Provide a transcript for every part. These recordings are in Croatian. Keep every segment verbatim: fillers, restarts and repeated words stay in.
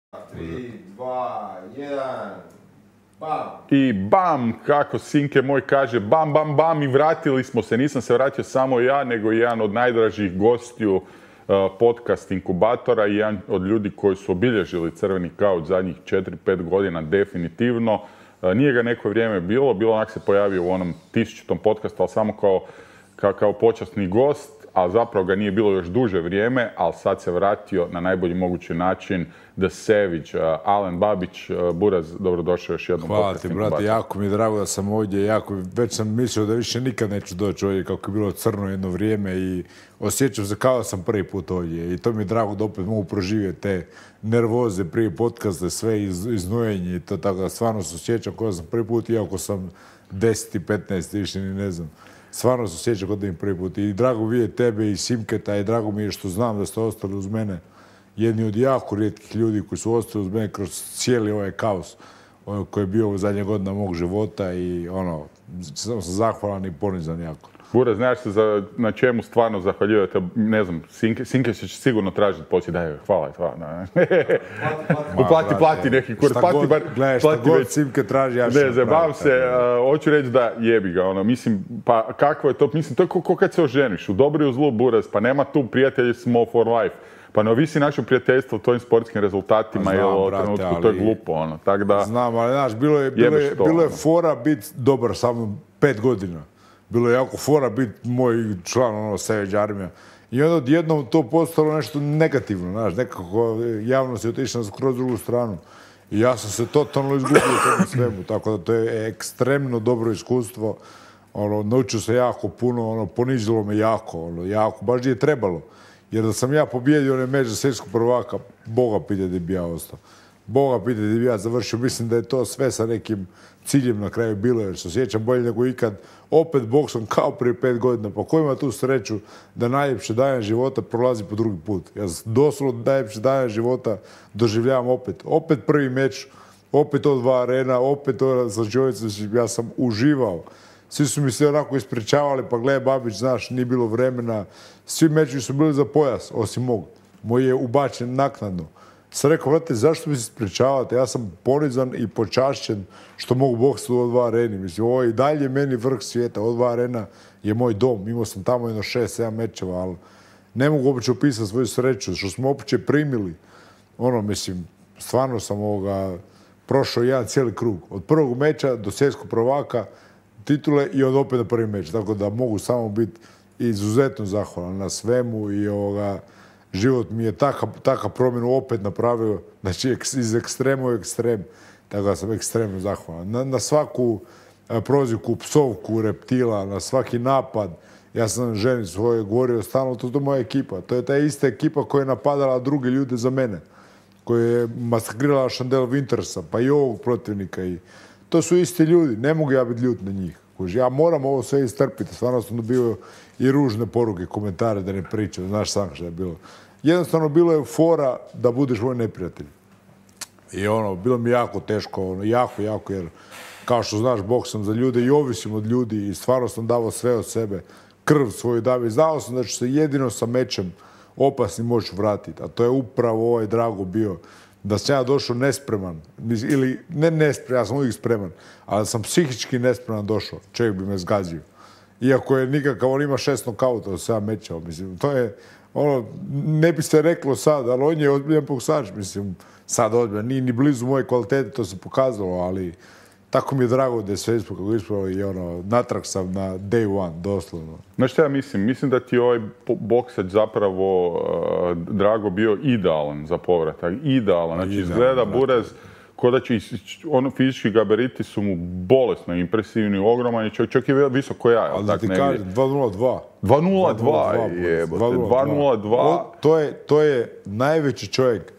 tri, dva, jedan, bam! I bam, kako Sinke moj kaže, bam, bam, bam, i vratili smo se. Nisam se vratio samo ja, nego jedan od najdražih gostiju uh, podcast inkubatora i jedan od ljudi koji su obilježili Crveni kauč zadnjih četiri pet godina definitivno. Uh, nije ga neko vrijeme bilo, bilo onak se pojavio u onom tisućitom podcastu, ali samo kao, kao, kao počasni gost, a zapravo ga nije bilo još duže vrijeme, ali sad se vratio na najbolji mogući način. The Savage, uh, Alen Babić, uh, Buraz, dobrodošao još jednom. Hvala ti, brate, jako mi je drago da sam ovdje, jako, već sam mislio da više nikad neću doći ovdje kako je bilo crno jedno vrijeme i osjećam se kao da sam prvi put ovdje i to mi je drago da opet mogu proživjeti te nervoze prije podcaste, sve iz, iznojenje i to tako da stvarno se osjećam kao da sam prvi put, iako sam deset i petnaest, više ni ne znam. Stvarno se osjećam kao da im prvi put i drago vidjeti tebe i Simketa i drago mi je što znam da ste ostali uz mene. Jedni od jako rijetkih ljudi koji su ostali uz mene kroz cijeli ovaj kaos koji je bio u zadnje godine mog života i ono, sam zahvalan i ponizan jako. Buraz, znaš se za, na čemu stvarno zahvaljujete, ne znam, Sinke, Sinke će sigurno tražiti poslije, daj, hvala, hvala. Plati, plati neki kurs, plati bar, gledaj, šta god Simke traži, ja ću ne, zabavam se, uh, hoću reći da jebi ga, ono, mislim, pa kakvo je to, mislim, to je ko, ko kad se oženiš, u dobru i u zlu, Buraz, pa nema tu prijatelji smo for life. Pa ne ovisi naše prijateljstvo u tvojim sportskim rezultatima ili o trenutku, ali, to je glupo, ono, tak da... Znam, ali znaš, bilo je, bilo je, bilo je fora biti dobar sa mnom pet godina. Bilo je jako fora biti moj član, ono, Savage Armija. I onda odjednom to postalo nešto negativno, znaš, nekako javnost je otišla skroz drugu stranu. I ja sam se totalno izgubio u tome svemu, tako da to je ekstremno dobro iskustvo. Ono, naučio se jako puno, ono, ponižilo me jako, ono, jako, baš je trebalo. Jer da sam ja pobjedio onaj meč za svjetskog prvaka, Boga pita gdje bi ja ostao. Boga pita gdje bi ja završio. Mislim da je to sve sa nekim ciljem na kraju bilo, jer se osjećam bolje nego ikad. Opet boksom kao prije pet godina. Pa ko ima tu sreću da najljepše dane života prolazi po drugi put? Ja doslovno najljepše dane života doživljavam opet. Opet prvi meč, opet to dva arena, opet to sa čovjecom. Ja sam uživao. Svi su mi se onako ispričavali, pa gle, Babić, znaš, nije bilo vremena. Svi mečevi su bili za pojas, osim mog. Moj je ubačen naknadno. Sam rekao, vrate, zašto mi se ispričavate? Ja sam ponizan i počašćen što mogu boksati u O dva areni. Mislim, ovo je i dalje meni vrh svijeta. O dva arena je moj dom. Imao sam tamo jedno šest, sedam mečeva, ali ne mogu uopće opisati svoju sreću, što smo uopće primili. Ono, mislim, stvarno sam ovoga prošao jedan cijeli krug. Od prvog meča do svjetskog prvaka, titule i od opet na prvi meč. Tako da mogu samo biti izuzetno zahvalan na svemu i ovoga, život mi je takav taka promjenu opet napravio, znači iz ekstrema u ekstrem. Tako da sam ekstremno zahvalan. Na, na svaku prozivku, psovku, reptila, na svaki napad. Ja sam ženi svoje govorio stalno, to je moja ekipa. To je ta ista ekipa koja je napadala druge ljude za mene. Koja je masakrirala Chandel Wintersa, pa i ovog protivnika. I to su isti ljudi, ne mogu ja biti ljut na njih. Ja moram ovo sve istrpiti, stvarno sam dobio i ružne poruke, komentare da ne pričam, znaš sam što je bilo. Jednostavno bilo je fora da budeš moj neprijatelj. I ono, bilo mi jako teško, ono, jako, jako, jer kao što znaš, boksam za ljude i ovisim od ljudi i stvarno sam davao sve od sebe, krv svoju davio i znao sam da ću se jedino sa mečem opasnim moći vratiti, a to je upravo ovaj Drago bio. Da sam ja došao nespreman, ili ne nespreman, ja sam uvijek spreman, ali sam psihički nespreman došao, čovjek bi me zgazio. Iako je nikakav, on ima šest nokauta od sedam mečeva, mislim, to je, ono, ne bi se reklo sad, ali on je ozbiljan boksač, mislim, sad ozbiljan, nije ni blizu moje kvalitete, to se pokazalo, ali tako mi je drago da je sve ispod kako ispravo i ono, natrag sam na day one, doslovno. Znaš šta ja mislim? Mislim da ti je ovaj boksač zapravo, uh, Drago, bio idealan za povratak. Idealan. Znači, idealan, izgleda Buraz ko da će, ono, fizički gabariti su mu bolesno impresivni, ogroman i čak, čak je visoko ja. Ali da ti kažem, dva nula dva. dva nula dva, jebote, dva nula dva. To je, to je najveći čovjek,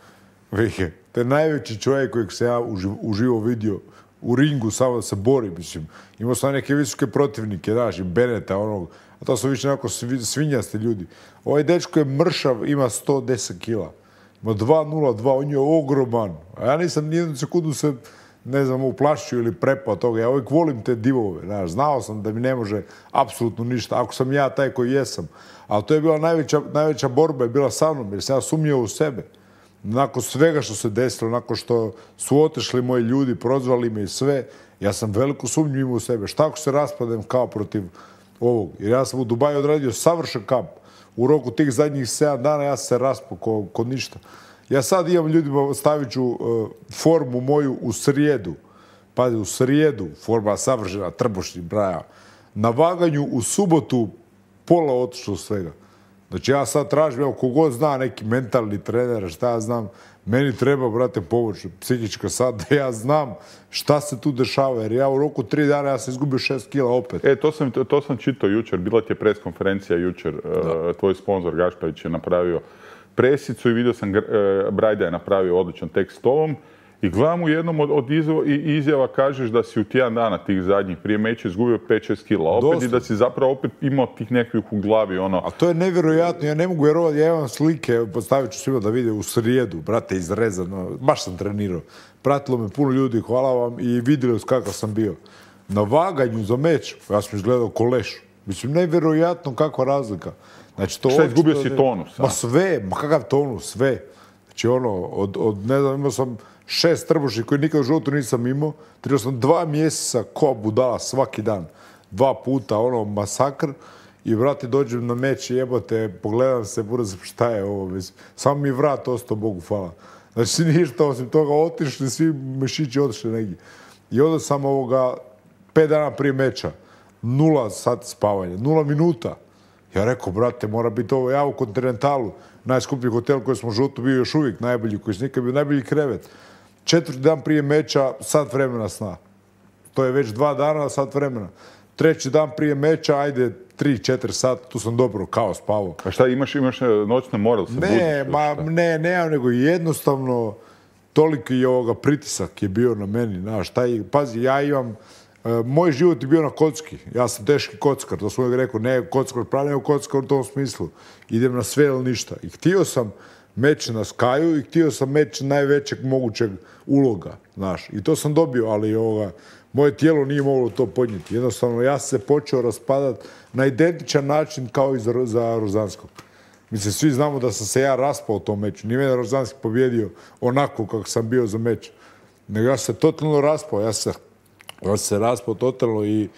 Vike, to je najveći čovjek kojeg se ja uživo vidio u ringu, samo da se bori, mislim. Imao sam neke visoke protivnike, znaš, i Beneta, onog, a to su više nekako svinjasti ljudi. Ovaj dečko je mršav, ima sto deset kila. Ima dva nula dva, on je ogroman. A ja nisam nijednu sekundu se, ne znam, uplašio ili prepao toga. Ja uvijek volim te divove, znaš. Znao sam da mi ne može apsolutno ništa, ako sam ja taj koji jesam. Ali to je bila najveća, najveća borba, je bila sa mnom, jer sam ja sumnjao u sebe. nakon svega što se desilo, nakon što su otišli moji ljudi, prozvali me i sve, ja sam veliku sumnju imao u sebe. Šta ako se raspadem kao protiv ovog? Jer ja sam u Dubaju odradio savršen kamp. U roku tih zadnjih sedam dana ja sam se raspao ko, ko ništa. Ja sad imam ljudima, stavit ću uh, formu moju u srijedu. Pazi, u srijedu, forma savršena, trbušni, braja. Na vaganju u subotu pola otišlo svega. Znači ja sad tražim, evo, kogod zna neki mentalni trener, šta ja znam, meni treba, brate, pomoć, psihička sad, da ja znam šta se tu dešava, jer ja u roku tri dana ja sam izgubio šest kila opet. E, to sam, to sam čitao jučer, bila ti je pres konferencija jučer, uh, tvoj sponsor Gašparić je napravio presicu i vidio sam, uh, Brajda je napravio odličan tekst s tobom. I gledam u jednom od, od izjava kažeš da si u tjedan dana tih zadnjih prije meča izgubio pet šest kila opet. Dosta. I da si zapravo opet imao tih nekih u glavi ono. A to je nevjerojatno, ja ne mogu vjerovati, ja imam slike, postavit ću svima da vide u srijedu, brate, izrezano, baš sam trenirao. Pratilo me puno ljudi, hvala vam, i vidjeli kakav sam bio. Na vaganju za meč, ja sam izgledao ko leš. Mislim, nevjerojatno kakva razlika. Znači, to šta, izgubio si tonus? Ma sve, ma kakav tonus, sve. Znači ono, od, od ne znam, imao sam šest trbušnih koji nikad u životu nisam imao. Trebao sam dva mjeseca ko budala svaki dan. Dva puta, ono, masakr. I, vrati, dođem na meč i jebote, pogledam se, budu se, šta je ovo, mislim. Samo mi vrat ostao, Bogu hvala. Znači, ništa, osim toga, otišli, svi mišići otišli negdje. I onda sam ovoga, pet dana prije meča, nula sati spavanja, nula minuta. Ja rekao, brate, mora biti ovo, ja u Kontinentalu, najskuplji hotel koji smo u životu bio još uvijek najbolji, koji je nikad bio najbolji krevet. Četvrti dan prije meča, sat vremena sna. To je već dva dana, sat vremena. Treći dan prije meča, ajde, tri, četiri sata, tu sam dobro, kao spavao. A šta, imaš, imaš noćne moral se budiš? Ne, ma, ne, ne, nego jednostavno toliki je ovoga pritisak je bio na meni, znaš, taj, pazi, ja imam, uh, moj život je bio na kocki, ja sam teški kockar, to sam uvijek rekao, ne kockar pravi, nego kockar u tom smislu, idem na sve ili ništa. I htio sam meč na Skaju i htio sam meč najvećeg mogućeg uloga, znaš, i to sam dobio, ali ovoga, moje tijelo nije moglo to podnijeti. Jednostavno, ja sam se počeo raspadati na identičan način kao i za, za Rozanskog. Mislim, svi znamo da sam se ja raspao u tom meču. Nije mene Rozanski pobjedio onako kako sam bio za meč. Nego ja sam se totalno raspao. Ja sam ja se raspao totalno i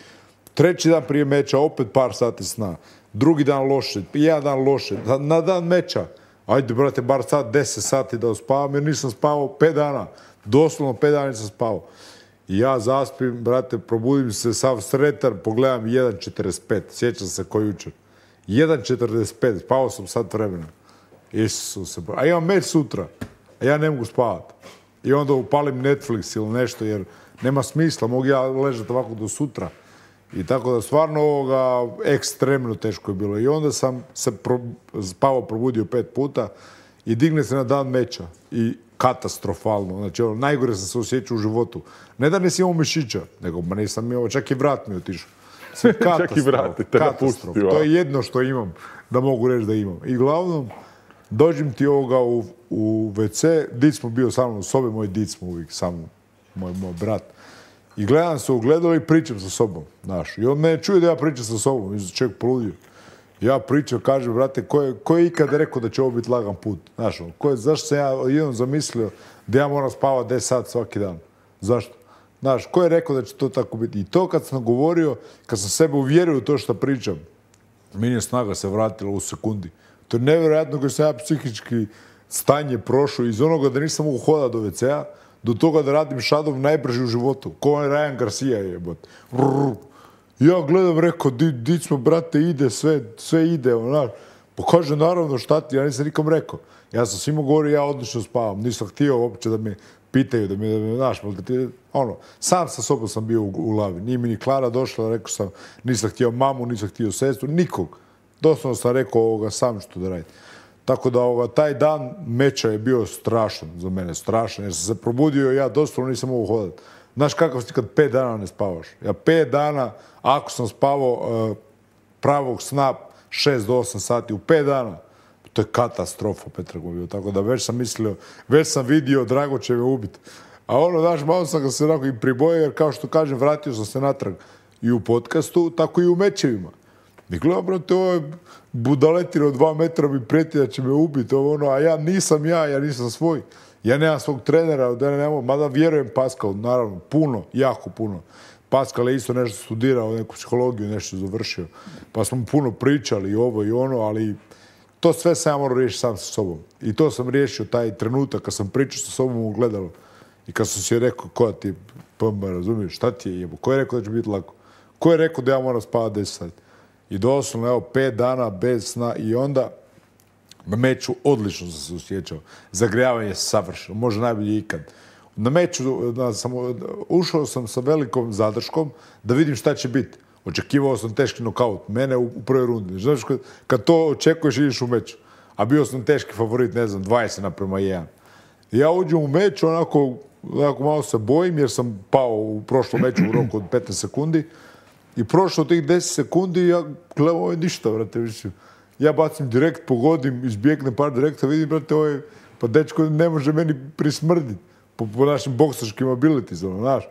treći dan prije meča opet par sati sna. Drugi dan loše, jedan dan loše. Na dan meča, ajde, brate, bar sad deset sati da uspavam, jer nisam spavao pet dana. Doslovno pet dana nisam spavao. I ja zaspim, brate, probudim se sav sretan, pogledam jedan četrdeset pet, sjećam se ko jučer. jedan četrdeset pet, spavao sam sat vremena. Isuse, a imam meč sutra, a ja ne mogu spavati. I onda upalim Netflix ili nešto, jer nema smisla, mogu ja ležati ovako do sutra. I tako da stvarno ovoga ekstremno teško je bilo. I onda sam se pro, spavao, probudio pet puta i digne se na dan meča. I katastrofalno. Znači, ono, najgore sam se osjećao u životu. Ne da nisam imao mišića, nego ma nisam imao, čak i vrat mi otišao. Čak i vrat, te katastrof. To je jedno što imam, da mogu reći da imam. I glavnom, dođem ti ovoga u, u ve ce, dic smo bio sa mnom u sobi, moj dic smo uvijek sa mnom, moj, moj brat. I gledam se u gledalo i pričam sa sobom, znaš. I on mene čuje da ja pričam sa sobom, mislim, čovjek poludio. Ja pričam, kažem, brate, ko je, ko je ikad rekao da će ovo biti lagan put? Znaš, ko je, zašto sam ja jednom zamislio da ja moram spavati deset sati svaki dan? Zašto? Znaš, ko je rekao da će to tako biti? I to kad sam govorio, kad sam sebe uvjerio u to što pričam, meni je snaga se vratila u sekundi. To je nevjerojatno koji sam ja psihički stanje prošao iz onoga da nisam mogu hodati do ve ce-a, do toga da radim šadom najbrži u životu. Ko je Ryan Garcia jebot. Ja gledam, rekao, di, di smo, brate, ide, sve, sve ide, onak. Pa kaže, naravno, šta ti, ja nisam nikom rekao. Ja sam svima govorio, ja odlično spavam. Nisam htio uopće da me pitaju, da me, da me, znaš, ono, sam sa sobom sam bio u, u glavi. Nije mi ni Klara došla, rekao sam, nisam htio mamu, nisam htio sestru, nikog. Doslovno sam rekao ovoga, sam što da radim. Tako da ovoga, taj dan meča je bio strašan za mene, strašan, jer sam se probudio i ja doslovno nisam mogu hodati. Znaš kakav si kad pet dana ne spavaš? Ja pet dana, ako sam spavao uh, pravog sna šest do osam sati, u pet dana, to je katastrofa, Petrako bio. Tako da već sam mislio, već sam vidio, Drago će me ubiti. A ono, znaš, malo sam ga se onako i pribojio, jer kao što kažem, vratio sam se natrag i u podcastu, tako i u mečevima. I gledam, brate, ovo je budaletina od dva metra mi prijeti da će me ubiti, ovo ono, a ja nisam ja, ja nisam svoj. Ja nemam svog trenera, da ne nemam, mada vjerujem Pascal, naravno, puno, jako puno. Pascal je isto nešto studirao, neku psihologiju, nešto završio. Pa smo puno pričali i ovo i ono, ali to sve sam ja morao riješiti sam sa sobom. I to sam riješio taj trenutak kad sam pričao sa sobom u gledalu. I kad sam si rekao, ko ti je, pa razumiješ, šta ti je jebo? Ko je rekao da će biti lako? Ko je rekao da ja moram spavati deset sati? I doslovno, evo, pet dana bez sna i onda na meču odlično sam se osjećao. Zagrijavanje savršeno, možda najbolje ikad. Na meču da, sam, ušao sam sa velikom zadrškom da vidim šta će biti. Očekivao sam teški nokaut, mene u, u prvoj rundi. Znaš, kad, kad to očekuješ, ideš u meč. A bio sam teški favorit, ne znam, dvadeset naprema jedan. I ja uđem u meč, onako, onako malo se bojim jer sam pao u prošlom meču u roku od petnaest sekundi. I prošlo tih deset sekundi, ja gledam, ovo je ništa, brate, više. Ja bacim direkt, pogodim, izbjegnem par direkta, vidim, brate, ovo je, pa dečko ne može meni prismrditi po, po našim boksačkim abilities, znaš.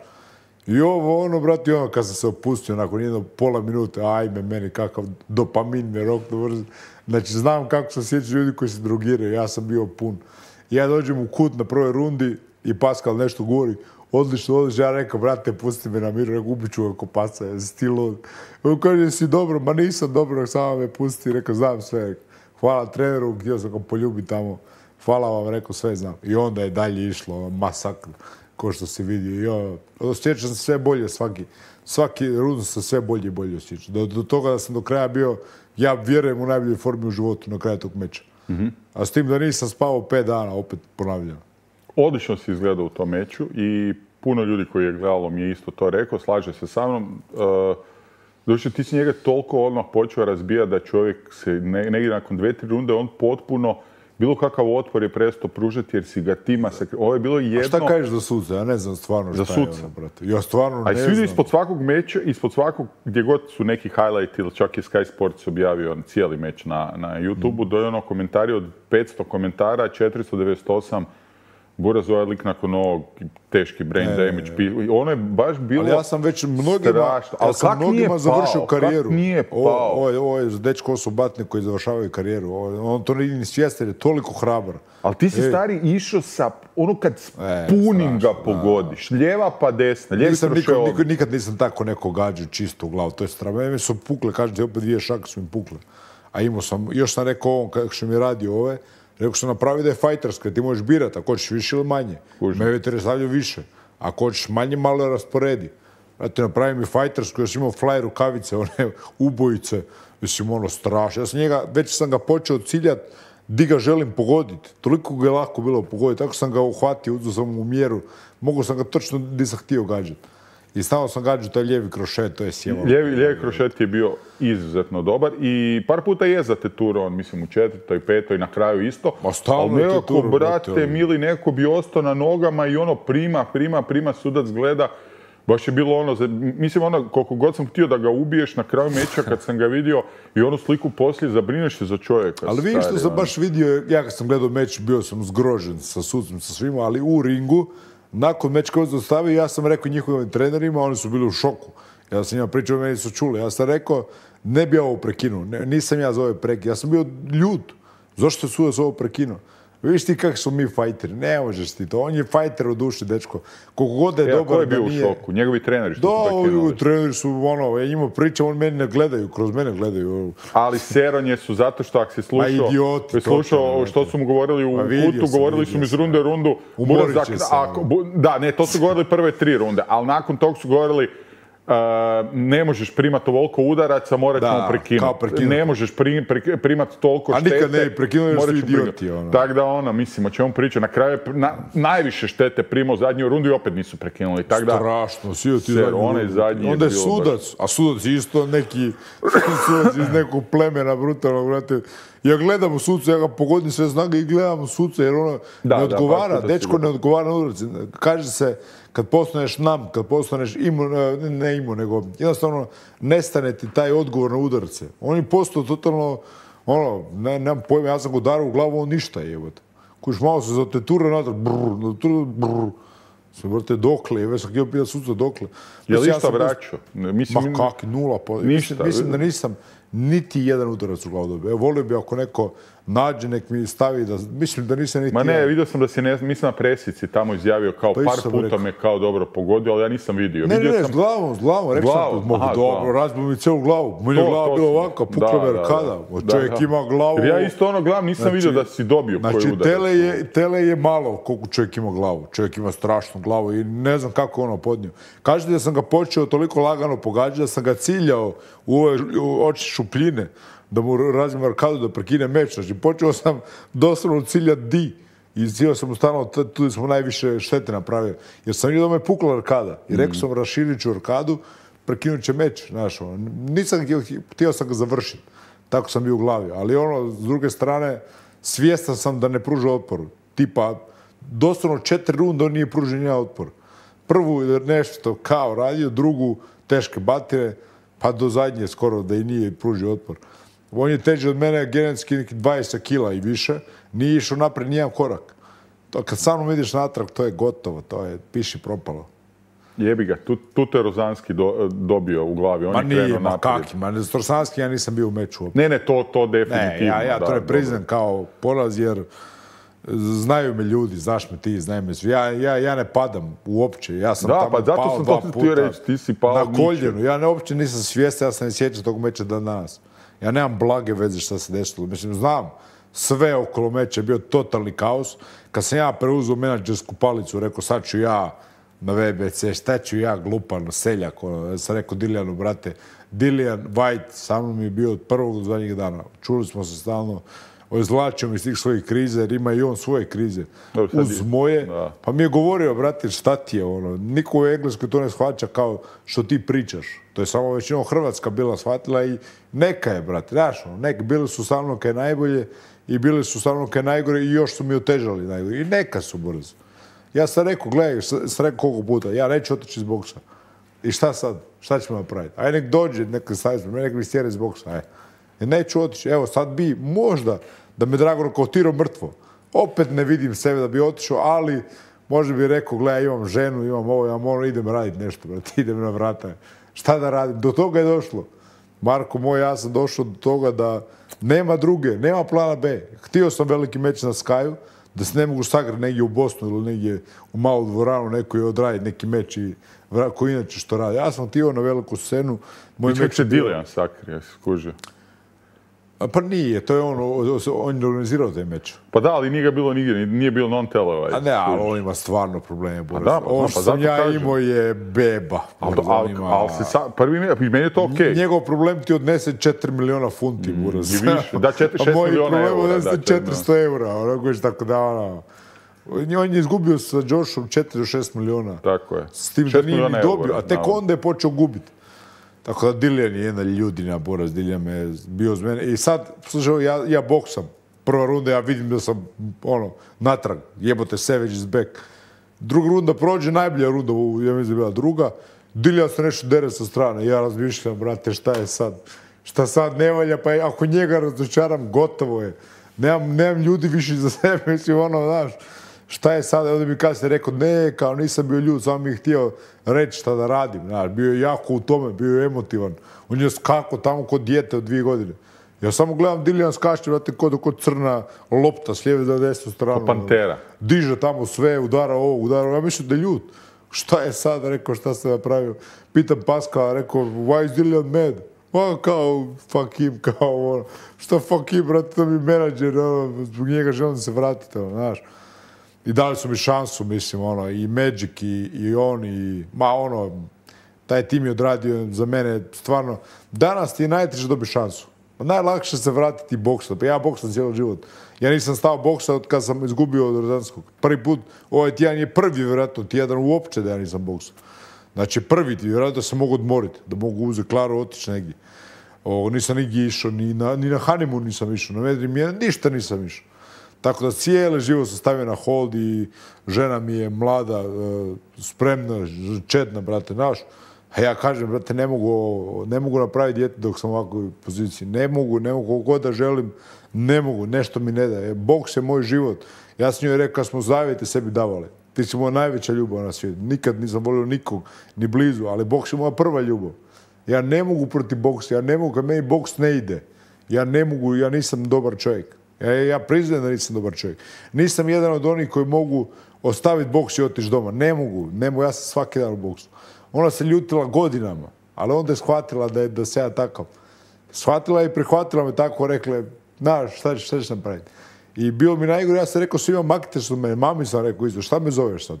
I ovo, ono, brate, ono, kad sam se opustio nakon jedno pola minute, ajme, meni kakav dopamin me rokno vrzi. Znači, znam kako se sjećaju ljudi koji se drogiraju, ja sam bio pun. I ja dođem u kut na prvoj rundi i Pascal nešto govori, odlično, odlično, ja rekao, brate, pusti me na miru, rekao, ubit ću ga ko paca, ja stilo. On kaže, si dobro, ma nisam dobro, samo me pusti, rekao, znam sve. Rekao, hvala treneru, htio sam ga poljubiti tamo, hvala vam, rekao, sve znam. I onda je dalje išlo, masakr, ko što se vidi. Ja, osjećam se sve bolje svaki, svaki rund sam sve bolje i bolje osjećam. Do, do toga da sam do kraja bio, ja vjerujem u najboljoj formi u životu na kraju tog meča. Mm-hmm. A s tim da nisam spavao pet dana, opet ponavljam. Odlično si izgledao u tom meču i puno ljudi koji je gledalo mi je isto to rekao, slaže se sa mnom. Uh, Doći, ti si njega toliko odmah počeo razbijati da čovjek se ne, negdje nakon dve, tri runde on potpuno bilo kakav otpor je prestao pružati jer si ga tima se... Ovo je bilo jedno... A šta kažeš za suca? Ja ne znam stvarno šta je ono, brate. Ja stvarno ne znam. A svi ispod svakog meča, ispod svakog, gdje god su neki highlight ili čak je Sky Sports objavio cijeli meč na, na YouTube-u, mm. do je ono komentari od petsto komentara, četiristo devedeset osam Buraz ovaj lik nakon ovog teški brain ne, damage. Ne, ne. Ono je baš bilo ali ja sam već mnogima, ja sam mnogima završio karijeru. Kak nije pao? Ovo, ovo, ovo je dečko su batne koji završavaju karijeru. Ovo, on to nije ni svjestan, je toliko hrabar. Ali ti si e. stari išao sa, ono kad e, punim strašno, ga pogodiš, da. Lijeva pa desna, lijevi nikad, nikad, nikad nisam tako neko gađao čisto u glavu, to je strano. Mene su pukle, kažem ti, opet dvije šake su mi pukle. A imao sam, još sam rekao ovom, kako što mi radio ove, rekao sam napravi da je fajterska, ti možeš birati, ako hoćeš više ili manje. Me vetere stavljaju više. Ako hoćeš manje, malo rasporedi. Znate, napravi mi fajtersku, još imao fly rukavice, one ubojice. Mislim, ono strašno. Ja sam njega, već sam ga počeo ciljati di ga želim pogoditi. Toliko ga je lako bilo pogoditi. Tako sam ga uhvatio, uzeo sam u mjeru. Mogu sam ga točno di sam htio gađati. I stavno sam gađao taj lijevi krošet, to je sjevalo. Lijevi, lijevi krošet je bio izuzetno dobar i par puta je zateturao, on mislim u četvrtoj, petoj, na kraju isto. Ali nekako, brate, mili, neko bi ostao na nogama i ono prima, prima, prima, sudac gleda. Baš je bilo ono, mislim ono, koliko god sam htio da ga ubiješ na kraju meča kad sam ga vidio i onu sliku poslije, zabrineš se za čovjeka. Ali vidiš što sam baš vidio, ja kad sam gledao meč, bio sam zgrožen sa sucem, sa svima, ali u ringu, nakon meč koji se dostavio, ja sam rekao njihovim trenerima, oni su bili u šoku. Ja sam njima pričao, meni su čuli. Ja sam rekao, ne bi ovo prekinuo. Ne, nisam ja za ove prekine. Ja sam bio ljut. Zašto su sudac ovo prekinuo? Vidiš ti kako smo mi fajteri. Ne možeš ti to. On je fajter u duši, dečko. Koliko god je ja, dobar ko je bio da nije... u šoku? Njegovi treneri što da, su prekinuli? Da, njegovi treneri su, ono, ja njima pričam, on meni ne gledaju, kroz mene gledaju. Ali seronje su zato što ako si slušao, idioti, slušao to, što su mu govorili u kutu, govorili su mi iz runde u rundu. Umorit će se. Ako, bu, da, ne, to su govorili prve tri runde, ali nakon tog su govorili Uh, ne možeš primati ovoliko udaraca, morat ćemo prekinuti. Ne možeš pri, pri, primati toliko štete. A nikad ne prekinuli su idioti. Ono. Tako da ono, mislim, o čemu priča. Na kraju je na, najviše štete primao zadnju rundu i opet nisu prekinuli. Tak da, strašno, svi ti zadnju zadnji onda je sudac, baš... a sudac isto neki sudac iz nekog plemena brutalnog, brate. Ja gledam u suca, ja ga pogodim sve snage i gledam u suca jer ono da, ne odgovara, da, dečko ne odgovara na udarci. Kaže se, kad postaneš nam, kad postaneš imun, ne imun, nego jednostavno nestane ti taj odgovor na udarce. On je postao totalno, ono, ne, nemam pojma, ja sam ga udarao u glavu, on ništa je, jebote. Kuš malo se zatetura natrag, brrr, brrr, brrr. Sve vrte dokle, već sam htio pitati suca dokle. Je li išta vraćao? Ma kak, nula. Ništa. Mislim da nisam, niti jedan udarac u glavu dobio. Evo, volio bi ako neko nađe, nek mi stavi da... Mislim da nisam niti... Ma ne, vidio sam da si, ne, mislim na presici tamo izjavio kao pa par puta me kao dobro pogodio, ali ja nisam vidio. Ne, vidio ne, ne, sam... s glavom, s glavom, rekao sam, mogu dobro, razbio mi cijelu glavu. Moj je glava bila ovako, pukla me arkada. Čovjek da, ima glavu... Jer ja isto ono glavu nisam znači, vidio da si dobio znači, koji udarac. Tele je, tele je malo koliko čovjek ima glavu. Čovjek ima strašnu glavu i ne znam kako ono podnio. Kažete da sam ga počeo toliko lagano pogađati da sam ga ciljao u ove oči šupljine, da mu razbijem arkadu, da prekine meč. Znači, počeo sam doslovno ciljati di. I ciljao sam mu stano, tu smo najviše štete napravili. Jer sam vidio da me pukla arkada. I rekao sam, raširit ću arkadu, prekinut će meč. Znaš, ono. Nisam htio, htio sam ga završiti. Tako sam bio u glavi. Ali ono, s druge strane, svjestan sam da ne pruža otpor. Tipa, doslovno četiri runde on nije pružio nijedan otpor. Prvu nešto kao radio, drugu teške batire, pa do zadnje skoro da i nije pružio otpor. On je teži od mene genetski neki dvadeset kila i više. Nije išao napred nijedan korak. To kad sa mnom ideš natrag, to je gotovo. To je piši propalo. Jebi ga, tu, tu te Rozanski do, dobio u glavi. On ma je nije, ma naprijed. kaki. Ma ne, Rozanski ja nisam bio u meču. Ne, ne, to, to definitivno. Ne, ja, ja da, to ne priznam kao poraz jer znaju me ljudi, znaš me ti, znaju me svi. Ja, ja, ja ne padam uopće. Ja sam da, tamo pa zato pao sam dva to puta reći, ti si pao na koljenu. Ja ne, uopće nisam svjestan, ja sam ne sjećao tog meča dan danas. Ja nemam blage veze šta se desilo. Mislim, znam, sve okolo meča je bio totalni kaos. Kad sam ja preuzeo menadžersku palicu, rekao, sad ću ja na V B C, šta ću ja, glupan, seljak, ono, ja sam rekao Dilijanu, brate, Dilijan White sa mnom je bio od prvog do zadnjih dana. Čuli smo se stalno, izvlačio mi iz tih svojih krize, jer ima i on svoje krize. Dobro, uz moje, da. Pa mi je govorio, brate, šta ti je ono, niko u Engleskoj to ne shvaća kao što ti pričaš. To je samo većinom Hrvatska bila shvatila i neka je, brate, znaš, ono, neka, bili su sa mnom kaj najbolje i bili su sa mnom kaj najgore i još su mi otežali najgore. I neka su brzo. Ja sam rekao, gledaj, sam rekao koliko puta, ja neću otići iz boksa. I šta sad? Šta ćemo napraviti? Aj nek dođe, nek staviti, nek mi stjeri iz boksa, aj. I neću otići. Evo, sad bi možda da me Drago nokautirao mrtvo. Opet ne vidim sebe da bi otišao, ali možda bi rekao, gledaj, imam ženu, imam ovo, imam ono, idem raditi nešto, brate, idem na vrata. Šta da radim? Do toga je došlo. Marko moj, ja sam došao do toga da nema druge, nema plana B. Htio sam veliki meč na Skyju, da se ne mogu sagrati negdje u Bosnu ili negdje u malu dvoranu neko je odraditi neki meč i koji inače što radi. Ja sam htio na veliku scenu. Moj meč je Dilijan sakrio, skužio. Pa nije, to je on, on je organizirao taj meč. Pa da, ali nije ga bilo nigdje, nije bilo non-televised. A ne, ali on ima stvarno probleme. A da, pa, ovo pa, što sam ja imao je beba. Ali al, ima... al se sa, prvi meni je to okej. Okay. Njegov problem ti odnese četiri miliona funti, mm, buraz. I više, da, četiri, šest miliona eura. Moj problem odnese četiristo eura, onako je tako da, ono. On je izgubio sa Joshom četiri do šest miliona. Tako je. S tim da nije ni dobio, a tek onda je počeo gubiti. Tako da Dilijan je jedna ljudina, buraz, Dilijan me bio uz mene. I sad, slušaj, ja, ja boksam. Prva runda, ja vidim da sam, ono, natrag. Jebote, Savage is back. Druga runda prođe, najbolja runda, ja mislim da je bila druga. Dilijan se nešto dere sa strane. Ja razmišljam, brate, šta je sad? Šta sad ne valja? Pa ako njega razočaram, gotovo je. Nemam, nemam ljudi više za sebe, mislim, ono, znaš. Šta je sad? Onda mi kasnije rekao, ne, kao nisam bio ljud, samo mi je htio reći šta da radim. Znaš, bio je jako u tome, bio je emotivan. On je skako tamo kod dijete od dvije godine. Ja samo gledam Dilijan skače, vrati, kod, kod crna lopta s lijeve za desnu stranu. Ko pantera. Diže tamo sve, udara ovo, udara ovo. Ja mislim da je ljud. Šta je sad? Rekao, šta se napravio? Pitam Paskala, rekao, why is Dilijan mad? Ma, kao, fuck him, kao, ono. Šta fuck him, brate, to mi menadžer, ono, zbog njega želim se vratiti, ono, znaš. I dali su mi šansu, mislim, ono, i Magic, i, i on, i, ma, ono, taj tim je odradio za mene, stvarno, danas ti je najteže dobiti šansu. Najlakše se vratiti boksa, pa ja boksam cijelo život. Ja nisam stao boksa od kad sam izgubio od Rozanskog. Prvi put, ovaj tjedan je prvi, vjerojatno, tjedan uopće da ja nisam boksao. Znači, prvi ti, vjerojatno da se mogu odmoriti, da mogu uzeti Klaru, otići negdje. O, nisam nigdje išao, ni na, ni na honeymoon nisam išao, na vedri mjene, ništa nisam išao. Tako da cijeli život sam stavio na hold i žena mi je mlada, spremna, četna, brate, naš. A ja kažem, brate, ne mogu, ne mogu napraviti dijete dok sam u ovakvoj poziciji. Ne mogu, ne mogu, kako god da želim, ne mogu, nešto mi ne daje. Boks je moj život. Ja sam joj rekao, smo zavjete sebi davali. Ti si moja najveća ljubav na svijetu. Nikad nisam volio nikog, ni blizu, ali boks je moja prva ljubav. Ja ne mogu protiv boksa, ja ne mogu, kad meni boks ne ide. Ja ne mogu, ja nisam dobar čovjek. Ja, ja priznajem da nisam dobar čovjek. Nisam jedan od onih koji mogu ostaviti boks i otići doma. Ne mogu, ne mogu, ja sam svaki dan u boksu. Ona se ljutila godinama, ali onda je shvatila da, je, da se ja takav. Shvatila je i prihvatila me tako, rekla, znaš, šta, šta ćeš napraviti? I bilo mi najgore, ja sam rekao svima, maknite se od mene. Mami sam rekao isto, šta me zoveš sad?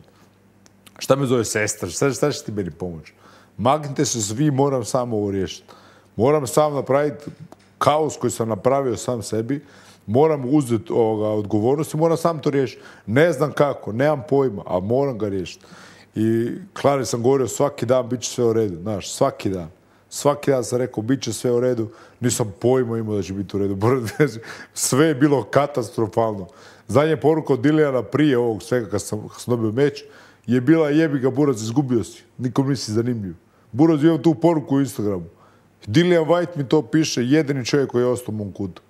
Šta me zove sestra? Šta, šta će ti meni pomoći? Maknite se svi, moram samo ovo riješiti. Moram sam napraviti kaos koji sam napravio sam sebi. Moram uzeti ovoga, odgovornost i moram sam to riješiti. Ne znam kako, nemam pojma, ali moram ga riješiti. I Klari sam govorio, svaki dan bit će sve u redu. Znaš, svaki dan. Svaki dan sam rekao, bit će sve u redu. Nisam pojma imao da će biti u redu. Sve je bilo katastrofalno. Zadnja poruka od Dilijana prije ovog svega kad sam, kad sam dobio meč je bila jebi ga Buraz, izgubio si. Nikom nisi zanimljiv. Buraz, imam tu poruku u Instagramu. Dillian Whyte mi to piše, jedini čovjek koji je ostao u mom kutu.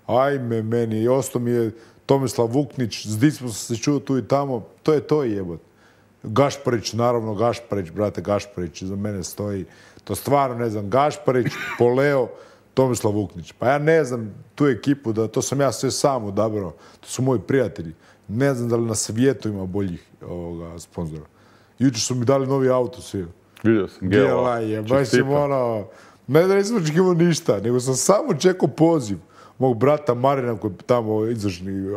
Ajme meni, i ostao mi je Tomislav Vuknić, s Dicmom sam se čuo tu i tamo. To je to jebot. Gašparić, naravno Gašparić, brate Gašparić, za mene stoji. To stvarno ne znam, Gašparić, Poleo, Tomislav Vuknić. Pa ja ne znam tu ekipu, da to sam ja sve sam odabrao. To su moji prijatelji. Ne znam da li na svijetu ima boljih ovoga, sponzora. Jučer su mi dali novi auto svi. Vidio sam, Gela. Je, baš sam ono... Ne da nisam očekivao ništa, nego sam samo čekao poziv mog brata Marina koji je tamo izvršni,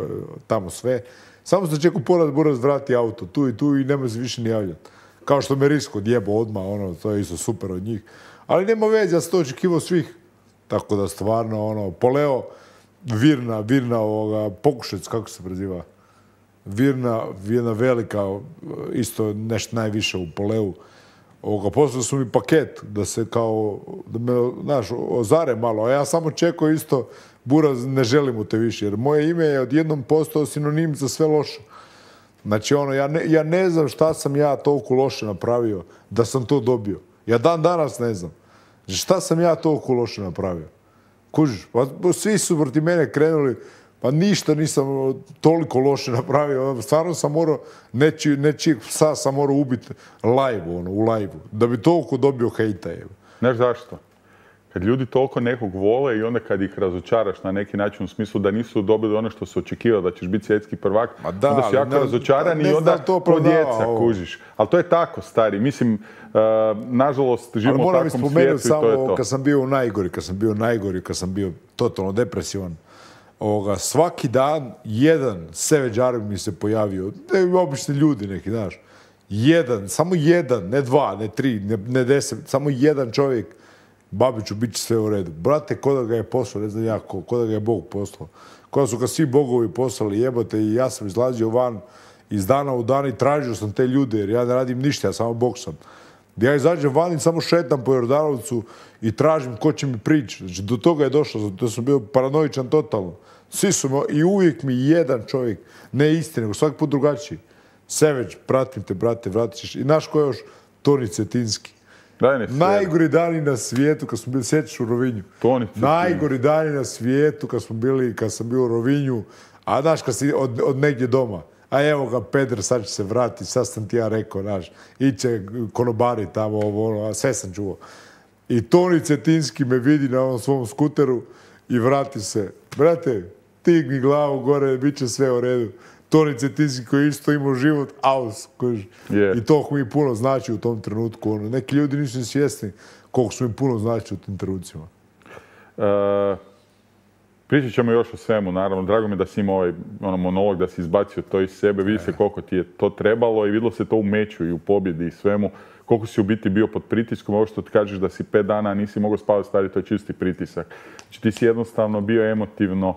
tamo sve. Samo sam čekao poraz Buraz vrati auto tu i tu i nema se više ni javljati. Kao što me Risko djebo odmah, ono, to je isto super od njih. Ali nema veze, ja sam to očekivao svih. Tako da stvarno, ono, Poleo, Virna, Virna ovoga, Pokušec, kako se preziva? Virna, Virna velika, isto nešto najviše u Poleu. Ovoga, poslali su mi paket da se kao, da me, znaš, ozare malo, a ja samo čekao isto, Buraz, ne želim u te više, jer moje ime je odjednom postao sinonim za sve loše. Znači, ono, ja ne, ja ne znam šta sam ja toliko loše napravio da sam to dobio. Ja dan danas ne znam. Šta sam ja toliko loše napravio? Kužiš, pa svi su protiv mene krenuli, pa ništa nisam toliko loše napravio. Stvarno sam morao, nečiji, nečijeg psa sam morao ubiti live, ono, u live-u, da bi toliko dobio hejta. Evo. Znaš zašto? Kad ljudi toliko nekog vole i onda kad ih razočaraš na neki način u smislu da nisu dobili ono što se očekivao, da ćeš biti svjetski prvak, da, onda su jako ne, razočarani ne i onda to ko djeca kužiš. Ali to je tako, stari. Mislim, uh, nažalost, živimo u takvom svijetu i to je to. Kad sam bio najgori, kad sam bio najgori, kad sam bio totalno depresivan, ovoga, svaki dan jedan seveđar mi se pojavio, ne obični ljudi neki, znaš, jedan, samo jedan, ne dva, ne tri, ne, ne deset, samo jedan čovjek, Babiću, bit će sve u redu. Brate, ko da ga je poslao, ne znam ja ko, ko da ga je Bog poslao. Ko da su ga svi bogovi poslali, jebote, i ja sam izlazio van iz dana u dan i tražio sam te ljude, jer ja ne radim ništa, ja samo boksam. Ja izađem van i samo šetam po Jordanovcu i tražim ko će mi prići. Znači, do toga je došlo, zato sam bio paranoičan totalno. Svi su me, i uvijek mi jedan čovjek, ne isti, nego svaki put drugačiji. Seveć, pratim te, brate, vratit ćeš. I naš ko je još? Toni Cetinski. Najgori dani na svijetu kad smo bili, sjećaš u Rovinju. Najgori dani na svijetu kad smo bili, kad sam bio u Rovinju, a znaš kad si od, od negdje doma. A evo ga Pedro, sad će se vratiti, sad sam ti ja rekao, znaš, iće konobari tamo, ovo, ono, a sve sam čuo. I Toni Cetinski me vidi na ovom svom skuteru i vrati se. Brate, digni glavu gore, bit će sve u redu. Toni Cetinski koji isto imao život, aus. Yeah. I to mi puno znači u tom trenutku. Ono. Neki ljudi nisu svjesni koliko su mi puno znači u tim trenucima. Uh, pričat ćemo još o svemu, naravno. Drago mi da si imao ovaj ono, monolog, da si izbacio to iz sebe. Vidi se koliko ti je to trebalo i vidilo se to u meču i u pobjedi i svemu. Koliko si u biti bio pod pritiskom. Ovo što ti kažeš da si pet dana nisi mogao spavati, stari, to je čisti pritisak. Znači ti si jednostavno bio emotivno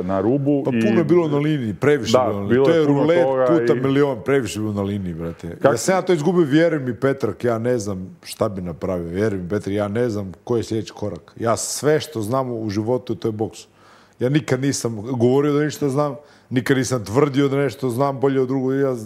na rubu. Pa puno je bilo na liniji, previše da, bilo na liniji. To je rulet puta i... milion, previše bilo na liniji, brate. Kak... Ja sam ja to izgubio, vjeruj mi, Petrak, ja ne znam šta bi napravio. Vjeruj mi, Petrak, ja ne znam koji je sljedeći korak. Ja sve što znam u životu, to je boks. Ja nikad nisam govorio da ništa znam, nikad nisam tvrdio da nešto znam bolje od drugog. Ja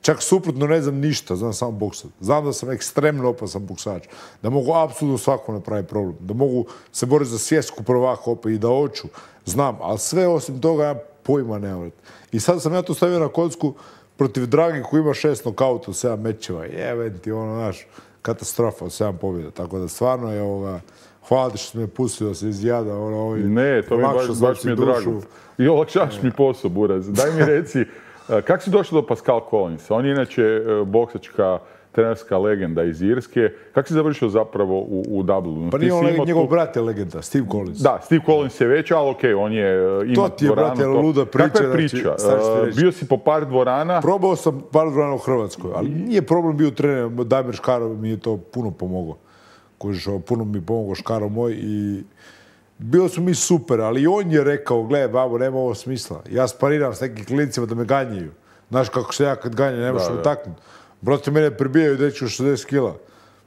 čak suprotno ne znam ništa, znam samo boksat. Znam da sam ekstremno opasan boksač, da mogu apsolutno svakom napraviti problem, da mogu se boriti za svjetsku prvaka opet i da hoću. Znam, ali sve osim toga ja pojma nemam. I sad sam ja to stavio na kocku protiv Dragi koji ima šest nokauta u sedam mečeva. Jeben ti ono, znaš, katastrofa od sedam pobjeda. Tako da stvarno je ovoga, hvala ti što si me pustio da se izjada. Ono, ovaj, ne, to mi baš, baš mi je drago. I olakšaš mi posao, Buraz. Daj mi reci, kako si došao do Pascal Collinsa? On je inače boksačka trenerska legenda iz Irske. Kako si završio zapravo u, u Dublinu? Pa nije on legenda, njegov brat je legenda, Steve Collins. Da, Steve Collins je već, ali okej, okay, on je ima to ti je, dvoranu. brate, luda priča. Kakva je priča? Uh, bio si po par dvorana. Probao sam par dvorana u Hrvatskoj, ali nije problem bio trener. Damir Škaro mi je to puno pomogao. Kožiš, puno mi je pomogao Škaro moj i bilo su mi super, ali i on je rekao, gledaj, babo, nema ovo smisla. Ja spariram s nekim klinicima da me ganjaju. Znaš kako se ja kad ganjam, ne možeš me taknuti. Brate, mene prebijaju dečki u šezdeset kila.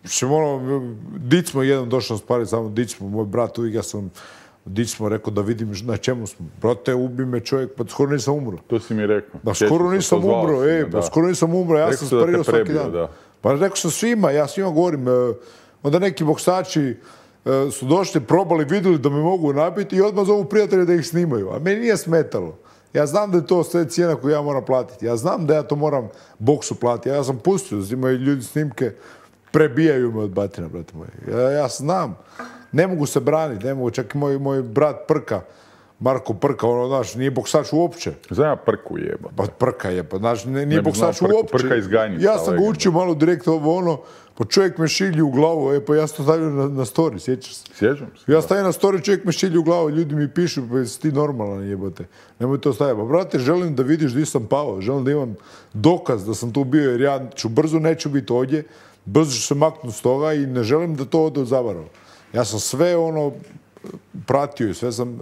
Mislim, ono, dic smo jednom došao spariti, samo dic smo, moj brat uvijek, ja sam dic smo rekao da vidim na čemu smo. Brate, ubi me čovjek, pa skoro nisam umro. To si mi rekao. Da, skoro nisam umro, ej, pa skoro nisam umro, ja sam sparirao svaki dan. Pa rekao sam svima, ja svima govorim, onda neki boksači su došli, probali, vidjeli da me mogu nabiti i odmah zovu prijatelje da ih snimaju. A meni nije smetalo. Ja znam da je to sve cijena koju ja moram platiti. Ja znam da ja to moram boksu platiti. Ja sam pustio, imaju ljudi snimke, prebijaju me od batina, brate moji. Ja, ja znam. Ne mogu se braniti, ne mogu. Čak i moj, moj brat Prka, Marko Prka, ono, znaš, nije boksač uopće. Znam ja Prku jeba. Pa Prka je, pa, znaš, nije ne boksač uopće. Prka iz Ganjica. Ja sam ga učio malo direktno ovo, ono, pa čovjek me šilji u glavu, e, pa ja sam to stavio na, na story, sjećaš se? Sjećam se. Ja stavim na story, čovjek me šilji u glavu, ljudi mi pišu, pa jesi ti normalan, jebote. Nemoj to staviti. Pa, brate, želim da vidiš gdje sam pao, želim da imam dokaz da sam tu bio, jer ja ću brzo neću biti ovdje, brzo ću se maknuti s toga i ne želim da to ode zavarao. Ja sam sve ono pratio i sve sam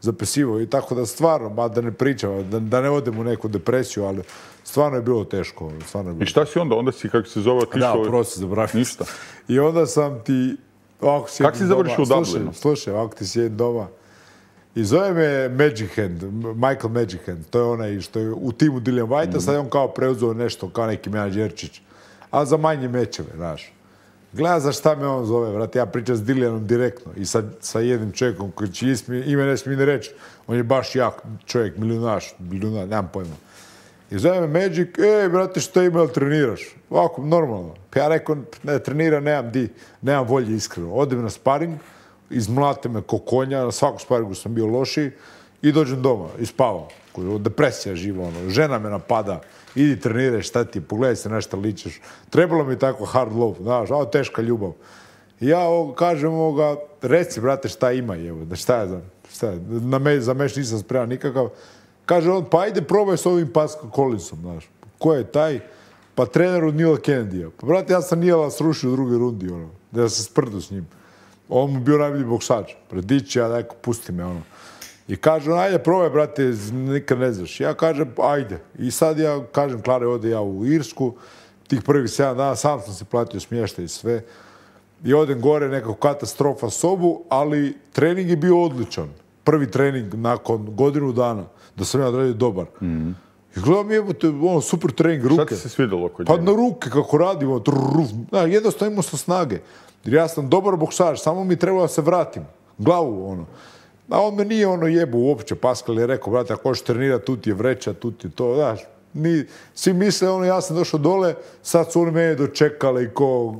zapisivao i tako da stvarno, ba da ne pričam, da, da ne odem u neku depresiju, ali stvarno je bilo teško. Stvarno je bilo. I šta si onda? Onda si, kako se zove, otišao... Da, prosti, zaboravim. Ništa. I onda sam ti... Kako si završio u Dublinu? Slušaj, ovako ti sjedim doma. I zove me Magic Hand, Michael Magic Hand. To je onaj što je u timu Dillian Whitea, mm. sad je on kao preuzeo nešto, kao neki menadžerčić. Ali za manje mečeve, znaš. Gleda za šta me on zove, vrati, ja pričam s Dillianom direktno i sa, sa jednim čovjekom koji će ime ne smije ni reći. On je baš jak čovjek, milijunaš, milijunaš, nemam pojma. I zove me Magic, ej, brate, što ima, li treniraš? Ovako, normalno. Pa ja rekao, ne, treniram, nemam di, nemam volje iskreno. Odem na sparing, izmlate me ko konja, na svaku sparingu sam bio lošiji i dođem doma i spavam. Depresija živa, ono, žena me napada, idi treniraj, šta ti, pogledaj se na šta ličeš. Trebalo mi tako hard love, znaš, ovo teška ljubav. I ja ovo, kažem ovoga, reci, brate, šta ima, evo, da šta je, šta je, na me, za meš nisam spreman nikakav. Kaže on, pa ajde probaj s ovim Pascal Collinsom, znaš. Ko je taj? Pa trener od Nila Kennedy-a. Pa brate, ja sam Nila srušio u drugoj rundi, ono, da se sprdu s njim. On mu bio najbolji boksač. Predići, ja neko, pusti me, ono. I kaže, ajde, probaj, brate, nikad ne znaš. Ja kažem, ajde. I sad ja kažem, Klare, ode ja u Irsku. Tih prvih sedam dana sam sam se platio smještaj i sve. I odem gore, nekako katastrofa sobu, ali trening je bio odličan. Prvi trening nakon godinu dana, da sam ja odradio dobar. Mm. I gledam, evo te, ono, super trening, ruke. Šta ti se svidjelo kod njega? Pa na ruke, kako radimo, no, jednostavno imao sam snage. Jer ja sam dobar boksač, samo mi trebalo da se vratim. Glavu, ono. A on me nije ono jebo uopće. Pascal je rekao, brate, ako hoćeš trenirati, tu ti je vreća, tu ti je to, znaš. Ni, svi misle, ono, ja sam došao dole, sad su oni mene dočekali ko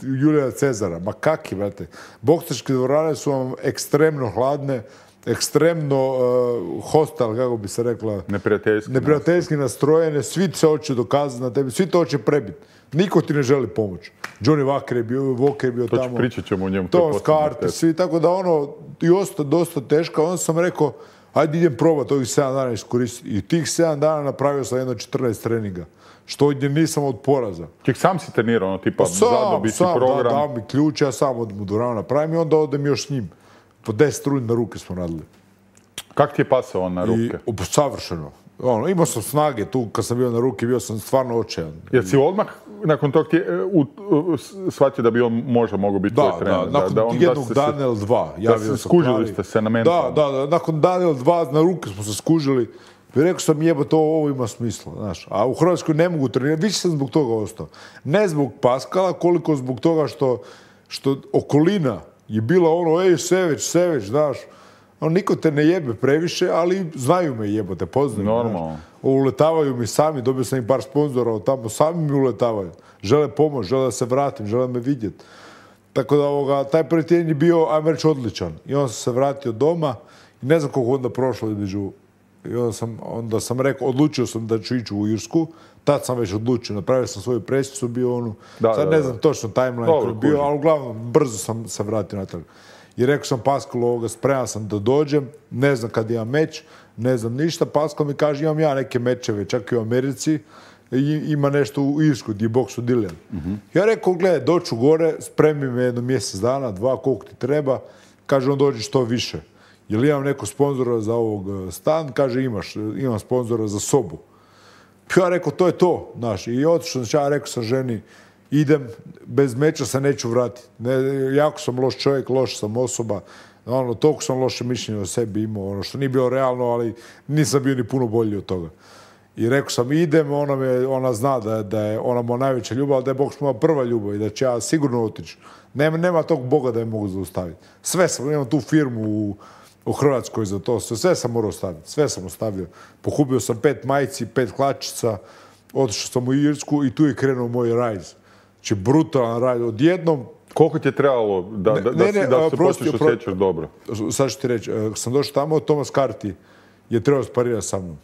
Julija Cezara. Ma kaki, brate. Boksačke dvorane su vam ekstremno hladne, ekstremno uh, hostal, kako bi se rekla, neprijateljski, neprijateljski nastrojene, svi se hoće dokazati na tebi, svi to hoće prebiti. Niko ti ne želi pomoć. Johnny Walker je bio, Walker je bio to tamo. Pričat ćemo o njemu. To Skarte, svi, tako da ono, i ostao dosta teško. Onda sam rekao, ajde idem probati ovih sedam dana iskoristiti. I tih sedam dana napravio sam jedno četrnaest treninga. Što ovdje nisam od poraza. Ček, sam si trenirao, ono, tipa, zadobiti program? Da, dao mi ključ, ja sam odem u dvoranu napravim i onda odem još s njim. Po deset rundi na ruke smo radili. Kako ti je pasao on na ruke? I, savršeno. Ono, imao sam snage tu, kad sam bio na ruke, bio sam stvarno očajan. Jer si odmah nakon tog ti u, u, shvatio da bi on možda mogao biti tvoj trener? Da, nakon da, da jednog se, dana ili dva. Da se skužili ste se na mentalno. Da, da, da, nakon dana ili dva na ruke smo se skužili. I rekao sam, jebo, to ovo ima smisla, znaš. A u Hrvatskoj ne mogu trenirati, više sam zbog toga ostao. Ne zbog Pascala, koliko zbog toga što, što okolina je bila ono, ej, Seveć, Seveć, znaš. On, niko te ne jebe previše, ali znaju me jebote, poznaju. Normalno. uletavaju mi sami, dobio sam i par sponzora od tamo, sami mi uletavaju. Žele pomoć, žele da se vratim, žele me vidjeti. Tako da ovoga, taj prvi tjedan je bio, ajmo reći, odličan. I onda sam se vratio doma i ne znam koliko onda prošlo između. I onda sam, onda sam rekao, odlučio sam da ću ići u Irsku. Tad sam već odlučio, napravio sam svoju presicu, bio onu. Da, sad ne znam točno timeline koji je bio, ali uglavnom brzo sam se vratio natrag. I rekao sam Paskulu ovoga, spreman sam da dođem, ne znam kad imam meč, ne znam ništa. Paskal mi kaže, imam ja neke mečeve, čak i u Americi, i ima nešto u Irsku, gdje je boksu Dillian. Mm-hmm. Ja rekao, gledaj, doću gore, spremi me jedno mjesec dana, dva, koliko ti treba. Kaže, on dođi što više. Jel imam neko sponzora za ovog stan? Kaže, imaš, imam sponzora za sobu. Ja rekao, to je to, znaš. I otišao sam, ja rekao sam ženi, idem, bez meča se neću vratiti. Ne, jako sam loš čovjek, loš sam osoba. Ono, toliko sam loše mišljenje o sebi imao, ono što nije bilo realno, ali nisam bio ni puno bolji od toga. I rekao sam, idem, ona, me, ona zna da, da je ona moja najveća ljubav, da je boks moja prva ljubav i da će ja sigurno otići. Nema, nema tog Boga da je mogu zaustaviti. Sve sam, imam tu firmu u, u Hrvatskoj za to, sve, sve sam morao ostaviti, sve sam ostavio. Pohubio sam pet majici, pet klačica, otišao sam u Irsku i tu je krenuo moj rajz. Znači, brutalan rajz. Odjednom... Koliko ti je trebalo da, da, ne, ne, da, da se počneš osjećaš dobro? Sad ću ti reći, sam došao tamo, Tomas Carty je trebao sparirati sa mnom.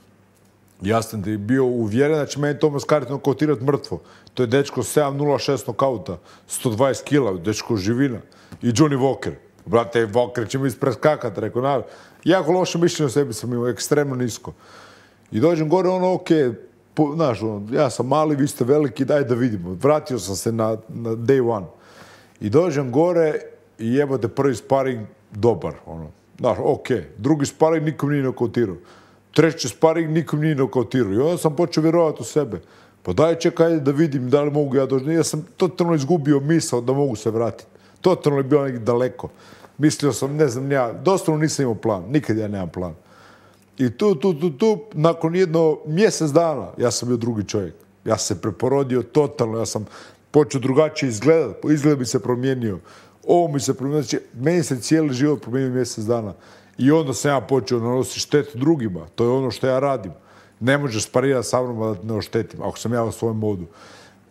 Ja sam ti bio uvjeren da će meni Tomas Carty nokautirati mrtvo. To je dečko sedam nula šest nokauta, sto dvadeset kila, dečko živina. I Johnny Walker. Brate, Walker će mi ispreskakati, rekao, na, jako loše mišljenje o sebi sam imao, ekstremno nisko. I dođem gore, ono, okej, okay, znaš, ono, ja sam mali, vi ste veliki, daj da vidimo. Vratio sam se na, na day one. I dođem gore i jebote prvi sparing dobar, ono. Znaš, okej. Okay. Drugi sparing nikom nije nokautirao. Treći sparing nikom nije nokautirao. I onda sam počeo vjerovati u sebe. Pa daj čekaj da vidim da li mogu ja doći. Ja sam totalno izgubio misao da mogu se vratiti. Totalno je bilo nekih daleko. Mislio sam, ne znam, ja, doslovno nisam imao plan. Nikad ja nemam plan. I tu, tu, tu, tu, nakon jedno mjesec dana, ja sam bio drugi čovjek. Ja sam se preporodio totalno, ja sam počeo drugačije izgledati. Izgled mi se promijenio. Ovo mi se promijenio. Znači, meni se cijeli život promijenio mjesec dana. I onda sam ja počeo nanositi štetu drugima. To je ono što ja radim. Ne možeš sparirati sa mnom da ne oštetim, ako sam ja u svojem modu.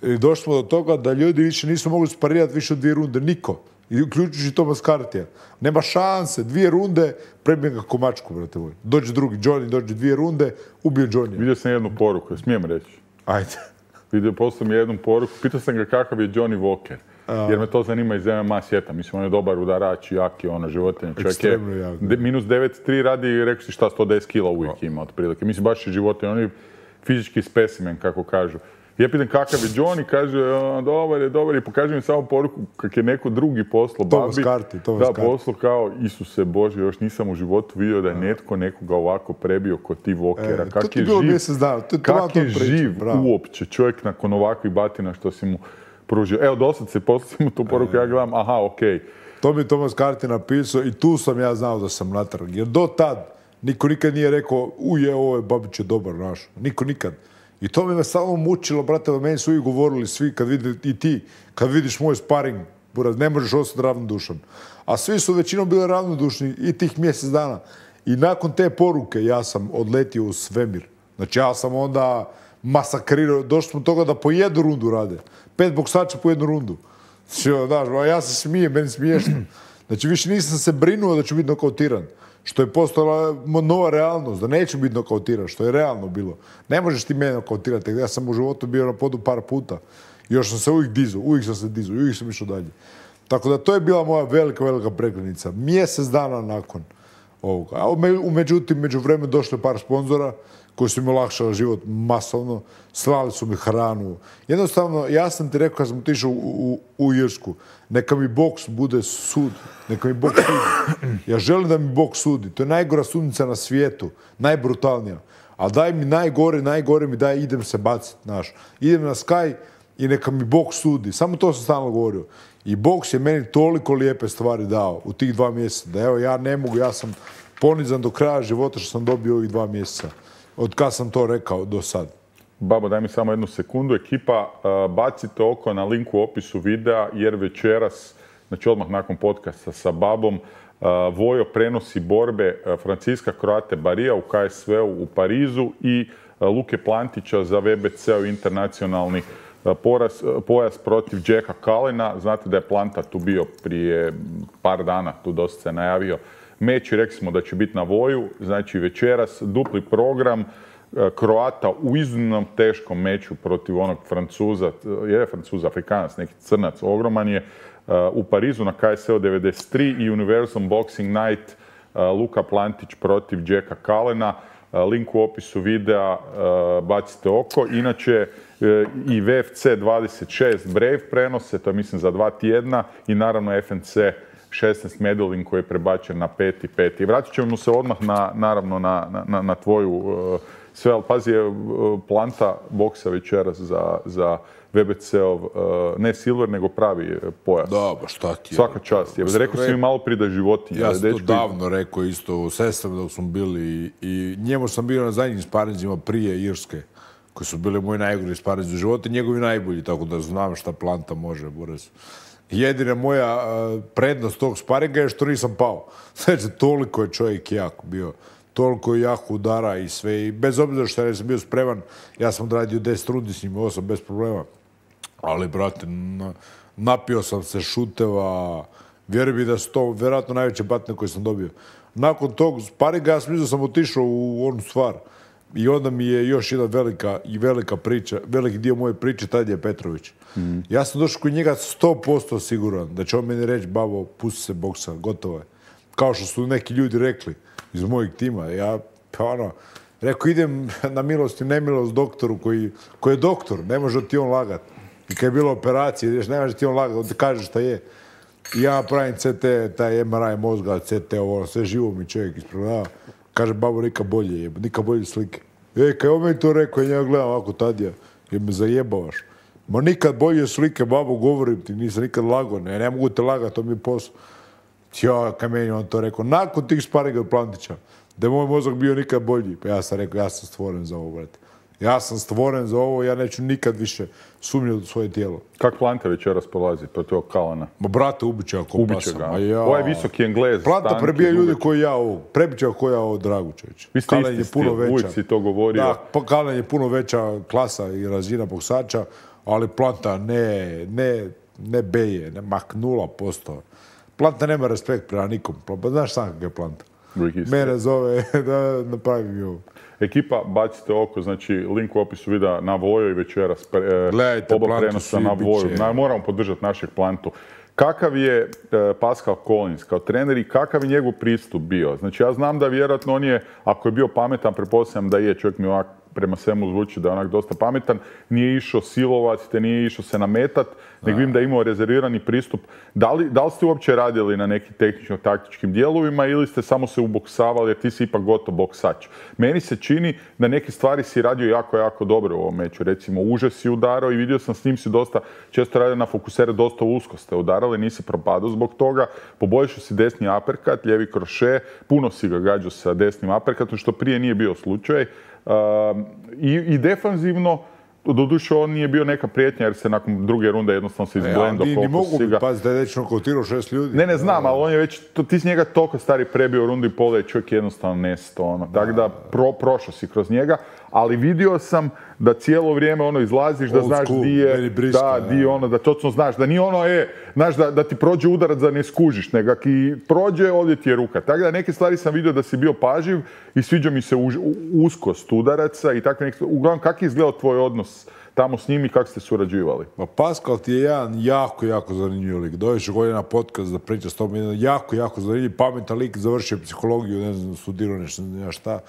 I došli smo do toga da ljudi više nisu mogli sparirati više od dvije runde. Niko. I uključujući Tomas Cartija. Nema šanse. Dvije runde, prebijem ga komačku, brate moj. Dođe drugi Johnny, dođe dvije runde, ubio Johnny. Vidio sam jednu poruku, smijem reći. Ajde. Vidio, poslao mi jednu poruku. Pitao sam ga kakav je Johnny Walker. Jer me to zanima iz M M A svijeta. Mislim, on je dobar udarač, jaki, ono, životinje. Ekstremno jak. Minus devet tri radi i rekao si šta, sto deset kila uvijek ima otprilike. Mislim, baš je životinje. On je fizički specimen, kako kažu. Ja pitam kakav je Johnny, kaže, dobar je, dobar je. Pokaže mi samo poruku kak je neko drugi poslao. Tomas Carty, Tomas Carty. Da, poslao kao, Isuse Bože, još nisam u životu vidio da je netko nekoga ovako prebio kod ti Walkera. E, kak je živ, kak je živ uopće čovjek nakon ovakvih batina što si mu pružio. Evo, dosad se poslao mu tu poruku, ja gledam, aha, okej. Okay. To mi je Tomas Carty napisao i tu sam ja znao da sam natrag. Jer do tad niko nikad nije rekao, uje, ovo je Babić je dobar naš. Niko nikad. I to mi me samo mučilo, brate, meni su uvijek govorili svi, kad vidi, i ti, kad vidiš moj sparing, buraz, ne možeš ostati ravnodušan. A svi su većinom bili ravnodušni i tih mjesec dana. I nakon te poruke ja sam odletio u svemir. Znači ja sam onda masakrirao, došli smo toga da po jednu rundu rade. Pet boksača po jednu rundu. Znači, ja se smijem, meni smiješno. Znači više nisam se brinuo da ću biti nokautiran. Što je postala nova realnost, da neću biti nokautiran, što je realno bilo. Ne možeš ti mene nokautirati, ja sam u životu bio na podu par puta. Još sam se uvijek dizao, uvijek sam se dizao, uvijek sam išao dalje. Tako da to je bila moja velika, velika prekretnica. Mjesec dana nakon ovoga. A međutim, među vremenu došlo par sponzora koji su mi olakšali život masovno, slali su mi hranu. Jednostavno, ja sam ti rekao kad sam otišao u, u, u Irsku, neka mi boks bude sud, neka mi boks sudi. Ja želim da mi boks sudi. To je najgora sudnica na svijetu, najbrutalnija. A daj mi najgore, najgore mi daj, idem se baciti, znaš. Idem na Sky i neka mi boks sudi. Samo to sam stalno govorio. I boks je meni toliko lijepe stvari dao u tih dva mjeseca. Da evo, ja ne mogu, ja sam ponizan do kraja života što sam dobio ovih dva mjeseca. Od kad sam to rekao do sad. Babo, daj mi samo jednu sekundu. Ekipa, bacite oko na linku u opisu videa, jer večeras, znači odmah nakon podcasta sa Babom, Vojo prenosi borbe Francisca Croate Barija u K S V-u u Parizu i Luke Plantića za V B C-ov internacionalni poraz, pojas protiv Jacka Callena. Znate da je Planta tu bio prije par dana, tu dosta se najavio meč i rekli smo da će biti na Voju. Znači večeras dupli program Kroata u iznimno teškom meču protiv onog Francuza, je Francuz, Afrikanac, neki crnac, ogroman je, u Parizu na K S O devedeset tri i Universal Boxing Night Luka Plantić protiv Jacka Callena. Link u opisu videa, bacite oko. Inače, i V F C dvadeset šest Brave prenose, to je mislim za dva tjedna, i naravno F N C šesnaest Medellin koji je prebačen na peti peti. Vratit ćemo se odmah na, naravno na, na, na tvoju uh, sve, ali pazi, je uh, Planta boksa večeras za, za V B C-ov, uh, ne silver, nego pravi pojas. Da, ba šta ti je. Svaka čast. Je. Rekao si mi malo prije da je životinja. Ja sam to davno rekao isto u sestrama dok smo bili i njemu sam bio na zadnjim sparinzima prije Irske, koji su bili moji najgori sparinzi u životu, njegovi najbolji, tako da znam šta Planta može, Boris. Jedina moja uh, prednost tog sparinga je što nisam pao. Znači, toliko je čovjek jak bio. Toliko je jak udara i sve. I bez obzira što ja sam bio spreman, ja sam odradio deset rundi s njim, osam bez problema. Ali, brate, na, napio sam se šuteva. Vjeruj mi da su to vjerojatno najveće batne koje sam dobio. Nakon tog sparinga, ja sam mislim da sam otišao u onu stvar. I onda mi je još jedna velika i velika priča, veliki dio moje priče, tad je Petrović. Mm. Ja sam došao kod njega sto posto siguran da će on meni reći, babo, pusti se boksa, gotovo je. Kao što su neki ljudi rekli iz mojeg tima. Ja, pa ono, rekao, idem na milost i nemilost doktoru koji, koji je doktor, ne može ti on lagat. I kad je bilo operacije, ne može ti on lagat, on ti kaže šta je. I ja pravim C T, taj M R I mozga, C T, ovo, sve živo mi čovjek ispravljava. Kaže, babo, nikad bolje je, nikad bolje slike. E, kaj on meni to rekao, ja gledam ovako Tadija, jer me zajebavaš. Ma nikad bolje slike, babo, govorim ti, nisam nikad lago, ne, ne mogu te lagati, to mi je posao. Ja, kaj meni on to rekao, nakon tih sparinga od Plantića, da je moj mozak bio nikad bolji. Pa ja sam rekao, ja sam stvoren za ovo, brate. Ja sam stvoren za ovo, ja neću nikad više sumnjati u svoje tijelo. Kak Planta večeras polazi protiv ovog Callena? Ma brate, ubiće ga ko pasa. Ja. Ovo je visoki Englez. Planta prebija ljudi koji ja ovo. Prebiće ga koji ja ovo Dragučević. Vi ste isti stil, uvijek si to govorio. Da, pa Calen je puno veća klasa i razina boksača, ali Planta ne, ne, ne beje, ne, mak nula posto. Planta nema respekt prema nikom. Znaš sam kak je Planta. Mene zove da napravi mi ovo. Ekipa, bacite oko, znači link u opisu videa na Voju i večeras e, oba prenosa na Voju. Na, moramo podržati našeg Plantu. Kakav je e, Pascal Collins kao trener i kakav je njegov pristup bio? Znači ja znam da vjerojatno on je, ako je bio pametan, pretpostavljam da je, čovjek mi ovak prema svemu zvuči da je onak dosta pametan, nije išao silovati, te nije išao se nametat, nego vidim da je imao rezervirani pristup. Da li, da li ste uopće radili na nekim tehničko-taktičkim dijelovima ili ste samo se uboksavali, jer ti si ipak gotov boksač? Meni se čini da neke stvari si radio jako, jako dobro u ovom meču. Recimo, uže si udarao i vidio sam s njim si dosta, često radio na fokusere, dosta usko ste udarali, nisi propadao zbog toga, poboljšao si desni aperkat, lijevi kroše, puno si ga gađao sa desnim aperkatom, što prije nije bio slučaj. Uh, i, i defanzivno, doduše on nije bio neka prijetnja jer se nakon druge runde jednostavno se izblendao. Ja, ni mogu biti, pazi da je već nokautirao šest ljudi. Ne, ne znam, ali on je već, to, ti si njega toliko stari prebio u rundu i pola i čovjek jednostavno nesto. Ono. Tako da pro, prošao si kroz njega, ali vidio sam da cijelo vrijeme ono izlaziš, da znaš di je, da, di ono, da točno znaš, da nije ono, e, znaš, da, da ti prođe udarac da ne skužiš, nego ki prođe, ovdje ti je ruka. Tako da neke stvari sam vidio da si bio paživ i sviđa mi se u, u, uskost udaraca i tako neke. Uglavnom, kak je izgledao tvoj odnos tamo s njim i kako ste surađivali? Pa Pascal ti je jedan jako, jako zanimljiv lik. Dođeš ovdje na podcast da priča s tobom, jedan jako, jako zanimljiv, pametan lik, završio psihologiju, ne znam, studirao nešto, ne šta.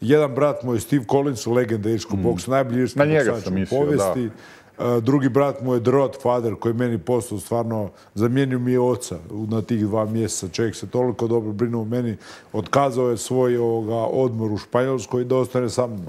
Jedan brat moj, Steve Collins, legenda irskog mm. boksa, najbolji irski boksač u povijesti. Da. Drugi brat moj je The Rodfather, koji meni postao stvarno, zamijenio mi je oca na tih dva mjeseca. Čovjek se toliko dobro brinuo o meni, otkazao je svoj ovoga, odmor u Španjolskoj da ostane sa mnom.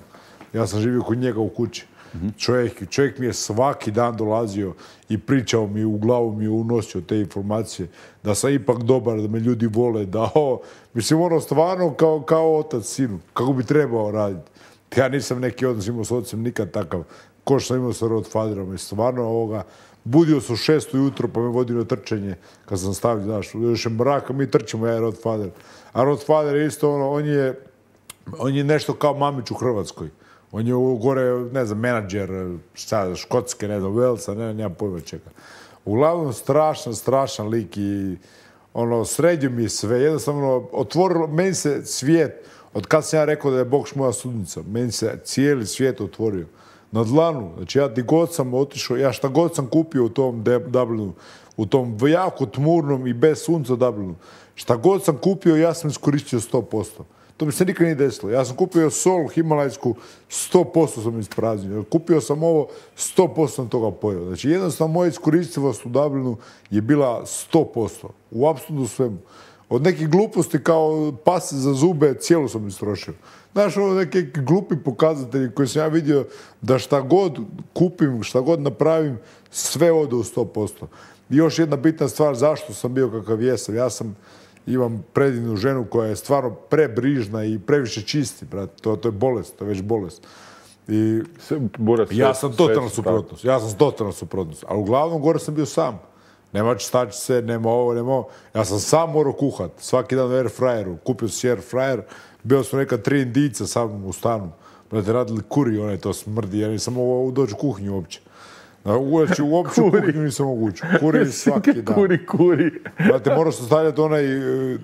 Ja sam živio kod njega u kući. Mm-hmm. Čovjek, čovjek mi je svaki dan dolazio i pričao mi, u glavu mi je unosio te informacije, da sam ipak dobar, da me ljudi vole, da o, mislim ono stvarno kao, kao otac sinu, kako bi trebao raditi. Ja nisam neki odnos imao s ocem nikad takav, ko što sam imao sa Rodfatherom, i stvarno ovoga, budio sam u šest ujutro pa me vodio na trčanje, kad sam stavio, znaš, još je mraka, mi trčimo, ja i Rodfather. A Rodfather je isto ono, on je, on je nešto kao Mamić u Hrvatskoj. On je gore, ne znam, menadžer, šta, Škotske, ne znam, Velsa, ne, nema pojma čega. Uglavnom, strašan, strašan lik i ono, sredio mi je sve. Jednostavno, otvorilo, meni se svijet, od kad sam ja rekao da je Bokš moja sudnica, meni se cijeli svijet otvorio. Na dlanu, znači ja di god sam otišao, ja šta god sam kupio u tom Dublinu, u tom jako tmurnom i bez sunca Dublinu, šta god sam kupio, ja sam iskoristio sto posto. To mi se nikad nije desilo. Ja sam kupio sol himalajsku, sto posto sam ispraznio. Kupio sam ovo, sto posto sam toga pojeo. Znači, jednostavno moja iskoristivost u Dublinu je bila sto posto. U apsolutno svemu. Od nekih gluposti kao pas za zube, cijelo sam istrošio. Znaš, ovo neki glupi pokazatelji koji sam ja vidio da šta god kupim, šta god napravim, sve ode u sto posto. I još jedna bitna stvar, zašto sam bio kakav jesam. Ja sam imam predivnu ženu koja je stvarno prebrižna i previše čisti, brate. To, to je bolest, to je već bolest. I Buras, ja sam totalno suprotnost. Ja sam totalno suprotnost. Ali uglavnom gore sam bio sam. Nema čistačice, nema ovo, nema ovo. Ja sam sam morao kuhat. Svaki dan u air fryeru. Kupio si air fryer. Bio sam neka tri indica sam u stanu. Brate, radili kuri, onaj to smrdi. Ja nisam mogao doći u kuhinju uopće. Uopće, uopće u kuhinju nisam mogu ući. Kuri svaki dan. Kuri, kuri. Znate, morao sam stavljati onaj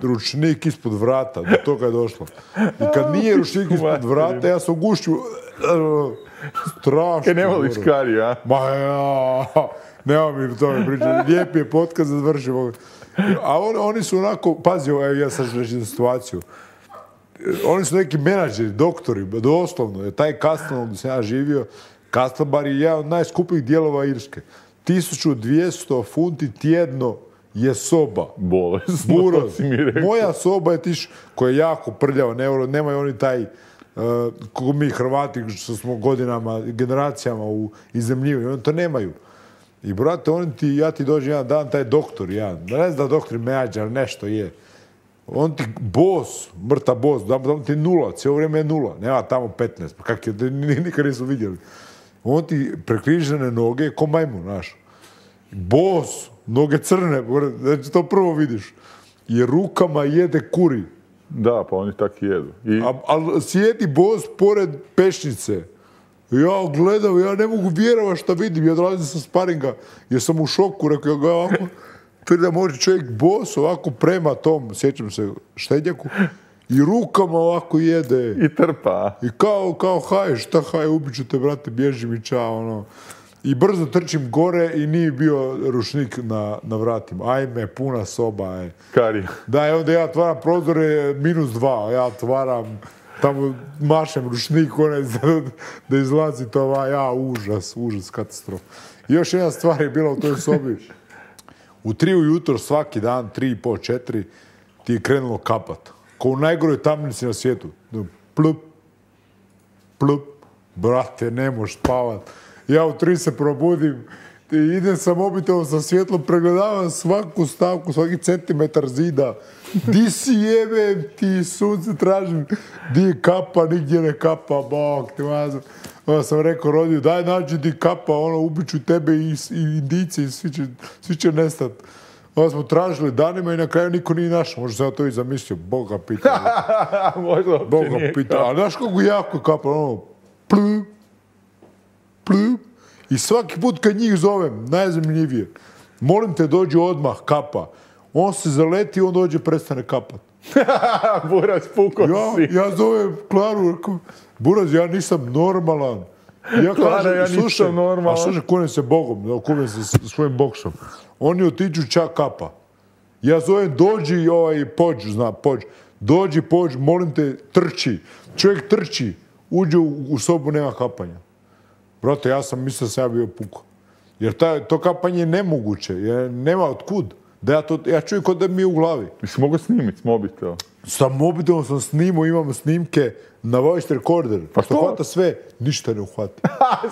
ručnik ispod vrata. Do toga je došlo. I kad nije ručnik ispod vrata, ja sam u gušću. Strašno. Kaj ne voliš kari, a? Ma ja, nema mi to mi pričati. Lijepi je podcast da završimo. A on, oni su onako, pazi, evo ja sad ću reći situaciju. Oni su neki menadžeri, doktori, doslovno. Taj Castlemaine gdje sam ja živio, Castlebar je jedan od najskupijih dijelova Irske. tisuću dvjesto funti tjedno je soba. Bolesno, to si mi rekao. Moja soba je tiš, koja je jako prljava, ne, nemaju oni taj, uh, kako mi Hrvati, što smo godinama, generacijama u izemljivanju, oni to nemaju. I brate, oni ti, ja ti dođem jedan dan, taj doktor, jedan, ne znam da doktor menadžer, nešto je. On ti bos, mrtav bos, dam ti nula, cijelo vrijeme je nula, nema tamo petnaest, pa kak je, nikad nisu vidjeli. On ti prekrižene noge, ko majmun, znaš. Bos, noge crne, znači to prvo vidiš. I rukama jede kuri. Da, pa oni tako jedu. I... Ali sjedi bos pored pešnice. Ja gledam, ja ne mogu vjerovati šta vidim, ja dolazim sa sparinga, jer sam u šoku, rekao ga ovako, da može čovjek bos ovako prema tom, sjećam se, štednjaku, i rukama ovako jede. I trpa. I kao, kao haj, šta haj, ubiću te, brate, bježi mi ča, ono. I brzo trčim gore i nije bio ručnik na, na vratima. Ajme, puna soba je. Kari. Da, i onda ja otvaram prozore, minus dva, ja otvaram, tamo mašem ručnik, onaj, da izlazi to, va, ja, užas, užas, katastrofa. I još jedna stvar je bila u toj sobi. U tri ujutro svaki dan, tri i pol, četiri, ti je krenulo kapat. Ko u najgoroj tamnici na svijetu. Plup, plup, brate, ne možeš spavat. Ja u tri se probudim, idem sa mobitelom sa svjetlom, pregledavam svaku stavku, svaki centimetar zida. Di si jebem ti, sunce tražim, di je kapa, nigdje ne kapa, bok, ti mazam. Onda sam rekao rodiju, daj nađi di kapa, ono, ubiću tebe i, i indici, i svi će, svi će nestat. Onda smo tražili danima i na kraju niko nije našao. Možda sam ja to i zamislio, Boga pita. Možda Boga pita. Ali znaš kako jako kapa, ono, plup, plup. I svaki put kad njih zovem, najzanimljivije, molim te dođi odmah, kapa. On se zaleti, on dođe, prestane kapat. Buraz, puko ja, si. Ja zovem Klaru, rekao, Buraz, ja nisam normalan. Ja Klara, kažem, ja nisam slušaj, normalan. A slušaj, kunem se Bogom, kunem se s svojim boksom. Oni otiđu čak kapa. Ja zovem, dođi ovaj pođ, zna, pođ. Dođi, pođ, molim te, trči. Čovjek trči, uđe u, u sobu, nema kapanja. Brate, ja sam mislio da sam ja bio puko. Jer ta, to kapanje je nemoguće, jer nema otkud. Da ja, to, ja čujem kod da mi je u glavi. Jesi mogao snimiti s mobitelom? Sa mobitelom sam snimao, imamo snimke na voice recorder. Pa što hvata sve, ništa ne uhvati.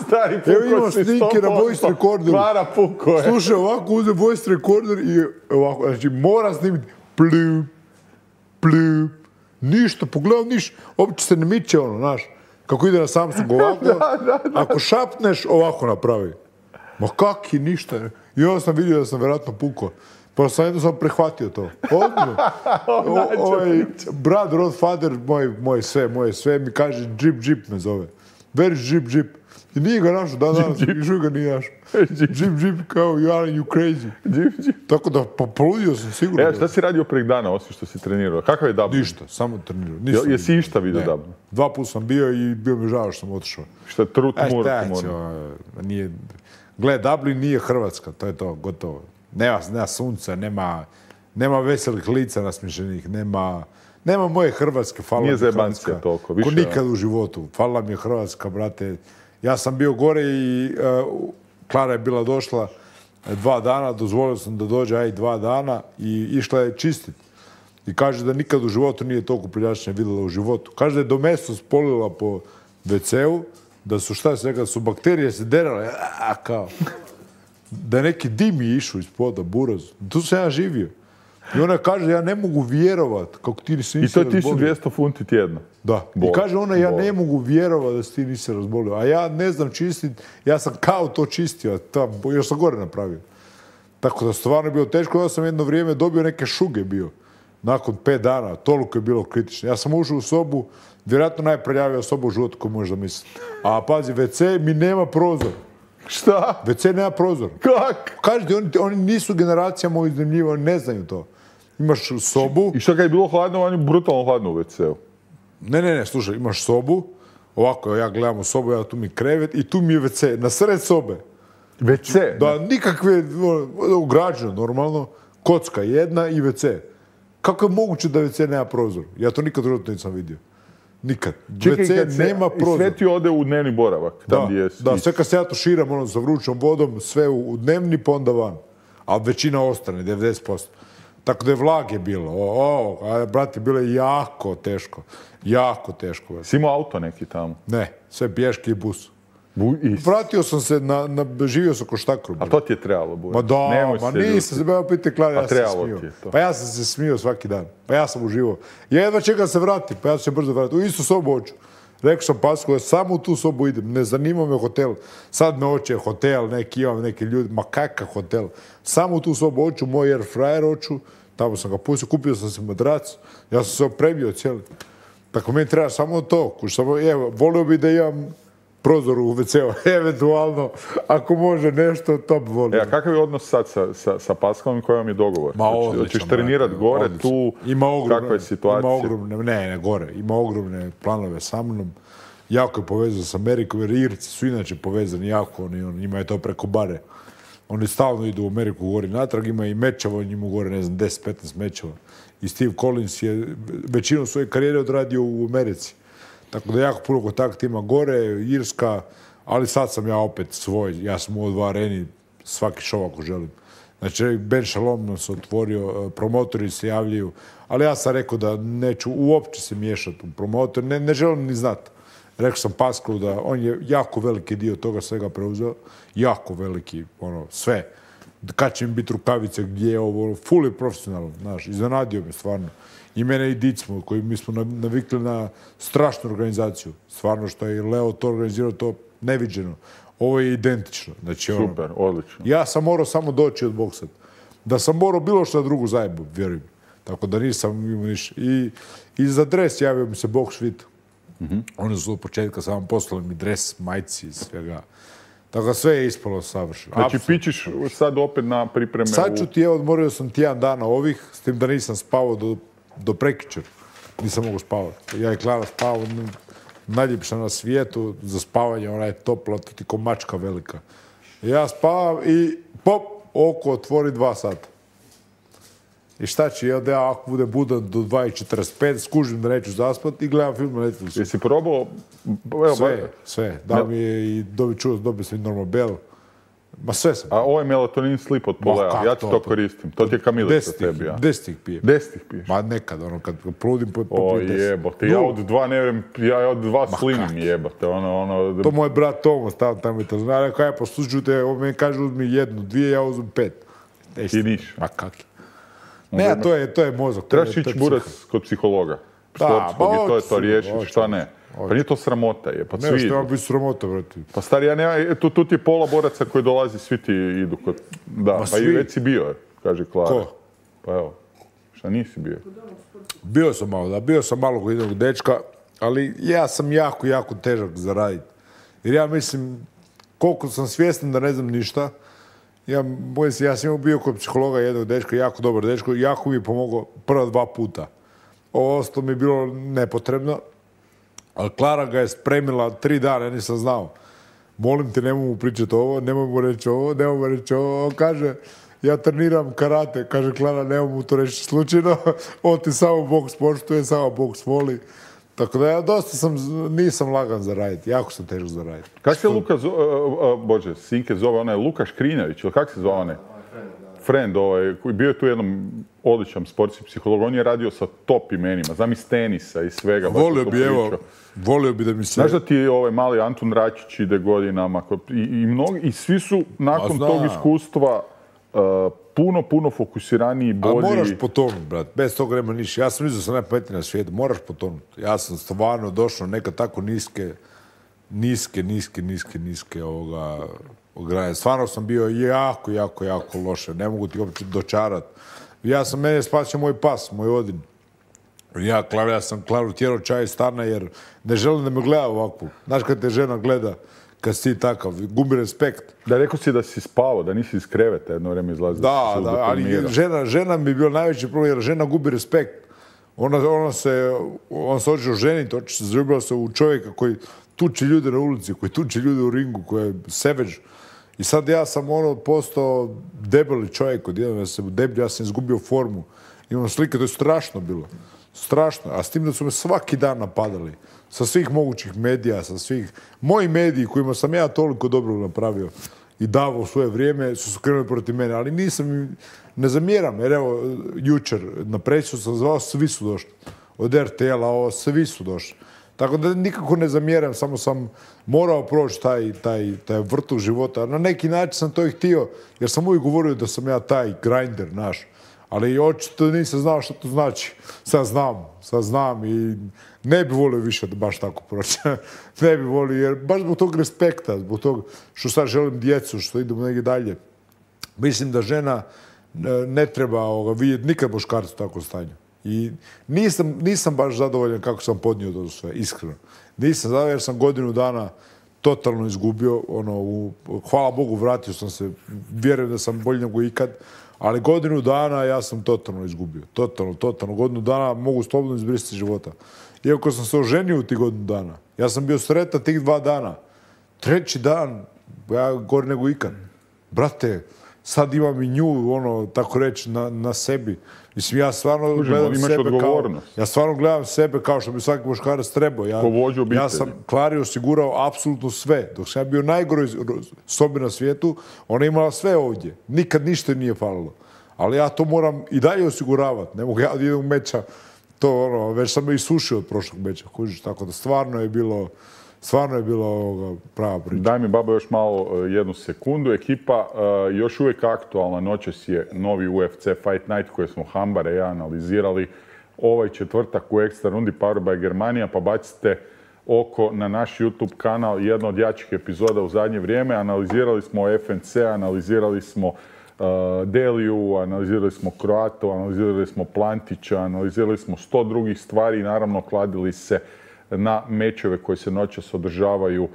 Stari puko. Evo imamo snimke na voice recorderu. Klara puko je. Slušaj, ovako uzem voice recorder i ovako, znači mora snimiti plup, plup, ništa, pogledam ništa, uopće se ne miče ono, znaš, kako ide na Samsung ovako, da, da, da. Ako šapneš, ovako napravi. Ma kaki, ništa. I onda sam vidio da sam vjerojatno pukao. Pa sam jednostavno prehvatio to. Odmah. Ovaj, brat, rodfather, moj, moj sve, moje sve, mi kaže Džip Džip me zove. Where is Jeep Jeep? I nije ga našao, dan danas, još ga nije našao. Jeep Jeep kao, you are you crazy. Jeep Jeep. Tako da, pa poludio sam sigurno. E, šta si radio prek dana, osim što si trenirao? Kakav je Dublin? Ništa, samo trenirao. Nisam Jesi vidio. išta vidio Dublin? Dva puta sam bio i bio mi žao što sam otišao. Šta je tru, E, tmura, šta će, tmura. nije... Gle, Dublin nije Hrvatska, to je to, gotovo. Nema, nema sunca, nema, nema veselih lica nasmiješenih, nema... Nema moje Hrvatske, hvala mi Nije Hrvatska. zajebancija toliko, više... Ko nikad u životu. Hvala mi je Hrvatska, brate. Ja sam bio gore i uh, Klara je bila došla dva dana, dozvolio sam da dođe aj dva dana i išla je čistit. I kaže da nikad u životu nije toliko prljačnje vidjela u životu. Kaže da je do meso spolila po ve ce u, da su šta se rekao, su bakterije se derale, a, kao. Da je neki dim je išao iz poda, buraz. Tu sam ja živio. I ona kaže, ja ne mogu vjerovat kako ti nisi I to je razbolio. tisuću dvjesto funti tjedno. Da. Bol. I kaže ona, ja Bol. ne mogu vjerovat da si ti nisi razbolio. A ja ne znam čistit, ja sam kao to čistio, tam, još sam gore napravio. Tako da stvarno je bilo teško, ja sam jedno vrijeme dobio neke šuge bio. Nakon pet dana, toliko je bilo kritično. Ja sam ušao u sobu, vjerojatno najprljavija soba u životu koju možeš zamisliti. A pazi, ve ce mi nema prozor. Šta? ve ce nema prozor. Kak? Kažete, oni, oni nisu generacija moji iznajmljiva, oni ne znaju to. Imaš sobu... I šta kad je bilo hladno, on je brutalno hladno u ve ce u. Ne, ne, ne, slušaj, imaš sobu, ovako, ja gledam u sobu, ja tu mi krevet i tu mi je ve ce, na sred sobe. ve ce? Da, nikakve, ono, ugrađeno, normalno, kocka jedna i ve ce. Kako je moguće da ve ce nema prozor? Ja to nikad u životu nisam vidio. Nikad. Čekaj, ve ce kad se- nema i prozor. sve ti ode u dnevni boravak, tam Da, gdje jesi. da, sve kad se ja tuširam ono, sa vrućom vodom, sve u, u dnevni pa onda van. A većina ostane, devedeset posto. Tako da je vlage bilo. O, o, a, brate, bilo je jako teško. Jako teško. brate. Si imao auto neki tamo? Ne, sve pješke i bus. Bu, i, Vratio sam se, na, na, živio sam ko štakru. a to ti je trebalo, Buja. Ma da, Nemoj ma se nisam ljutiti. se, ba, pite Klara, ja A sam se trebalo smio. ti je to. Pa ja sam se smio svaki dan. Pa ja sam uživao. Ja jedva čekam da se vratim, pa ja ću se brzo vratiti. U istu sobu hoću. Rekao sam Pasku, ja samo u tu sobu idem. Ne zanima me hotel. Sad me hoće hotel, neki imam neki ljudi. Ma kakav hotel? Samo u tu sobu hoću, moj air fryer hoću. Tamo sam ga pustio, kupio sam se madrac. Ja sam se opremio cijeli. Tako meni treba samo to. Kuš, samo, evo, volio bi da imam prozor u ve ce u, eventualno, ako može nešto, to bi volio. E, a kakav je odnos sad sa, sa, sa Paskalom i koji vam je dogovor? Ma, Hoće- odličan, Hoćeš trenirat brate, gore, odličan. tu, Ima ogromne, kakva je situacija? Ima ogromne, ne, ne, gore. Ima ogromne planove sa mnom. Jako je povezan s Amerikom, jer Irci su inače povezani jako. Oni, oni, njima je to preko bare. Oni stalno idu u Ameriku gore natrag, ima i mečeva, njima gore, ne znam, deset petnaest mečeva. I Steve Collins je većinu svoje karijere odradio u Americi. Tako da jako puno kontakta ima gore, Irska, ali sad sam ja opet svoj. Ja sam u dva areni, svaki show ako želim. Znači, Ben Shalom nam se otvorio, promotori se javljaju, ali ja sam rekao da neću uopće se miješati u promotor, ne, ne želim ni znati. Rekao sam Paskalu da on je jako veliki dio toga svega preuzeo, jako veliki, ono, sve. Kad će mi biti rukavice, gdje je ovo, fully profesionalno, znaš, iznenadio me stvarno. I mene i Dicmo, koji mi smo navikli na strašnu organizaciju. Stvarno što je Leo to organizirao, to neviđeno. Ovo je identično. Znači, ono, Super, odlično. ja sam morao samo doći od boksat. Da sam morao bilo što drugu zajebu, vjerujem. Tako da nisam imao ništa. I, i za dres javio mi se Box Fit. Mhm. Oni su od početka samo poslali mi dres, majci i svega. Tako da sve je ispalo savršeno. Znači, Apsolutno. pićiš sad opet na pripreme Sad ću u... ti, evo, odmorio sam tjedan dana ovih, s tim da nisam spavao do, do prekjučer. Nisam mogu spavati. Ja i Klara spavao najljepša na svijetu, za spavanje, ona je topla, to ti ko mačka velika. Ja spavam i pop, oko otvori dva sata. I šta ću, ja da ja ako bude budan do dva i četrdeset pet, skužim da neću zaspati i gledam film na Netflixu. Jesi probao... Evo, Sve, ba- sve. Da mi je i dobi čuo, dobio sam i Normabel. Ma sve sam. A ovo je melatonin slip od Polea, kak ja ti to, to to? koristim. To ti je kamilica Deset ih, tebi, ja. deset ih pijem. Deset ih piješ. Ma nekad, ono, kad poludim po, po O pijem deset. jebote, ja No, od dva ne vjerujem, ja od dva kak? slimim jebote, ono, ono... To moj brat Tomo stavio tamo i to zna. Rekao, ja poslušaju te, on meni kaže uzmi jednu, dvije, ja uzmem pet. Ti niš. Ma kak? Ne, a to je, to je mozak. to je- Trebaš to je ići psiha. burac kod psihologa. Da, Sportskog pa i to je to hoću, riješiti, hoću, šta ne. hoću. Pa nije to sramota je, pa Ne, svi što idu. nema biti sramota, brate. Pa stari, ja nema, e, tu, tu ti je pola boraca koji dolazi, svi ti idu kod... Da, pa i svi. već si bio, kaže Klara. Ko? Pa evo, šta nisi bio? Bio sam malo, da, bio sam malo kod jednog dečka, ali ja sam jako, jako težak za raditi. Jer ja mislim, koliko sam svjestan da ne znam ništa, ja, bojim se, ja sam bio kod psihologa jednog dečka, jako dobar dečko, jako mi je pomogao prva dva puta. Ovo ostalo mi je bilo nepotrebno, ali Klara ga je spremila tri dana, ja nisam znao. Molim te, nemoj mu pričati ovo, nemoj mu reći ovo, nemoj mu reći ovo. On kaže, ja treniram karate. Kaže Klara, nemoj mu to reći slučajno. On ti samo boks poštuje, samo boks voli. Tako da ja dosta sam, nisam lagan za raditi. Jako sam težak za raditi. Kako se Luka zove, uh, uh, bože, Sinke zove, onaj Luka Škrinjavić, ili kako se zove onaj? Friend, ovaj, koji bio je tu jednom odličan sportski psiholog, on je radio sa top imenima, znam iz tenisa i svega. Volio bi, evo, volio bi da mi se... Znaš da ti ovaj mali Antun Račić ide godinama i, i, mnogi, i svi su nakon tog iskustva uh, puno, puno fokusiraniji, bolji. A moraš potonuti, brat, bez toga nema ništa. Ja sam mislio da sam najpametniji na svijetu, moraš potonuti. Ja sam stvarno došao neka tako niske, niske, niske, niske, niske ovoga... Granje. Stvarno sam bio jako, jako, jako loše. Ne mogu ti uopće dočarati. Ja sam, mene spasio moj pas, moj Odin. Ja, Klar, ja sam Klaru tjerao čaj iz stana jer ne želim da me gleda ovako. Znaš kad te žena gleda, kad si takav, gubi respekt. Da, rekao si da si spavao, da nisi iz kreveta jedno vrijeme izlazio. Da, da, ali žena, žena mi je bio najveći problem jer žena gubi respekt. Ona, ona se, ona se hoće oženiti, hoće se zaljubila se u čovjeka koji tuče ljude na ulici, koji tuče ljude u ringu, koji je savage. I sad ja sam ono postao debeli čovjek, odjednom ja sam deblji, ja sam izgubio formu. Imam slike, to je strašno bilo. Strašno. A s tim da su me svaki dan napadali. Sa svih mogućih medija, sa svih... Moji mediji kojima sam ja toliko dobro napravio i davao svoje vrijeme su se krenuli protiv mene. Ali nisam, ne zamjeram, jer evo, jučer na presicu sam zvao, svi su došli. Od er te el-a, ovo, svi su došli. Tako da nikako ne zamjeram, samo sam morao proći taj, taj, taj vrtu života. Na neki način sam to i htio, jer sam uvijek govorio da sam ja taj grinder naš. Ali očito nisam znao što to znači. Sad znam, sad znam i ne bi volio više da baš tako proći. Ne bi volio, jer baš zbog tog respekta, zbog tog što sad želim djecu, što idemo negdje dalje. Mislim da žena ne treba ovoga, vidjeti nikad muškarcu u takvom stanju. I nisam, nisam baš zadovoljan kako sam podnio to sve, iskreno. Nisam zadovoljan jer sam godinu dana totalno izgubio. Ono, u, hvala Bogu, vratio sam se. Vjerujem da sam bolji nego ikad. Ali godinu dana ja sam totalno izgubio. Totalno, totalno. Godinu dana mogu slobodno izbrisati života. Iako sam se oženio u tih godinu dana. Ja sam bio sretan tih dva dana. Treći dan, ja gori nego ikad. Brate, sad imam i nju, ono, tako reći, na, na sebi. Mislim, ja stvarno Užemo, gledam imaš sebe odgovornost. kao... Ja stvarno gledam sebe kao što bi svaki muškarac trebao. Ja, ja sam Klari osigurao apsolutno sve. Dok sam ja bio najgoroj sobi na svijetu, ona je imala sve ovdje. Nikad ništa nije falilo. Ali ja to moram i dalje osiguravati. Ne mogu ja da idem u meča. To, ono, već sam me isušio od prošlog meča. Kužiš, tako da stvarno je bilo... Stvarno je bilo ovoga prava priča. Daj mi, babo, još malo jednu sekundu. Ekipa uh, još uvijek aktualna. Noćas je novi u ef ce Fight Night koji smo Hambare i ja analizirali. Ovaj četvrtak u ekstra rundi Powered by Germania, pa bacite oko na naš YouTube kanal. Jedna od jačih epizoda u zadnje vrijeme. Analizirali smo ef en ce, analizirali smo uh, Deliju, analizirali smo Kroatu, analizirali smo Plantića, analizirali smo sto drugih stvari i naravno kladili se na mečeve koji se noćas održavaju uh,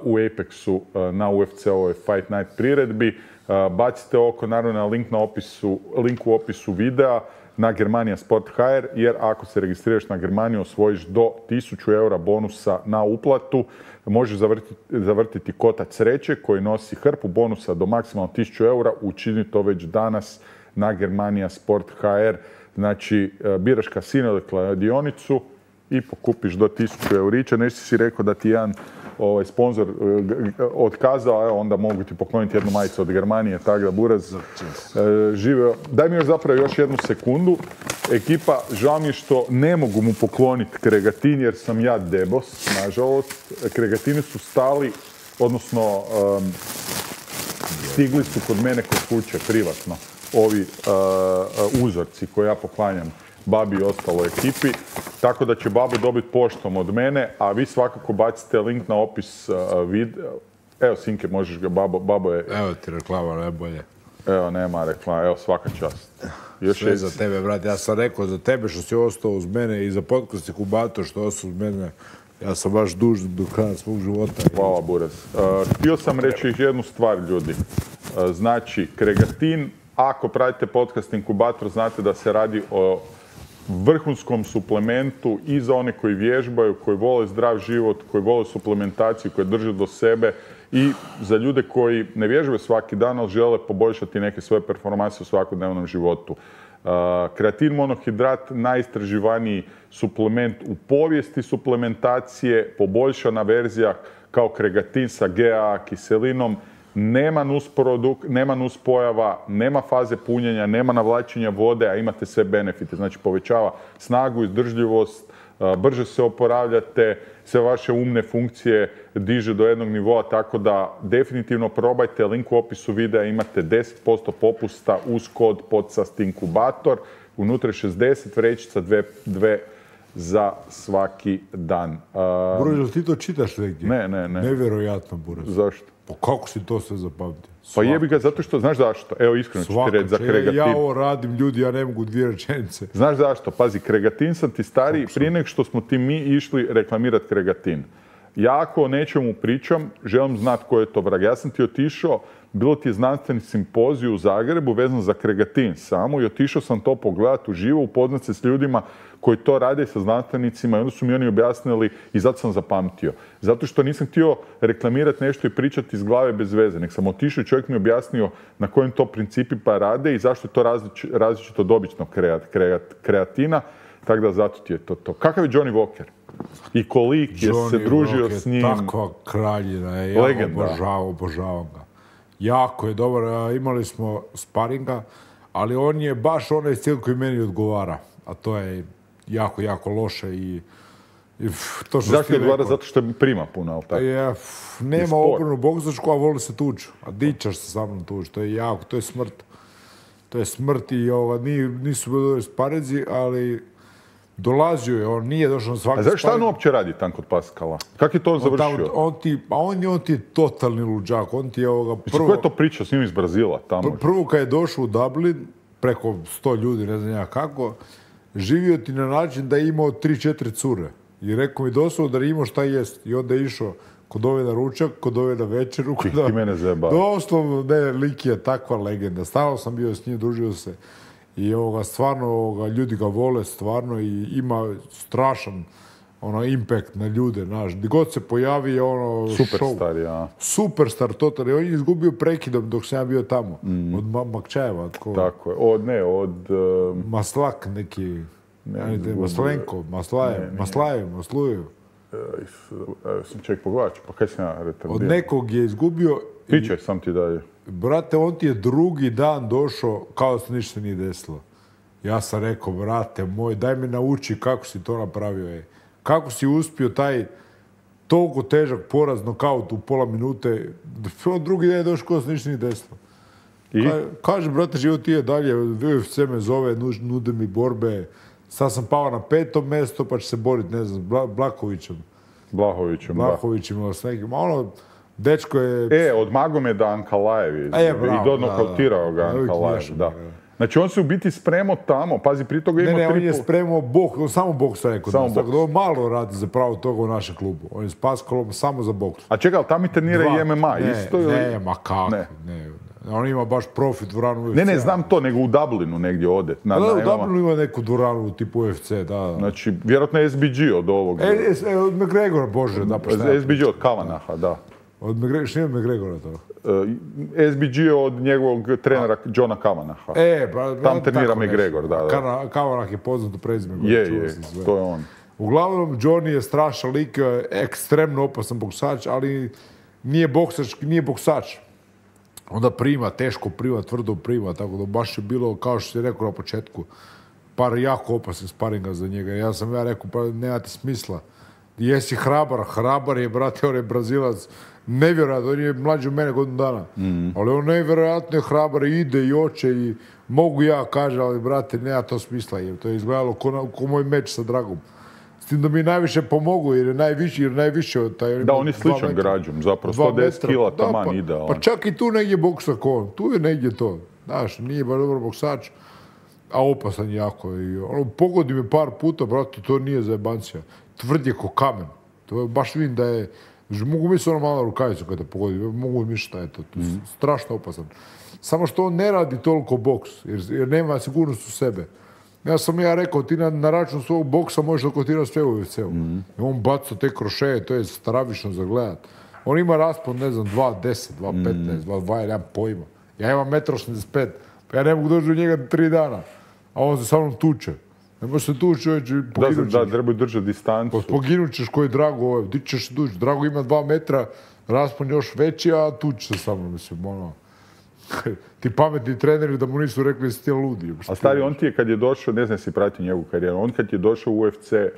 u Apexu uh, na u ef ce-ovoj Fight Night priredbi. Uh, bacite oko, naravno, na link, na opisu, link u opisu videa na Germania Sport ha er, jer ako se registriraš na Germaniju osvojiš do tisuću eura bonusa na uplatu. Možeš zavrtiti, zavrtiti kotac sreće koji nosi hrpu bonusa do maksimalno tisuću eura. Učini to već danas na Germania Sport ha er. Znači, uh, biraš kasino ili kladionicu i pokupiš do tisuću eurića. Nešto si rekao da ti jedan ovaj, sponsor otkazao, evo onda mogu ti pokloniti jednu majicu od Germanije, tako da Buraz e, živeo. Daj mi još zapravo još jednu sekundu. Ekipa, žao mi je što ne mogu mu pokloniti kregatin jer sam ja debos, nažalost. Kregatini su stali, odnosno um, stigli su kod mene kod kuće privatno ovi uh, uzorci koje ja poklanjam babi i ostaloj ekipi, tako da će babo dobiti poštom od mene, a vi svakako bacite link na opis uh, videa. Evo, Sinke, možeš ga, babo, babo je... Evo ti reklama, najbolje. Evo, nema reklama, evo, svaka čast. Još sve je... za tebe, brat. Ja sam rekao za tebe što si ostao uz mene i za podcast Inkubator što ostao uz mene. Ja sam baš dužan do kraja svog života. Hvala, Buras. Uh, htio sam reći jednu stvar, ljudi. Uh, znači, kregatin, ako pratite podcast Inkubator, znate da se radi o vrhunskom suplementu i za one koji vježbaju, koji vole zdrav život, koji vole suplementaciju, koji drže do sebe i za ljude koji ne vježbaju svaki dan, ali žele poboljšati neke svoje performanse u svakodnevnom životu. Uh, kreatin monohidrat, najistraživaniji suplement u povijesti suplementacije, poboljšana verzija kao kregatin sa G A kiselinom, nema nusproduk, nema nuspojava, nema faze punjenja, nema navlačenja vode, a imate sve benefite. Znači povećava snagu, izdržljivost, brže se oporavljate, sve vaše umne funkcije diže do jednog nivoa, tako da definitivno probajte. Link u opisu videa, imate deset posto popusta uz kod podcast Inkubator. Unutra je šezdeset vrećica, dve, dve za svaki dan. Um, Buraz, jel ti to čitaš negdje? Ne, ne, ne. Nevjerojatno, Buraz. Zašto? Pa kako si to sve zapamtio? Pa jebi ga, zato što, znaš zašto? Evo, iskreno ću ti reći za kregatin. Ja ovo radim, ljudi, ja ne mogu dvije rečenice. Znaš zašto? Pazi, kregatin sam ti stari, prije nego što smo ti mi išli reklamirati kregatin. Ja ako o nečemu pričam, želim znati ko je to vrag. Ja sam ti otišao, bilo ti je znanstveni simpozij u Zagrebu vezan za kregatin samo i otišao sam to pogledati uživo, upoznat se s ljudima koji to rade sa znanstvenicima i onda su mi oni objasnili i zato sam zapamtio. Zato što nisam htio reklamirati nešto i pričati iz glave bez veze, nek sam otišao i čovjek mi objasnio na kojim to principima rade i zašto je to različ, različito od običnog kreat, kreat, kreatina, tako da zato ti je to to. Kakav je Johnny Walker? I kolik je Johnny se družio Walker, s njim. Takva kraljina je, ja Legenda. obožavam, obožavam ga. Jako je dobar, imali smo sparinga, ali on je baš onaj stil koji meni odgovara, a to je jako, jako loše i, i to što Zašto je odgovara? Zato što prima puno, ali tako? Je, f, nema obrnu boksačku, a voli se tući. A dičaš se sa mnom tući, to je jako, to je smrt. To je smrt i ovoga, nisu bili sparinzi, ali dolazio je, on nije došao na svaki sparing. A šta on uopće radi tam kod Paskala? Kako je to on završio? On, on ti, pa on, on ti je totalni luđak, on ti je ovoga prvo... Ko je to pričao s njim iz Brazila tamo? Pr prvo kad je došao u Dublin, preko sto ljudi, ne znam ja kako, živio ti na način da je imao tri četiri cure. I rekao mi doslovno da je imao šta jest. I onda je išao kod ove na ručak, kod ove na večeru. Ti, ti mene zajebao. Doslovno, ne, lik je takva legenda. Stalno sam bio s njim, družio se. I ovoga, stvarno, ovoga, ljudi ga vole, stvarno, i ima strašan ono, impact na ljude, znaš. Gdje god se pojavi je ono Superstar, ja. Superstar, totalno. On je izgubio prekidom dok sam ja bio tamo. Mm. Od Ma Makčajeva. Tko... Tako je. Od, ne, od... Uh... Maslak neki... Ne, ne, Maslenko, Maslajev, ne, ne. Maslajev, Maslujev. Uh, sam ček pogledat, pa kaj sam ja retardiran? Od nekog je izgubio... Pričaj, sam ti dalje. Brate, on ti je drugi dan došao kao da se ništa nije desilo. Ja sam rekao, brate moj, daj mi nauči kako si to napravio. Je. Kako si uspio taj toliko težak poraz, nokaut u pola minute. On drugi dan je došao kao da se ništa nije desilo. I? Ka, kaže, brate, život ti je dalje, U F C me zove, nude mi borbe. Sad sam pao na petom mjesto, pa će se boriti, ne znam, Bla, Blakovićem. Blahovićem, Blahovićem, ili s nekim. Ono, dečko je... E, od Magomeda Ankalaev je. E, bravo, i donokautirao ga Ankalaev, da. Znači, on se u biti spremao tamo, pazi, prije toga ima ne, ne, tripu... on je spremao bok, on samo boks rekao. Samo boks. Tako da on malo radi za pravo toga u našem klubu. On je s Paskalom samo za boks. A čekaj, ali tamo i trenira i M M A, ne, isto ili... Ne, ma kako, ne. ne. On ima baš profit dvoranu U F C. Ne, ne, znam to, nego u Dublinu negdje ode. Na, da, na, u Dublinu ima neku dvoranu tipu U F C, da, da. Znači, vjerojatno je S B G od ovog. E, e, od McGregora, bože, da, pa šta S B G od Kavanaha, da. Od McGregora, što je od McGregora to? Uh, S B G je od njegovog trenera Johna Kavanaha. E, pa... Tam trenira McGregor, da, da. Kavanah je poznat u prezime. Je, je, to je on. Uglavnom, Johnny je strašan lik, ekstremno opasan boksač, ali nije boksač, nije boksač. Onda prima, teško prima, tvrdo prima, tako da baš je bilo, kao što si rekao na početku, par jako opasnih sparinga za njega. Ja sam ja rekao, pa nema ti smisla. Jesi hrabar, hrabar je, brate, on je Brazilac, nevjerojatno, on je mlađi od mene godinu dana. Mm. Ali on nevjerojatno je hrabar, ide i oče i mogu ja, kaže, ali brate, nema to smisla. Je. To je izgledalo ko, ko moj meč sa Dragom. S tim da mi najviše pomogu, jer je najviši, jer najviše od taj... Da, on je sličan građom, zapravo, sto deset kila taman pa, idealan. Pa čak i tu negdje boksa ko on, tu je negdje to. Znaš, nije baš dobar boksač, a opasan jako. I, ono, pogodi me par puta, brate, to nije zajebancija. Tvrd je ko kamen. To je, baš vidim da je, mogu misliti ono malo rukavicu kada pogodi, mogu misliti šta je to, to je mm. strašno opasan. Samo što on ne radi toliko boks, jer, jer nema sigurnost u sebe. Ja sam ja rekao, ti na, na račun svog boksa možeš okotirati sve u U F C-u. Mm. On baca te krošeje, to je stravično za gledat. On ima raspon, ne znam, dva deset, dva petnaest, dva dvadeset, nemam pojma. Ja imam jedan osamdeset pet, pa ja ne mogu doći do njega tri dana, a on se sa mnom tuče. Ne može se tući, čovječ, poginut ćeš. Da, da, trebaju držati distancu. Poginut ćeš koji Drago, ovaj, ti ćeš se tući. Drago ima dva metra, raspon još veći, a tući se sa mnom, mislim, ono. Ti pametni treneri da mu nisu rekli si ti ludi. A stari, on ti je kad je došao, ne znam si pratio njegovu karijeru, on kad je došao u U F C,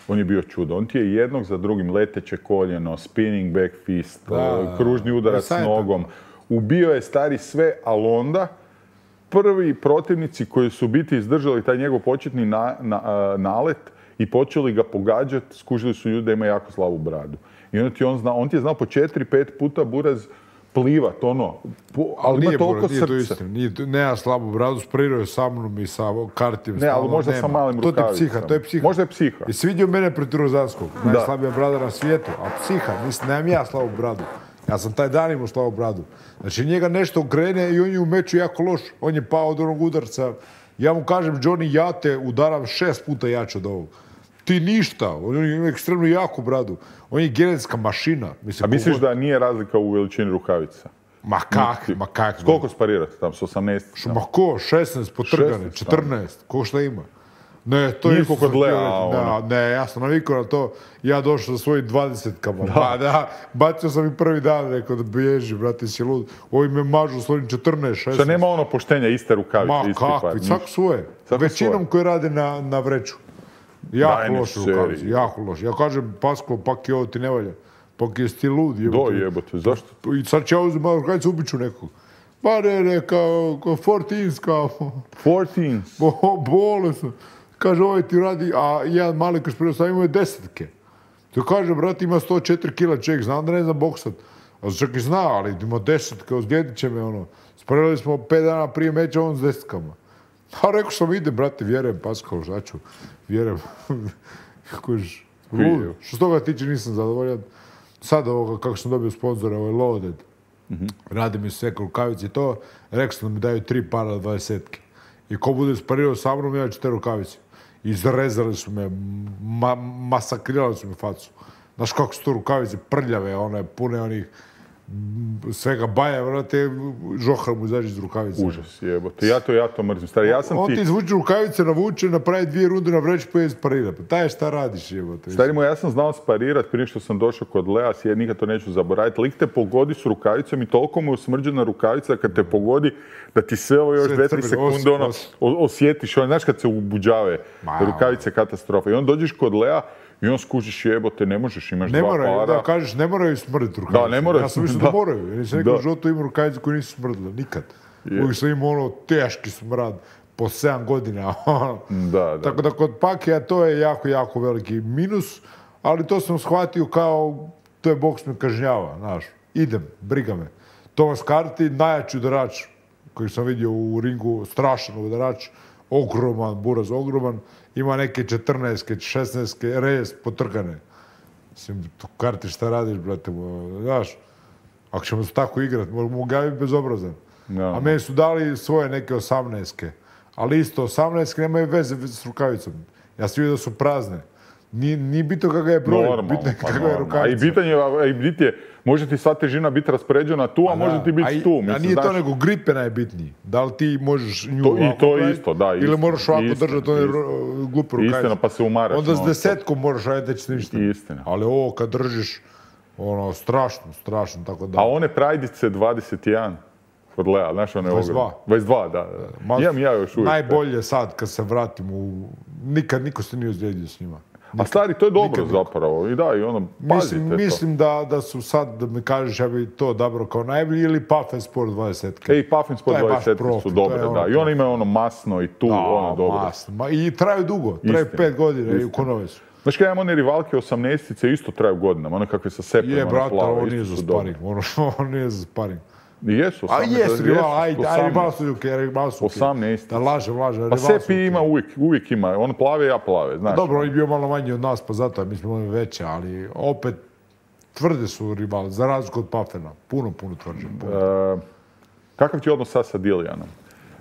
on je bio čudo. On ti je jednog za drugim leteće koljeno, spinning back fist, da, kružni udarac s nogom. Ubio je stari sve, ali onda prvi protivnici koji su biti izdržali taj njegov početni na, na, nalet i počeli ga pogađati, skužili su ljudi da ima jako slabu bradu. I onda ti on zna, on ti je znao po četiri, pet puta Buraz plivat, ono, po, ali ima toliko srca. Nije to istina, nije, nema slabu bradu, sparirao je sa mnom i sa kartim. Ne, ali možda sa malim rukavicama. To je psiha, to je psiha. Možda je psiha. I svidio mene protiv Rozanskog, najslabija brada na svijetu, a psiha, mislim, nemam ja slabu bradu. Ja sam taj dan imao slabu bradu. Znači, njega nešto krene i on je u meču jako loš. On je pao od onog udarca. Ja mu kažem, Johnny, ja te udaram šest puta jače od ovog. Ti ništa. On ima ekstremno jaku bradu. On je genetska mašina. Mislim, a misliš da nije razlika u veličini rukavica? Ma kak, ma kak. Koliko sparirate tam, s osamnaest? Ma ko, šesnaest potrgane, četrnaest, ko šta ima? Ne, to je kod Lea, ono. Ne, ja sam navikao na to. Ja došao sa svojim dvadesetkama. Da. Ba, da, bacio sam i prvi dan, rekao da bježi, brate, si lud. Ovi me mažu svojim četrnaest, šesnaest. Što nema ono poštenja, iste rukavice, ma, isti par. Ma kakvi, svako svoje. Svako većinom svoje. Koji rade na, na vreću. Jako loše rukavice, jako loše. Ja kažem, Pasko, pak je ovo ti ne valja. Pak je ti lud, jebote. Do jebote, zašto? I sad će ja uzim malo rukavice, ubiću nekog. Pa ne, ne, kao, kao fourteens, kao... fourteens? Bo, bole sam. Kaže, ovaj ti radi, a jedan mali koji špreo sam imao je desetke. To kaže, brat, ima sto četiri kila čovjek, znam da ne znam boksat. A čak i zna, ali ima desetke, ozlijedit će me, ono. Spremili smo pet dana prije meča, on s desetkama. A rekao sam, ide, brate, vjerujem, Paskal, šta ću, vjerujem. Kojiš, lud. Što s toga tiče nisam zadovoljan. Sad ovoga, kako sam dobio sponzora, ovo je Loaded. Mm-hmm. Radi mi sve rukavice i to. Rekao sam da mi daju tri para dvadesetke. I ko bude sparirao sa mnom, ja ću te rukavice. Izrezali su me, ma, masakrirali su me facu. Znaš kako su to rukavice prljave, one pune onih svega baja, vrate, žohar mu izađe iz rukavice. Užas, jebote. Ja to, ja to mrzim. Stari, ja sam on ti... ti izvuče rukavice, navuče, napravi dvije runde na vreć, pa je sparira. Pa taj šta radiš, jebote. Stari moj, ja sam znao sparirat prije što sam došao kod Lea, sjed, nikad to neću zaboraviti. Lik te pogodi s rukavicom i toliko mu je usmrđena rukavica kad te pogodi da ti sve ovo još dvije tri sekunde ono, osjetiš. Ono, znaš kad se ubuđave rukavice, katastrofa. I on dođeš kod Lea i on skužiš jebote, ne možeš, imaš ne dva moraju, para. Da, kažeš, ne moraju smrditi rukavice. Da, ne moraju. Ja sam mislio da, da moraju. Ja sam rekao, u životu ima rukavice koje nisu smrdile, nikad. Yeah. Uvijek sam imao ono teški smrad po sedam godina. Da, da. Tako da kod Pakija to je jako, jako veliki minus, ali to sam shvatio kao, to je boks me kažnjava, znaš. Idem, briga me. Tomas Carty, najjači udarač koji sam vidio u ringu, strašan udarač, ogroman, Buraz ogroman, ima neke četrnaestke, šesnaestke, rez potrgane. Mislim, Carty šta radiš, brate, znaš, ako ćemo se tako igrati, mogu ga biti bezobrazan. No. A meni su dali svoje neke osamnaestke, ali isto osamnaestke nemaju veze s rukavicom. Ja sam vidio da su prazne. Nije, nije bitno kakav je broj, normalno, bitno je kakav je rukavica. A i bitanje je, bit je, može ti sva težina biti raspoređena tu, a, a može ti biti tu. Mislim, a nije znaš... to nego gripe najbitnije. Da li ti možeš nju to, ovako i to isto, da, isto, ili moraš ovako istina, držati, to je glupo rukavica. Istina, pa se umaraš. Onda s desetkom moraš raditi da će ništa. Istina. Ali ovo kad držiš, ono, strašno, strašno, tako da... A one prajdice dvadeset jedan? Kod Lea, znaš one dvadeset dva. dvadeset dva, da. da. Imam ja još uvijek. Najbolje sad kad se vratim u... Nikad niko se nije ozlijedio s njima. Nikad. A stari, to je dobro nikad zapravo. I da, i ono, pazite mislim, to. Mislim da, da su sad, da mi kažeš, ja bi to odabrao kao najbolji ili Puff Sport dvadeset. Ej, Puff Sport dvadeset su dobre, da. Ono, i one imaju ono masno i tu, da, ono dobro. Masno. Ma, i traju dugo, traju pet godina istina. I u konove su. Znaš kada imam one rivalke osamnaestice isto traju godinama, one kakve sa sepem, je, ono brata, plave, ovo nije za sparing, ono, ovo nije za sparing. Jesu, osamnaest. A jesu, rival, ajde, ajde, malo su juke, malo su osamnaest. Da lažem, lažem. Pa Sepi ima uvijek, uvijek ima, on plave, ja plave, znaš. Dobro, on je bio malo manji od nas, pa zato mi smo imali veće, ali opet tvrde su rivali, za razliku od Pafena. Puno, puno tvrđe. Uh, kakav ti odnos sad sa Dillijanom?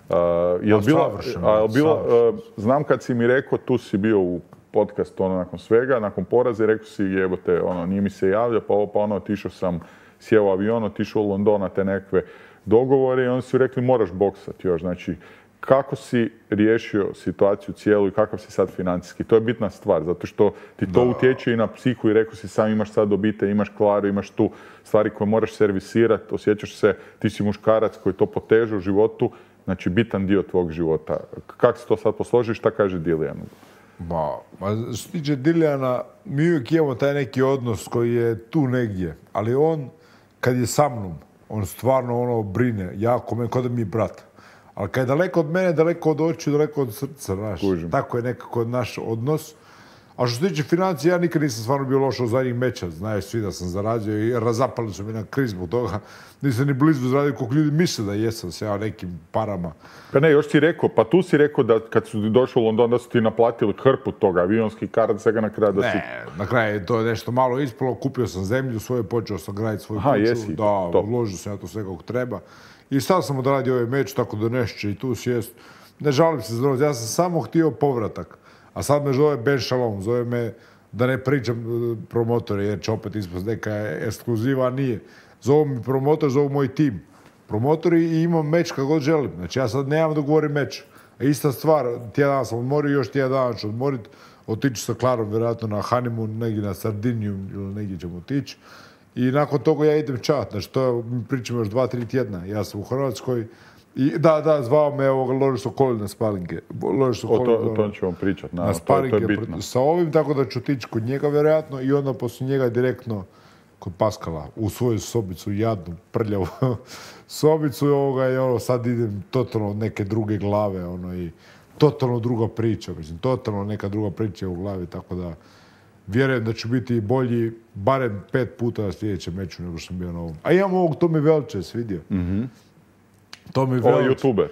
Uh, jel bila, a, jel bila, uh, znam kad si mi rekao, tu si bio u podcastu ono, nakon svega, nakon poraza i rekao si jebote, ono, nije mi se javlja, pa, pa ono, otišao sam, sjeo u avion, otišao u London na te nekakve dogovore i oni su rekli moraš boksati još. Znači, kako si riješio situaciju cijelu i kakav si sad financijski? To je bitna stvar, zato što ti to da. utječe i na psihu i rekao si sam imaš sad obitelj, imaš Klaru, imaš tu stvari koje moraš servisirati, osjećaš se, ti si muškarac koji to poteže u životu, znači bitan dio tvog života. Kako si to sad posložio, šta kaže Dillijan? Ba, ma što se tiče Dillijana, mi uvijek imamo taj neki odnos koji je tu negdje, ali on, kad je sa mnom, on stvarno ono brine, jako me, kod da mi je brat. Ali kad je daleko od mene, daleko od očiju, daleko od srca, znaš. Kužim. Tako je nekako naš odnos. A što se tiče financija, ja nikad nisam stvarno bio loš od zadnjih meča. Znaju svi da sam zaradio i razapali su mi na kriz zbog toga. Nisam ni blizu zaradio koliko ljudi misle da jesam se ja nekim parama. Pa ne, još si rekao, pa tu si rekao da kad su došli u London da su ti naplatili hrpu toga, avionski kart, svega na kraju da si... Ne, na kraju je to nešto malo ispalo, kupio sam zemlju svoju, počeo sam graditi svoju Aha, kuću. Jesi, da, to. uložio sam ja to sve kako treba. I sad sam odradio ovaj meč, tako da nešće i tu sjest. Ne žalim se za ja sam samo htio povratak. A sad me zove Ben Shalom, zove me da ne pričam promotore, jer će opet ispast neka ekskluziva, a nije. Zovu mi promotor, zovu moj tim. Promotori i imam meč kako god želim. Znači ja sad nemam da govorim meč. A ista stvar, tjedan dana sam odmorio, još tjedan dana ću odmoriti. Otići sa Klarom, vjerojatno na honeymoon, negdje na Sardiniju ili negdje ćemo otići. I nakon toga ja idem čat, znači to mi pričamo još dva, tri tjedna. Ja sam u Hrvatskoj i da, da, zvao me ovoga Loris Okolin na sparinge. Loris Okolin, o to, to ćemo pričati, na, na sparinge to, to je bitno. Sa ovim, tako da ću otići kod njega vjerojatno i onda poslije njega direktno kod Paskala u svoju sobicu, jadnu, prljavu sobicu i ovoga i ono, sad idem totalno od neke druge glave, ono i totalno druga priča, mislim, totalno neka druga priča u glavi, tako da vjerujem da ću biti bolji barem pet puta na sljedećem meču nego što sam bio na ovom. A imam ovog Tomi Velče, svidio. Mm-hmm. Tomi Velč. Ovo je youtuber?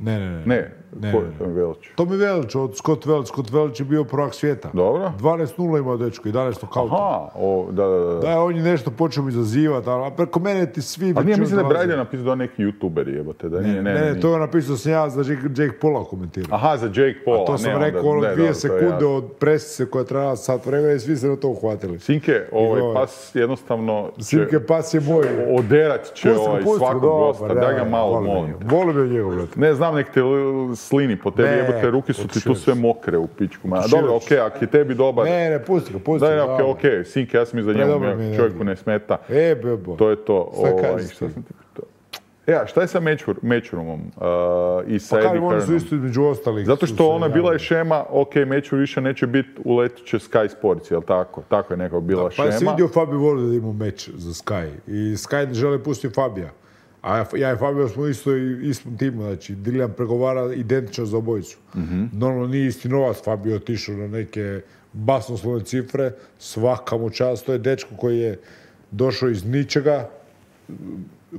Ne, ne, ne. Ne, ne ko je Tomi Velč? Tomi Velč, od Scott Welch. Scott Welch je bio prvak svijeta. Dobro. dvanaest nula imao dečko, jedanaest nokauta. Aha, o, da, da, da. Da, on je nešto počeo mi izazivati, a preko mene ti svi... A nije mislim da je Brajde napisao da neki youtuber jebote, da nije, ne, ne, ne, ne, to je napisao sam ja za Jake Paula komentirao. Aha, za Jake Paula. A to sam ne, rekao onda, ono dvije ne, sekunde od presice koja trajala sat vremena i svi se na to uhvatili. Sinke, ovaj I, pas jednostavno će... Sinke, pas je moj. Oderat će pusti, ovaj pusti, svakog dobar, gosta, da ga malo molim. Volim je njegov, brate. Ne znam, nek te slini po tebi, jebote, ruke su ti tu sve mokre u pičku. Ma, dobro, okej, okay, ako je tebi dobar... Ne, ne, pusti ga, pusti ga. Da, okej, okej, Sinke, ja sam iza njemu, čovjeku ne smeta. E, bebo. To je to. Šta kažeš ti? E, a šta je sa Matchroomom uh, i sa pa Eddie Hearnom? Pa oni su isto između ostalih. Zato što ona bila je šema, ok, Matchroom više neće biti uletit će Sky Sports, jel tako? Tako je nekako bila da, šema. Pa si vidio Fabio Vorda da ima meč za Sky. I Sky ne žele pustiti Fabija. A ja i Fabio smo isto i istom timu, znači Dillijan pregovara identično za obojicu. Mm-hmm. Normalno nije isti novac, Fabio otišao na neke basnoslovne cifre, svaka mu čast, to je dečko koji je došao iz ničega,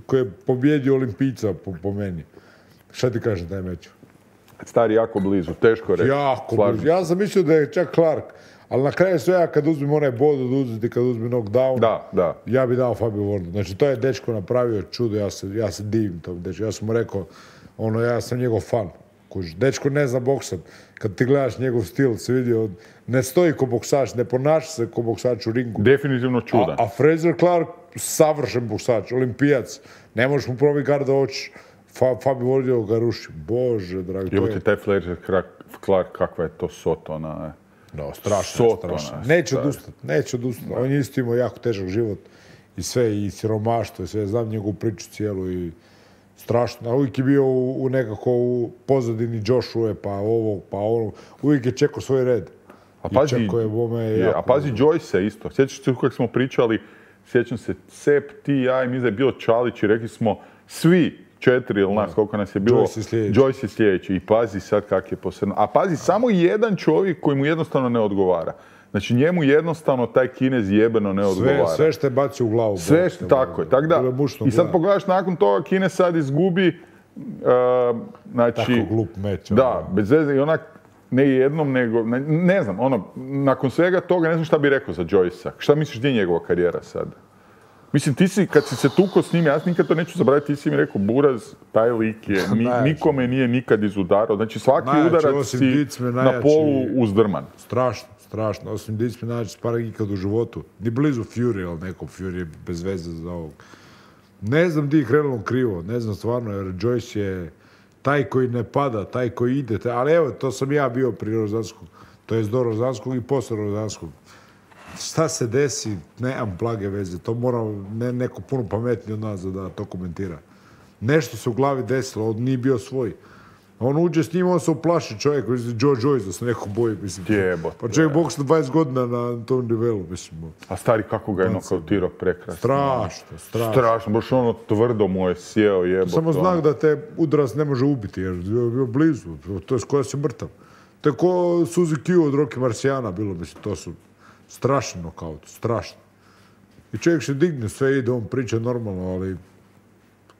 koji je pobjedio Olimpijca po, po meni. Šta ti kažem taj meč? Stari jako blizu, teško je reći. Jako blizu. Ja sam mislio da je čak Clark, ali na kraju sve ja kad uzmem onaj bod od uzeti, kad uzmem knockdown, da, da. ja bi dao Fabio Vordu. Znači to je dečko napravio čudo, ja se, ja se divim tom dečku. Ja sam mu rekao, ono, ja sam njegov fan. Kuž, dečko ne zna boksat. Kad ti gledaš njegov stil, se vidi, ne stoji ko boksač, ne ponaša se ko boksač u ringu. Definitivno čudan. A, a Fraser Clark, savršen boksač, olimpijac. Ne možeš mu probiti gar da hoćeš. Fa, Fabio Vordio ga ruši. Bože, dragi. Evo ti taj Fraser Clark, kakva je to sotona. No, strašno, strašno. Neće odustati, neće odustati. On je isto imao jako težak život. I sve, i siromaštvo, i sve. Znam njegovu priču cijelu i strašno. A uvijek je bio u, u nekako u pozadini Joshua, pa ovo, pa ono. Uvijek je čekao svoj red. A pazi, je bome je, jako... a pazi Joyce isto. Sjećaš se kako smo pričali, sjećam se Sep, ti, ja i mi da je bilo Čalić i rekli smo svi četiri ili nas, koliko nas je bilo, Joyce je sljedeći. Joyce je sljedeći. I pazi sad kak je posebno. A pazi, samo jedan čovjek koji mu jednostavno ne odgovara. Znači njemu jednostavno taj Kinez jebeno ne odgovara. Sve, sve što je baci u glavu. Sve što, tako je. Tak da, i sad pogledaš nakon toga Kinez sad izgubi, uh, znači... Tako glup meč. Da, bez veze i onak ne jednom, nego, ne, ne znam, ono, nakon svega toga ne znam šta bi rekao za Joyce-a. Šta misliš gdje je njegova karijera sad? Mislim, ti si, kad si se tukao s njim, ja nikad to neću zaboraviti, ti si mi rekao, Buraz, taj lik je, ni, nikome nije nikad izudarao. Znači, svaki najjači, udarac si na polu uzdrman. Strašno, strašno. Osim Dicme najjači sparing ikad u životu. Ni blizu Fury, ali neko Fury je bez veze za ovog. Ne znam di je krenulo krivo, ne znam stvarno, jer Joyce je taj koji ne pada, taj koji ide. Taj, ali evo, to sam ja bio pri Rozanskog. To je do Rozanskog i posle Rozanskog. Šta se desi, nemam blage veze, to mora ne, neko puno pametniji od nas da to komentira. Nešto se u glavi desilo, on nije bio svoj. On uđe s njim, on se uplaši čovjek, Joe Joyce, da se neko boji, mislim. Jebo. Pa čovjek boks na dvadeset godina na tom nivelu, mislim. A stari, kako ga je nokautirao prekrasno. Strašno, strašno. Strašno, baš ono tvrdo mu je sjeo, jebo. Samo znak da te udarac ne može ubiti, jer je bio blizu, to je skoro si mrtav. To je ko Suzy Q od Rocky Marciana bilo, mislim, to su strašni nokaut, strašno. I čovjek se digne, sve ide, on priča normalno, ali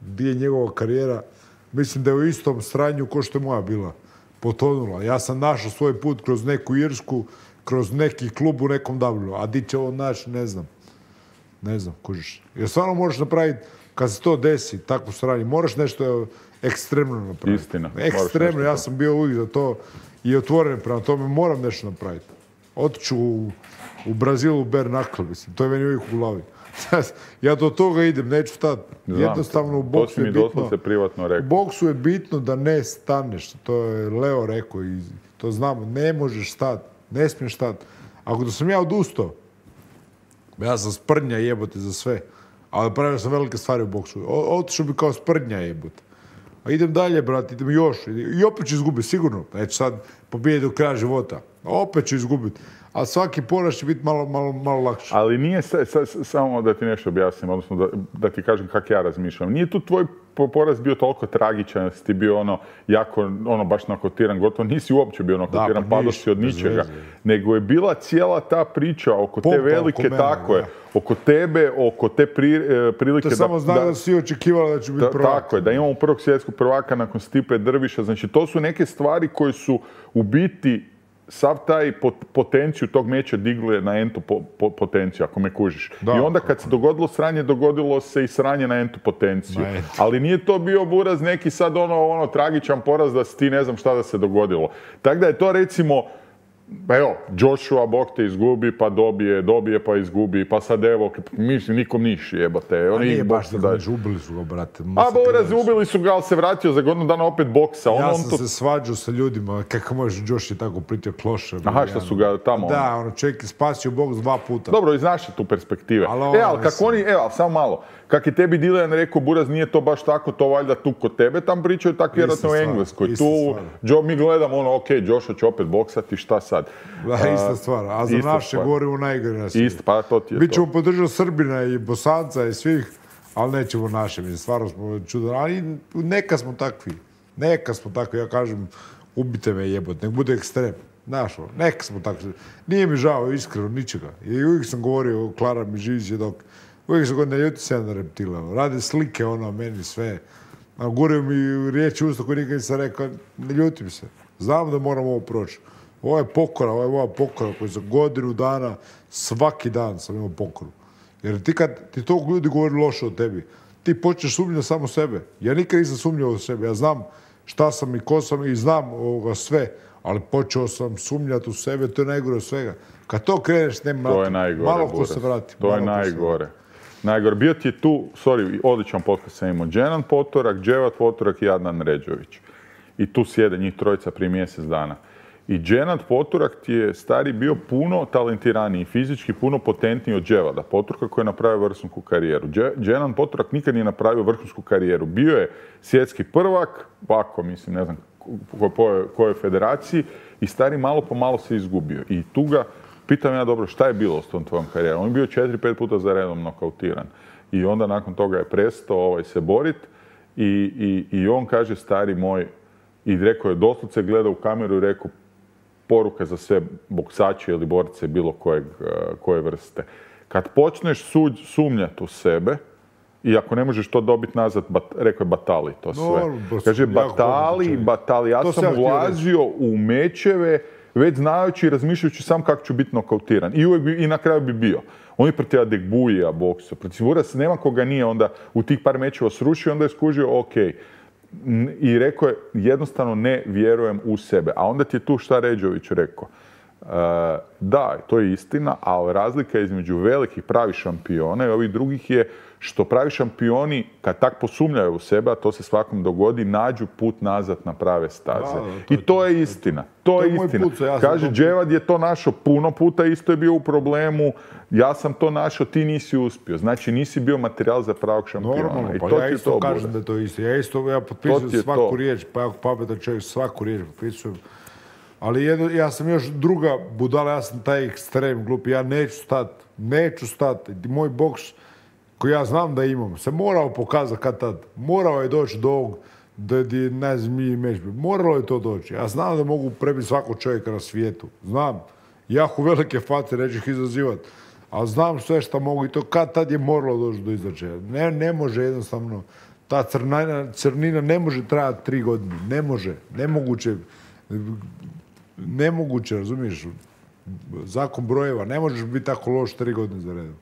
gdje je njegova karijera? Mislim da je u istom sranju ko što je moja bila potonula. Ja sam našao svoj put kroz neku Irsku, kroz neki klub u nekom W. A di će ovo naći, ne znam. Ne znam, kužiš. Jer stvarno možeš napraviti, kad se to desi, takvu sranju, moraš nešto ekstremno napraviti. Istina. Ekstremno, ja sam bio uvijek za to i otvoren prema tome, moram nešto napraviti. Otiću u, u Brazilu u bare knuckle, mislim, to je meni uvijek u glavi. Ja do toga idem, neću stati. Jednostavno u boksu je bitno. Privatno rekao. U boksu je bitno da ne staneš. To je Leo rekao i to znamo. Ne možeš stati. Ne smiješ stati. Ako da sam ja odustao, ja sam sprdnja jebote za sve. Ali pravio sam velike stvari u boksu. Otišao bi kao sprdnja jebote. A idem dalje, brat, idem još. I opet ću izgubiti, sigurno. Neću sad pobijeti do kraja života. Opet ću izgubiti. A svaki poraz će biti malo, malo, malo lakše. Ali nije sa, sa, samo da ti nešto objasnim, odnosno da, da ti kažem kako ja razmišljam. Nije tu tvoj poraz bio toliko tragičan, da si ti bio ono, jako, ono, baš nokotiran, gotovo nisi uopće bio nokotiran, pa padao si od ničega. Nego je bila cijela ta priča oko Pompa, te velike, oko mene, tako je, oko tebe, oko te pri, prilike... To da, samo zna da, da si očekivala da će biti prvak. Tako je, da imamo prvog svjetskog prvaka nakon Stipe Drviša. Znači, to su neke stvari koje su u biti sav taj potenciju tog meča digli na entu po, po, potenciju, ako me kužiš. Da, I onda kad se dogodilo sranje, dogodilo se i sranje na entu potenciju. Na entu. Ali nije to bio Buraz neki sad ono, ono tragičan poraz da si ti ne znam šta da se dogodilo. Tako da je to recimo, evo, Joshua, Bog te izgubi, pa dobije, dobije, pa izgubi, pa sad evo, mislim, nikom niš jebate. A nije baš da daš, ubili su ga, brate. A Buraz, ubili su ga, ali se vratio za godinu dana opet boksa. Ja on, sam on to... se svađao sa ljudima, kako može Josh je tako pritio kloše. Aha, što su ga tamo... Da, ono, čovjek je spasio boks dva puta. Dobro, iz naše tu perspektive. Ali e, ali kako oni, evo, samo malo, kak je tebi Dillian rekao, Buraz, nije to baš tako, to valjda tu kod tebe tam pričaju, tako vjerojatno u Engleskoj. Tu, jo, mi gledamo ono, ok, Joshua će opet boksati, šta sad? Da, ista stvar, a za naše govorimo najgore na svijetu. Isto, pa to ti je Bićemo podržati Srbina i Bosanca i svih, ali nećemo naše, mislim, stvarno smo čudan. Ali neka smo takvi, neka smo takvi, ja kažem, ubite me jebot, nek bude ekstrem. Znaš, neka smo takvi. Nije mi žao, iskreno, ničega. I uvijek sam govorio, Klara mi živi svjedok, uvijek sam govorio, ne ljuti se ja na reptila. Rade slike, ono, meni sve. Govorio mi riječi usta koje nikad nisam rekao, ne ljutim se. Znam da moram ovo proći. Ovo je pokora, ovo je moja pokora koju za godinu dana, svaki dan sam imao pokoru. Jer ti kad ti tog ljudi govori loše o tebi, ti počneš sumnjati samo sebe. Ja nikad nisam sumnjao u sebe. Ja znam šta sam i ko sam i znam ovoga sve, ali počeo sam sumnjati u sebe, to je najgore od svega. Kad to kreneš, nema to je najgore, malo ko se vrati. To je najgore. Najgore. Bio ti je tu, sorry, odličan podcast sam imao, Dženan Potorak, Dževat Potorak i Adnan Ređović. I tu sjede njih trojica prije mjesec dana. I Dženad Poturak ti je stari bio puno talentiraniji, fizički puno potentniji od Dževada Poturaka koji je napravio vrhunsku karijeru. Dženad Poturak nikad nije napravio vrhunsku karijeru. Bio je svjetski prvak, ovako mislim, ne znam po kojoj federaciji, i stari malo po malo se izgubio. I tu ga, pitam ja dobro, šta je bilo s tom tvojom karijerom? On je bio četiri, pet puta za redom nokautiran. I onda nakon toga je prestao ovaj, se borit i, i, i on kaže, stari moj, i rekao je, doslovce gleda u kameru i rekao, poruka za sve boksače ili borce bilo kojeg, koje vrste. Kad počneš suđ, sumnjati u sebe, i ako ne možeš to dobiti nazad, bat, rekao je batali to sve. No, kaže, batali, batali. Ja to sam ulazio u mečeve, već znajući i razmišljajući sam kako ću biti nokautiran. I, uvijek bi, i na kraju bi bio. On je protiv Adegbuija boksu. Protiv Vuras nema koga nije onda u tih par mečeva srušio, onda je skužio, ok. I rekao je, jednostavno ne vjerujem u sebe. A onda ti je tu šta Ređović rekao. Uh, da, to je istina, ali razlika između velikih pravi šampiona i ovih drugih je što pravi šampioni, kad tak posumnjaju u sebe, a to se svakom dogodi, nađu put nazad na prave staze. Da, da, to I to je, je istina. To, to je, je istina. Put, ja Kaže, Dževad je to našao puno puta, isto je bio u problemu. Ja sam to našao, ti nisi uspio. Znači, nisi bio materijal za pravog šampiona. Normalno, I pa to ja isto to kažem bude. Da je to isto. Ja isto ja potpisujem svaku to. riječ, pa ako pametan čovjek svaku riječ potpisujem. Ali jedno, ja sam još druga budala, ja sam taj ekstrem glup, ja neću stati, neću stati. Moj boks koji ja znam da imam, se morao pokazati kad tad. Morao je doći do ovog, da je ne zmiji meč. Moralo je to doći. Ja znam da mogu prebiti svakog čovjeka na svijetu. Znam. Jako velike face neću ih izazivati. Ali znam sve što mogu i to kad tad je moralo doći do izračaja. Ne, ne može jednostavno. Ta crnina, crnina ne može trajati tri godine. Ne može. Nemoguće. Nemoguće, razumiješ? Zakon brojeva. Ne možeš biti tako loš tri godine za redom.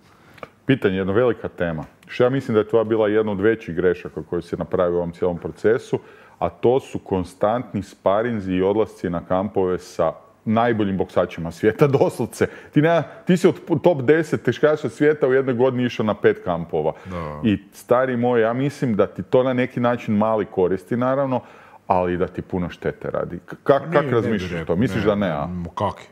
Pitanje, jedna velika tema. Što ja mislim da je to bila jedna od većih grešaka koju se napravio u ovom cijelom procesu, a to su konstantni sparinzi i odlasci na kampove sa najboljim boksačima svijeta, doslovce. Ti, ne, ti si od top deset teškaša svijeta u jednoj godini išao na pet kampova. Da. I stari moj, ja mislim da ti to na neki način mali koristi, naravno, ali da ti puno štete radi. Kak, kak razmišljaš to? Misliš ne, da ne, a? Kaki?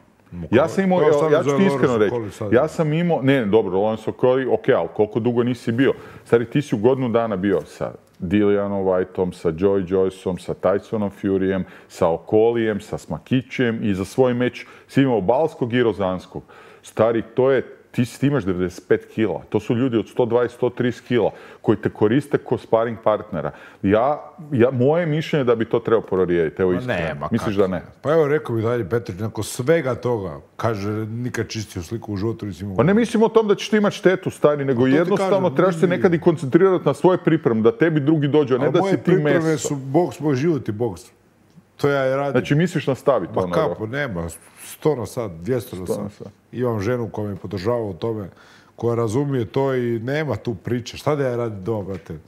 Ja sam imao, ja ću ti iskreno reći, ja sam imao, ne, dobro, Lorenzo Okoli, ok, ali koliko dugo nisi bio? Stari, ti si u godinu dana bio sa Dillianom Whiteom, sa Joy Joyceom, sa Tysonom Furyjem, sa Okolijem, sa Smakićem i za svoj meč si imao Balskog i Rozanskog. Stari, to je, ti, ti imaš devedeset pet kila. To su ljudi od sto dvadeset do sto trideset kila koji te koriste kao sparing partnera. Ja, ja, moje mišljenje je da bi to trebao prorijediti. Evo iskreno. Misliš da ne? Pa evo rekao bi dalje Petrić, nakon svega toga, kaže, nikad čistio sliku u životu nisi imao. Pa ne mislim o tom da ćeš ti imati štetu, stari, nego jednostavno kažem, trebaš se nekad i koncentrirati na svoje pripreme, da tebi drugi dođu, a ne a da si ti meso. Moje pripreme su boks, moj život i boks. To ja i radim. Znači misliš nastaviti ono? Ma kapo, nema. sto na sat, dvjesto na sat. Imam ženu koja me podržava u tome, koja razumije to i nema tu priče. Šta da ja radim doma, brate?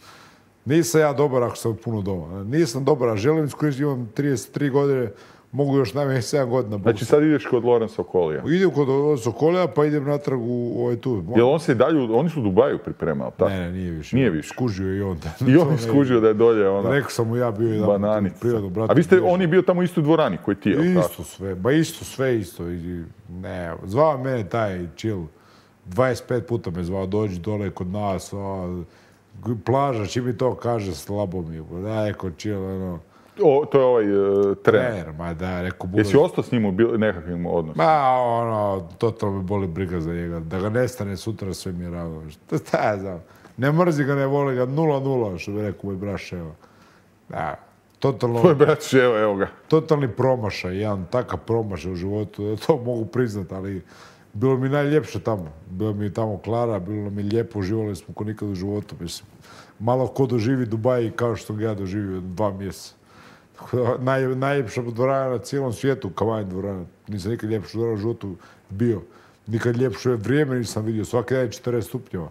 Nisam ja dobar ako sam puno doma. Nisam dobar, a želim iskoristiti, imam trideset tri godine, mogu još najmanje sedam godina. Znači sad ideš kod Lorenza Okolija? Idem kod Lorenza Okolija, pa idem natrag u ovaj tu. Jel on se i dalje, oni su u Dubaju pripremali, tako? Ne, ne, nije više. Nije više. Skužio i on. I on je skužio da je dolje ona... Rekao sam mu ja bio jedan bananica. Prirodno, brate. A vi ste, on je bio tamo isto u dvorani koji ti je, isto tako? Sve, ba isto sve isto. I, ne, zvao mene taj chill. dvadeset pet puta me zvao, dođi dole kod nas, o, plaža, čim mi to kaže, slabo mi je. Daj, kod chill, ono... O, to je ovaj uh, trener. Trener, ma da, rekao... Bude... Jesi ostao s njim u nekakvim odnosima? Ma, ono, totalno me boli briga za njega. Da ga nestane sutra, sve mi je ravno. Šta ja znam? Ne mrzi ga, ne voli ga, nula nula, što bi rekao moj brat Ševa. Da, totalno... Tvoj brat Ševa, evo ga. Totalni promašaj, jedan takav promašaj u životu, to mogu priznati, ali bilo mi najljepše tamo. Bilo mi tamo Klara, bilo mi lijepo, uživali smo ko nikad u životu, mislim. Malo ko doživi Dubai kao što ga ja doživio dva mjeseca. Naj, najljepša dvorana na cijelom svijetu, Kavajn dvorana. Nisam nikad ljepša dvorana u životu bio. Nikad ljepše vrijeme nisam vidio. Svaki dan je četrdeset stupnjeva.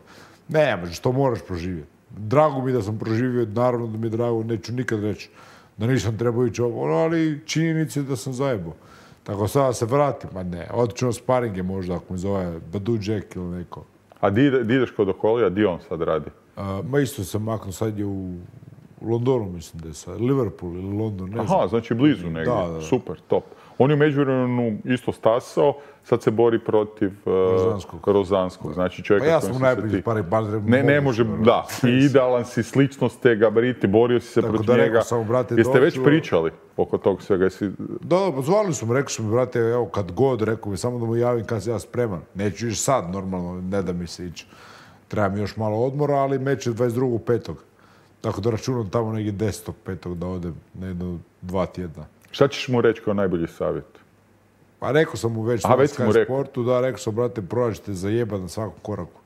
Ne, možeš, to moraš proživjeti. Drago mi da sam proživio, naravno da mi je drago, neću nikad reći da nisam trebao ići ovo, ali činjenica je da sam zajebao. Tako sada se vratim, ma ne, otiću na sparinge možda ako mi zove Badu Jack ili neko. A di, di ideš kod Okolija, di on sad radi? A, ma isto sam maknuo, sad je u Londonu, mislim da je sad, Liverpool ili London, ne znam. Aha, znači blizu negdje, da, da. Super, top. On je u međuvremenu isto stasao, sad se bori protiv uh, Rozanskog. Rozanskog. Znači čovjeka pa ja sam u najbolji pari, bar ne, ne može, da. I idealan si, sličnost te gabariti, borio si se tako protiv da njega. Sam, brate, Jeste doću... već pričali oko tog svega? Jesi... Da, da, zvali su mi, rekao su mi, brate, evo, kad god, rekao mi, samo da mu javim kad sam ja spreman. Neću ići sad, normalno, ne da mi se ići. Treba mi još malo odmora, ali meč je dvadeset drugog petog Tako da računam tamo negdje desetog petog da odem na jedno dva tjedna. Šta ćeš mu reći kao najbolji savjet? Pa rekao sam mu već Aha, na već si mu Sky rekao. Sportu, da, rekao sam, brate, prođete zajebat na svakom koraku.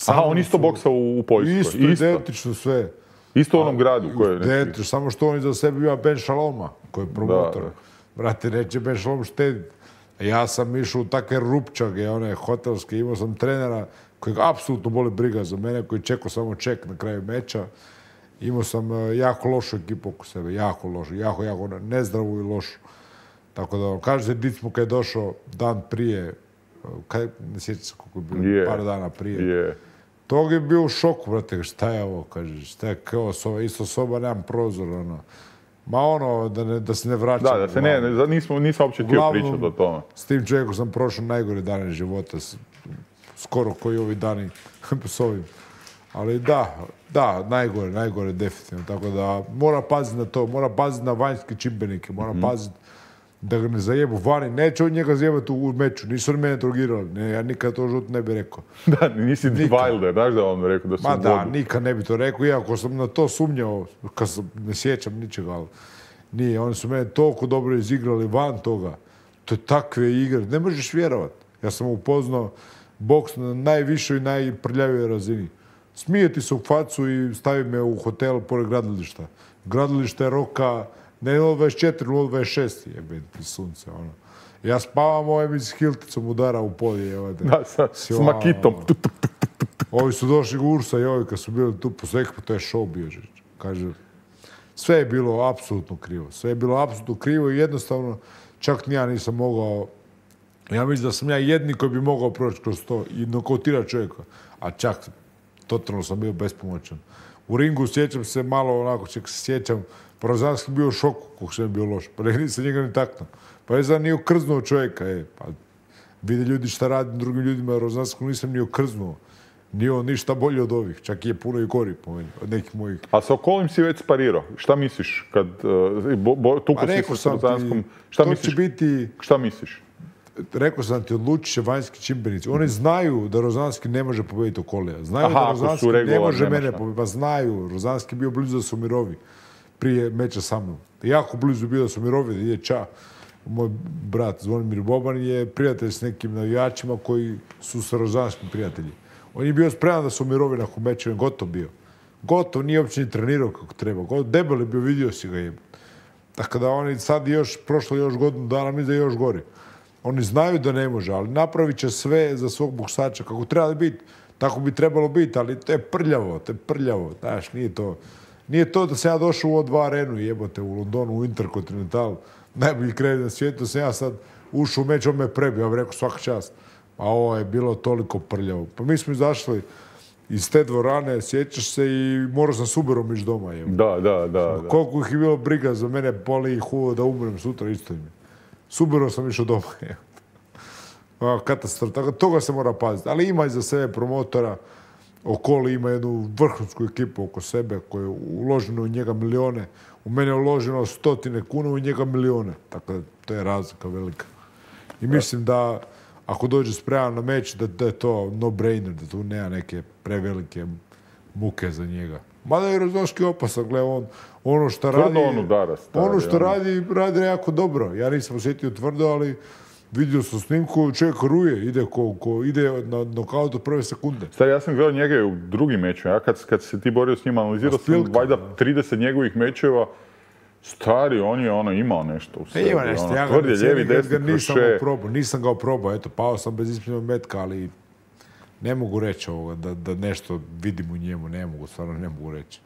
Aha, on isto boksa u, u Poljskoj. Isto, identično sve. Isto u onom gradu koji je... Identično, samo što on iza sebe ima Ben Shaloma, koji je promotor. Da, da. Brate, neće Ben Shalom štediti. Ja sam išao u takve rupčage, one hotelske, imao sam trenera kojeg apsolutno boli briga za mene, koji čekao samo ček na kraju meča. Imao sam uh, jako lošu ekipu oko sebe, jako lošu, jako, jako nezdravu i lošu. Tako da, kaže se, Dic mu kad je došao dan prije, uh, kaj, ne sjećam se koliko je bilo, Yeah. par dana prije. Yeah. Tog je bio u šoku, brate, šta je ovo, kaže, šta je kao soba, isto soba, nemam prozor, ono. Ma ono, da, ne, da se ne vraćam. Da, da se ne, ne nismo, nisam uopće htio Uglavnom, pričati o tome. S tim čovjekom sam prošao najgore dane života, s- skoro koji ovi dani s ovim. Ali da, da, najgore, najgore definitivno. Tako da mora paziti na to, mora paziti na vanjske čimbenike, mora Mhm. paziti da ga ne zajebu vani. Neće on njega zajebati u meču, nisu oni mene drogirali. Ne, ja nikad to žut ne bi rekao. Da, nisi Wilder, znaš da je on rekao da su Ma da, vodu. nikad ne bi to rekao, iako sam na to sumnjao, kad sam, ne sjećam ničega, ali nije. Oni su mene toliko dobro izigrali van toga. To je takve igre, ne možeš vjerovat. Ja sam upoznao boks na najvišoj i najprljavijoj razini. Smije ti se u facu i stavi me u hotel pored gradilišta. Gradilište je roka, ne nula dvadeset četiri, nula dvadeset šest, jebe ti sunce, ono. Ja spavam ovim iz Hilticom udara u polje, evo te. Da, sa, s Sjao. makitom. Tu, tu. Ovi su došli Ursa i ovi kad su bili tu po Sekpu, to je show bio. že- Kaže, sve je bilo apsolutno krivo. Sve je bilo apsolutno krivo i jednostavno čak ni ja nisam mogao, ja mislim da sam ja jedni koji bi mogao proći kroz to i nokautirati čovjeka. A čak totalno sam bio bespomoćan. U ringu sjećam se malo onako, čak se sjećam, Rozanski bio u šoku kako sam bio loš. Pa ne nisam njega ni taknuo. Pa je znam nije okrznuo čovjeka. E, pa vide ljudi šta radi drugim ljudima, Rozanskom nisam ni okrznuo. Nije on ništa bolji od ovih, čak je puno i gori po meni, od nekih mojih. A sa Okolim si već sparirao. Šta misliš kad uh, bo, bo, tuko Pa si rekao sa sam ti, Rozanskom? Šta to misliš? će biti, Šta misliš? rekao sam ti, odlučit će vanjski čimbenici. Oni znaju da Rozanski ne može pobijediti Okolija. Znaju Aha, da ako su Rozanski ne regularni, može nema mene šta. pobijediti. Pa znaju, Rozanski je bio blizu da se umirovi prije meča sa mnom. Jako blizu bio da se umirovi, da ide ča. Moj brat Zvonimir Boban je prijatelj s nekim navijačima koji su sa Rozanskim prijatelji. On je bio spreman da se umirovi nakon meča, on je gotov bio. Gotov, nije uopće ni trenirao kako treba. Gotov, debel je bio, vidio si ga jebe. Tako da oni sad još, prošlo još godinu dana, mi da je još gori. Oni znaju da ne može, ali napravit će sve za svog boksača kako treba biti. Tako bi trebalo biti, ali to je prljavo, to je prljavo. Znaš, nije to. Nije to da sam ja došao u O dva arenu, jebote, u Londonu, u Intercontinental, najbolji kraj na svijetu, sam ja sad ušao u meč, on me prebio, ja bih rekao svaka čast. A ovo je bilo toliko prljavo. Pa mi smo izašli iz te dvorane, sjećaš se, i morao sam s Uberom ići doma. Jebo. Da, da, da. da. Koliko ih je bilo briga za mene, boli ih uvo da umrem sutra, isto im je. S Uberom sam išao doma. A, katastrofa. Tako, toga se mora paziti. Ali ima iza sebe promotora. Okoli ima jednu vrhunsku ekipu oko sebe koja je uloženo u njega milione. U mene je uloženo stotine kuna, u njega milione. Tako da to je razlika velika. I mislim da ako dođe spreman na meč, da, da je to no-brainer, da tu nema neke prevelike muke za njega. Mada je Rozovski opasan, gle, on ono što Tvrdo radi... on udara, stari, ono što ono. radi, radi jako dobro. Ja nisam osjetio tvrdo, ali vidio sam snimku, čovjek ruje, ide ko, ko ide na nokaut od prve sekunde. Stari, ja sam gledao njega i u drugim mečima. Ja kad, kad se ti borio s njima, analizirao sam Spilka, valjda da. trideset njegovih mečeva. Stari, on je ono imao nešto u sebi. Ima nešto, ono, ja ga tvrd je, ne cijenim, lijevi, jer desni, ga nisam kroše. ga probao, nisam ga probao, eto, pao sam bez ispitnog metka, ali ne mogu reći ovoga, da, da nešto vidim u njemu, ne mogu, stvarno ne mogu reći.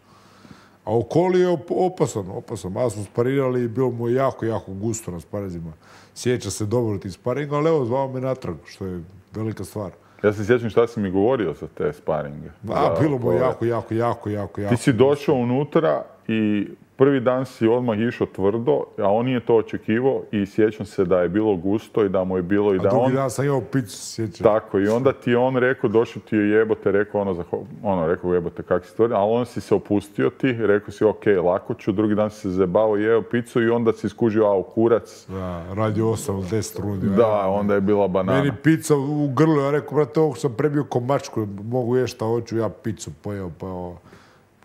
A Okoli je op- opasan, opasan. Malo smo sparirali i bilo mu je jako, jako gusto na sparizima. Sjeća se dobro tih sparinga, ali evo, zvao me natrag, što je velika stvar. Ja se sjećam šta si mi govorio za te sparinge. A, Za bilo mu je ove- jako, jako, jako, jako, jako. Ti si došao unutra i prvi dan si odmah išao tvrdo, a on nije to očekivao i sjećam se da je bilo gusto i da mu je bilo i A da drugi on... dan sam imao picu, sjećam. Tako, i onda ti je on rekao, došao ti je jebote, rekao ono, zaho- ono rekao jebote kak si tvrdi, ali on si se opustio ti, rekao si ok, lako ću, drugi dan si se zebao, jeo picu i onda si skužio, au, kurac. Da, radi osam, deset rundi. Da, onda je bila banana. Meni pizza u grlu, ja rekao, brate, ovog sam prebio ko mačku, mogu jesti šta hoću, ja picu pojeo, pa ovo.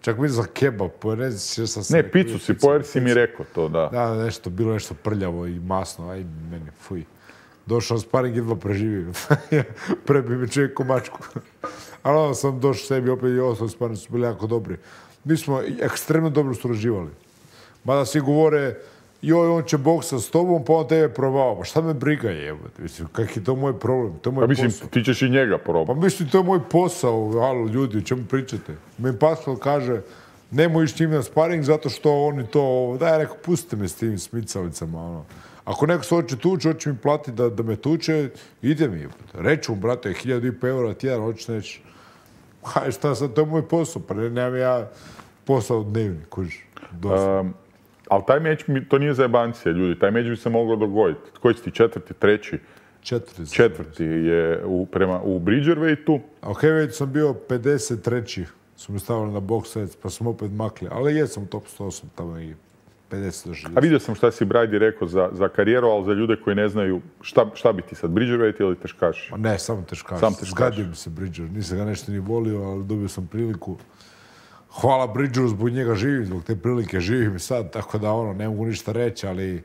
Čak mi za kebab, pa ne znam šta sam Ne, rekao, picu si pojer si mi rekao to, da. Da, nešto, bilo nešto prljavo i masno, aj meni, fuj. Došao sparing, jedva preživio. Prebio me čovjek ko mačku. Ali onda sam došao sebi opet i ostali sparing su bili jako dobri. Mi smo ekstremno dobro surađivali. Mada svi govore, joj, on će boksa s tobom, pa on tebe probao. Pa šta me briga jebote? Mislim, kak je to moj problem? To je moj pa mislim, posao. ti ćeš i njega probati. Pa mislim, to je moj posao. Alo, ljudi, o čemu pričate? Meni Pascal kaže, nemoj ići njim na sparing zato što oni to... Daj, rekao, pustite me s tim smicalicama, ono. Ako neko se hoće tući, hoće mi platiti da, da me tuče, ide mi. Reću mu, brate, hiljadu i po eura tjedan, hoćeš neći. Haj, šta sad, to je moj posao, pa ne, nemam ja posao dnevni, kužiš. Um, ali taj meč, to nije za jebancije, ljudi, taj meč bi se moglo dogoditi. Koji si ti, četvrti, treći? Četvrti. Četvrti je u, prema, u Bridgerweightu. A u Heavyweightu sam bio pedeset treći Su mi stavili na box set, pa sam opet makli. Ali jesam u top sto osam tamo i pedeset do šezdeset. A vidio sam šta si Brady rekao za, za karijeru, ali za ljude koji ne znaju šta, šta bi ti sad, Bridgerweight ili teškaš? Ma ne, samo teškaš. Sam teškaš. Zgadio mi se Bridger. Nisam ga nešto ni volio, ali dobio sam priliku. Hvala Bridgeru, zbog njega živim, zbog te prilike živim sad, tako da ono, ne mogu ništa reći, ali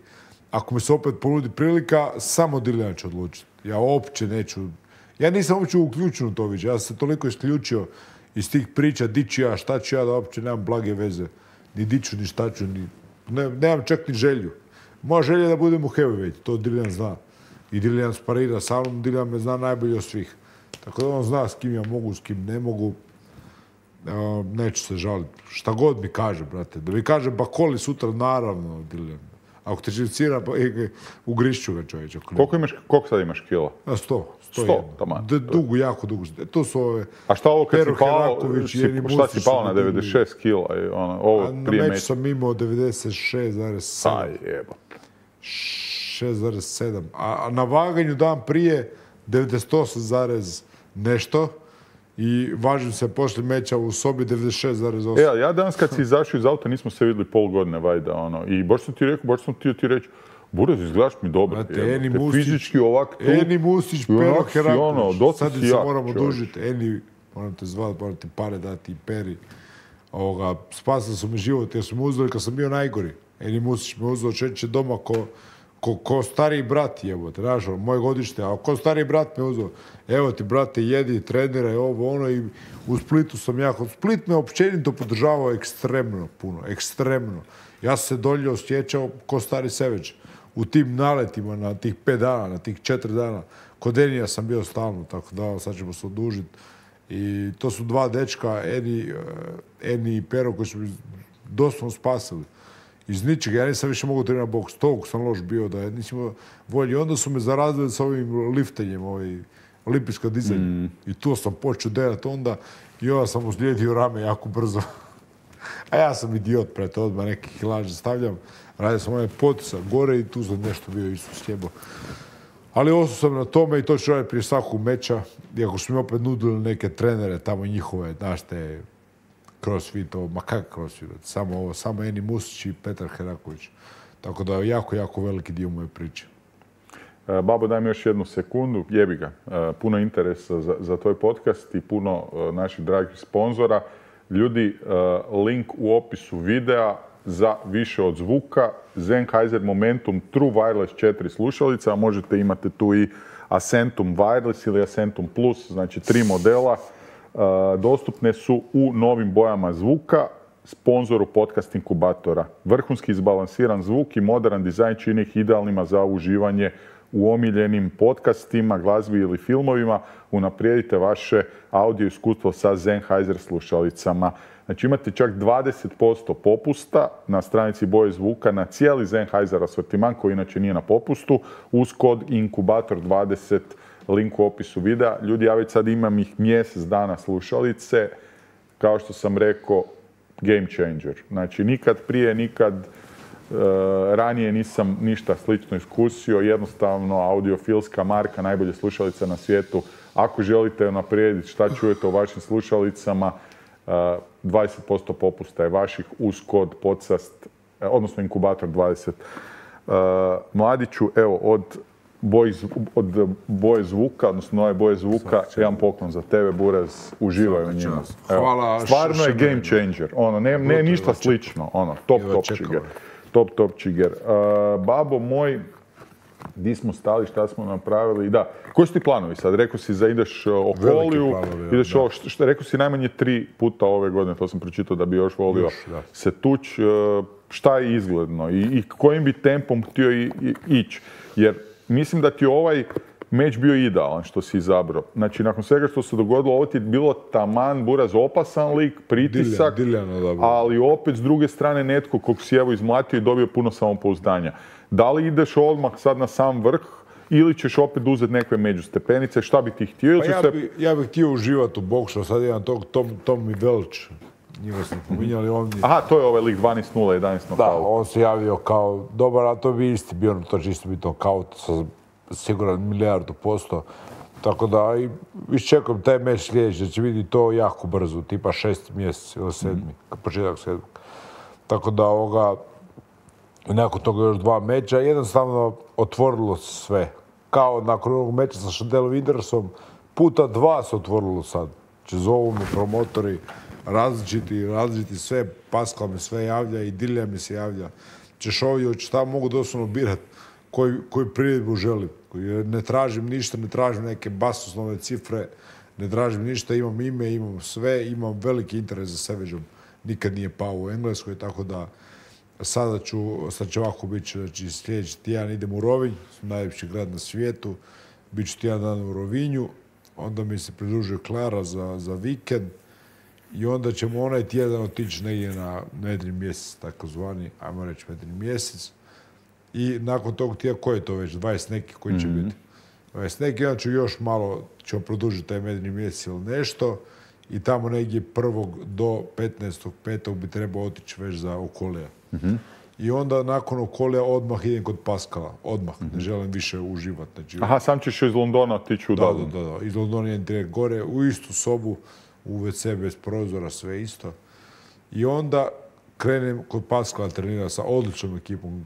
ako mi se opet ponudi prilika, samo Dillian će odlučiti. Ja uopće neću, ja nisam uopće uključen u to već, ja sam se toliko isključio iz tih priča, di ću ja, šta ću ja, da uopće nemam blage veze. Ni di ću, ni šta ću, ni, ne, nemam čak ni želju. Moja želja je da budem u heavyweight, to Dillian zna. I Dillian sparira sa mnom, Dillian me zna najbolje od svih. Tako da on zna s kim ja mogu, s kim ne mogu. Uh, neću se žaliti. Šta god mi kaže, brate. Da mi kaže Bakoli sutra, naravno, Dillian. Ako te živcira, pa e, ugrišću ga čovječe. Koliko, imaš, koliko sad imaš kila? A sto. Sto, sto taman. Dugo, jako dugo. To su ove... A šta ovo kad si pao, si, šta si pao na devedeset šest kila? Ono, ovo a prije na meču sam imao devedeset šest zarez sedam. Aj, jebote. šest zarez sedam. A, a na vaganju dan prije devedeset osam zarez nešto. I važim se poslije meča u sobi devedeset šest zarez osam. E, ja danas kad si izašao iz auta nismo se vidjeli pol godine, vajda, ono. I baš sam ti rekao, baš sam ti, ti reći, Buraz, izgledaš mi dobro. Znate, Eni Mustić, fizički ovak tu. Eni Mustić, Pero Heraković. Ono, sad si se jak, moramo čovječ. dužiti. Eni, moram te zvati, moram ti pare dati i Peri. Ovoga, spasili su mi život jer su me uzeli kad sam bio najgori. Eni Mustić me uzeo čeće doma ko, ko, ko stariji brat, jebote, znaš, moje godište, a ko stariji brat me uzeo. Evo ti, brate, jedi, treniraj, ovo, ono, i u Splitu sam jako... Split me općenito podržavao ekstremno puno, ekstremno. Ja sam se dolje osjećao ko stari Savage. U tim naletima na tih pet dana, na tih četiri dana. Kod Enija sam bio stalno, tako da sad ćemo se odužiti. I to su dva dečka, Eni, Eni i Pero, koji su mi doslovno spasili. Iz ničega, ja nisam više mogu trenirati boks. Toliko sam loš bio da nisam volji. Onda su me zarazili s ovim liftenjem, ovaj, olimpijsko dizanje. Mm. I tu sam počeo derati onda i onda sam uzlijedio rame jako brzo. A ja sam idiot, prete, odmah neke kilaže stavljam. Radio sam onaj potisak gore i tu sam nešto bio isto sjebo. Ali ostao sam na tome i to ću raditi prije svakog meča. Iako su mi opet nudili neke trenere tamo njihove, znaš te, crossfit, ovo, ma kak crossfit, samo ovo, samo Eni Mustić i Petar Heraković. Tako da je jako, jako veliki dio moje priče. Babo, daj mi još jednu sekundu, jebi ga. Puno interesa za, za tvoj podcast i puno naših dragih sponzora. Ljudi, link u opisu videa za više od zvuka. Sennheiser Momentum True Wireless četiri slušalica, a možete imati tu i Acentum Wireless ili Acentum Plus, znači tri modela. Dostupne su u novim bojama zvuka, sponzoru podcast inkubatora. Vrhunski izbalansiran zvuk i modern dizajn čini ih idealnima za uživanje u omiljenim podcastima, glazbi ili filmovima. Unaprijedite vaše audio iskustvo sa Sennheiser slušalicama. Znači imate čak dvadeset posto popusta na stranici Boje zvuka na cijeli Sennheiser asortiman koji inače nije na popustu uz kod inkubator dvadeset, link u opisu videa. Ljudi, ja već sad imam ih mjesec dana slušalice. Kao što sam rekao, game changer. Znači nikad prije, nikad Uh, ranije nisam ništa slično iskusio, jednostavno audiofilska marka, najbolje slušalica na svijetu. Ako želite naprijediti šta čujete o vašim slušalicama, uh, dvadeset posto popusta je vaših uz kod podcast, odnosno inkubator dvadeset. Uh, Mladiću, evo, od boje, od boje zvuka, odnosno nove boje zvuka, jedan poklon za tebe, Buraz, uživaj u njima. Hvala. Stvarno je game changer, ono, ne, ne ništa slično, ono, top, top čiger. Top, top čiger. Uh, babo moj, di smo stali, šta smo napravili. Da, koji su ti planovi sad? Rekao si za ideš Okoliju, ideš ovo, što rekao si najmanje tri puta ove godine, to sam pročitao da bi još volio još, se tuć. Šta je izgledno i, i kojim bi tempom htio i, i, ići? Jer mislim da ti ovaj meč bio idealan što si izabrao. Znači, nakon svega što se dogodilo, ovo ti je bilo taman, buraz, opasan lik, pritisak, Diljan, Diljan, ali opet s druge strane netko kog si evo izmlatio i dobio puno samopouzdanja. Da li ideš odmah sad na sam vrh ili ćeš opet uzeti neke međustepenice? Šta bi ti htio? Pa ja, se... bi, ja bih htio uživati u boksu, sad imam tog Tom, Tommy Welch. Njega smo pominjali, on... Aha, to je ovaj lik dvanaest nula jedanaest nokaut. Da, on se javio kao dobar, a to bi isti bio, to će isto biti nokaut sa siguran milijardu posto. Tako da, i iščekujem taj meč sljedeći, da će vidjeti to jako brzo, tipa šest mjesec ili sedmi, mm-hmm. početak sedmog. Tako da, ovoga, nakon toga još dva meča, jednostavno otvorilo se sve. Kao nakon ovog meča sa Chandelom Windersom, puta dva se otvorilo sad. Znači, zovu mi promotori, različiti, različiti sve, Pascal mi sve javlja i Dilja mi se javlja. Češovio, šta mogu doslovno birati koji, koju priredbu želim. Ne tražim ništa, ne tražim neke basoslovne cifre, ne tražim ništa, imam ime, imam sve, imam veliki interes za Savageom. Nikad nije pao u Engleskoj, tako da sada ću, sad će ovako biti, znači sljedeći tjedan idem u Rovinj, najljepši grad na svijetu, bit ću tjedan dan u Rovinju, onda mi se pridružuje Klara za, za vikend, i onda ćemo onaj tjedan otići negdje na medri mjesec, takozvani, ajmo reći medri mjesec. I nakon tog tjedna, koji je to već, dvadeset neki koji će mm-hmm. biti? dvadeset neki, onda ću još malo, ćemo produžiti taj medri mjesec ili nešto. I tamo negdje prvog do petnaestog petog bi trebao otići već za Okolija. Mm-hmm. I onda nakon Okolija odmah idem kod Pascala. Odmah, mm-hmm. ne želim više uživati. Znači, aha, sam ćeš iz Londona otići u da, da, da, da. Iz Londona idem direkt gore, u istu sobu, u ve ce bez prozora, sve isto. I onda krenem kod Pascala trenirati sa odličnom ekipom.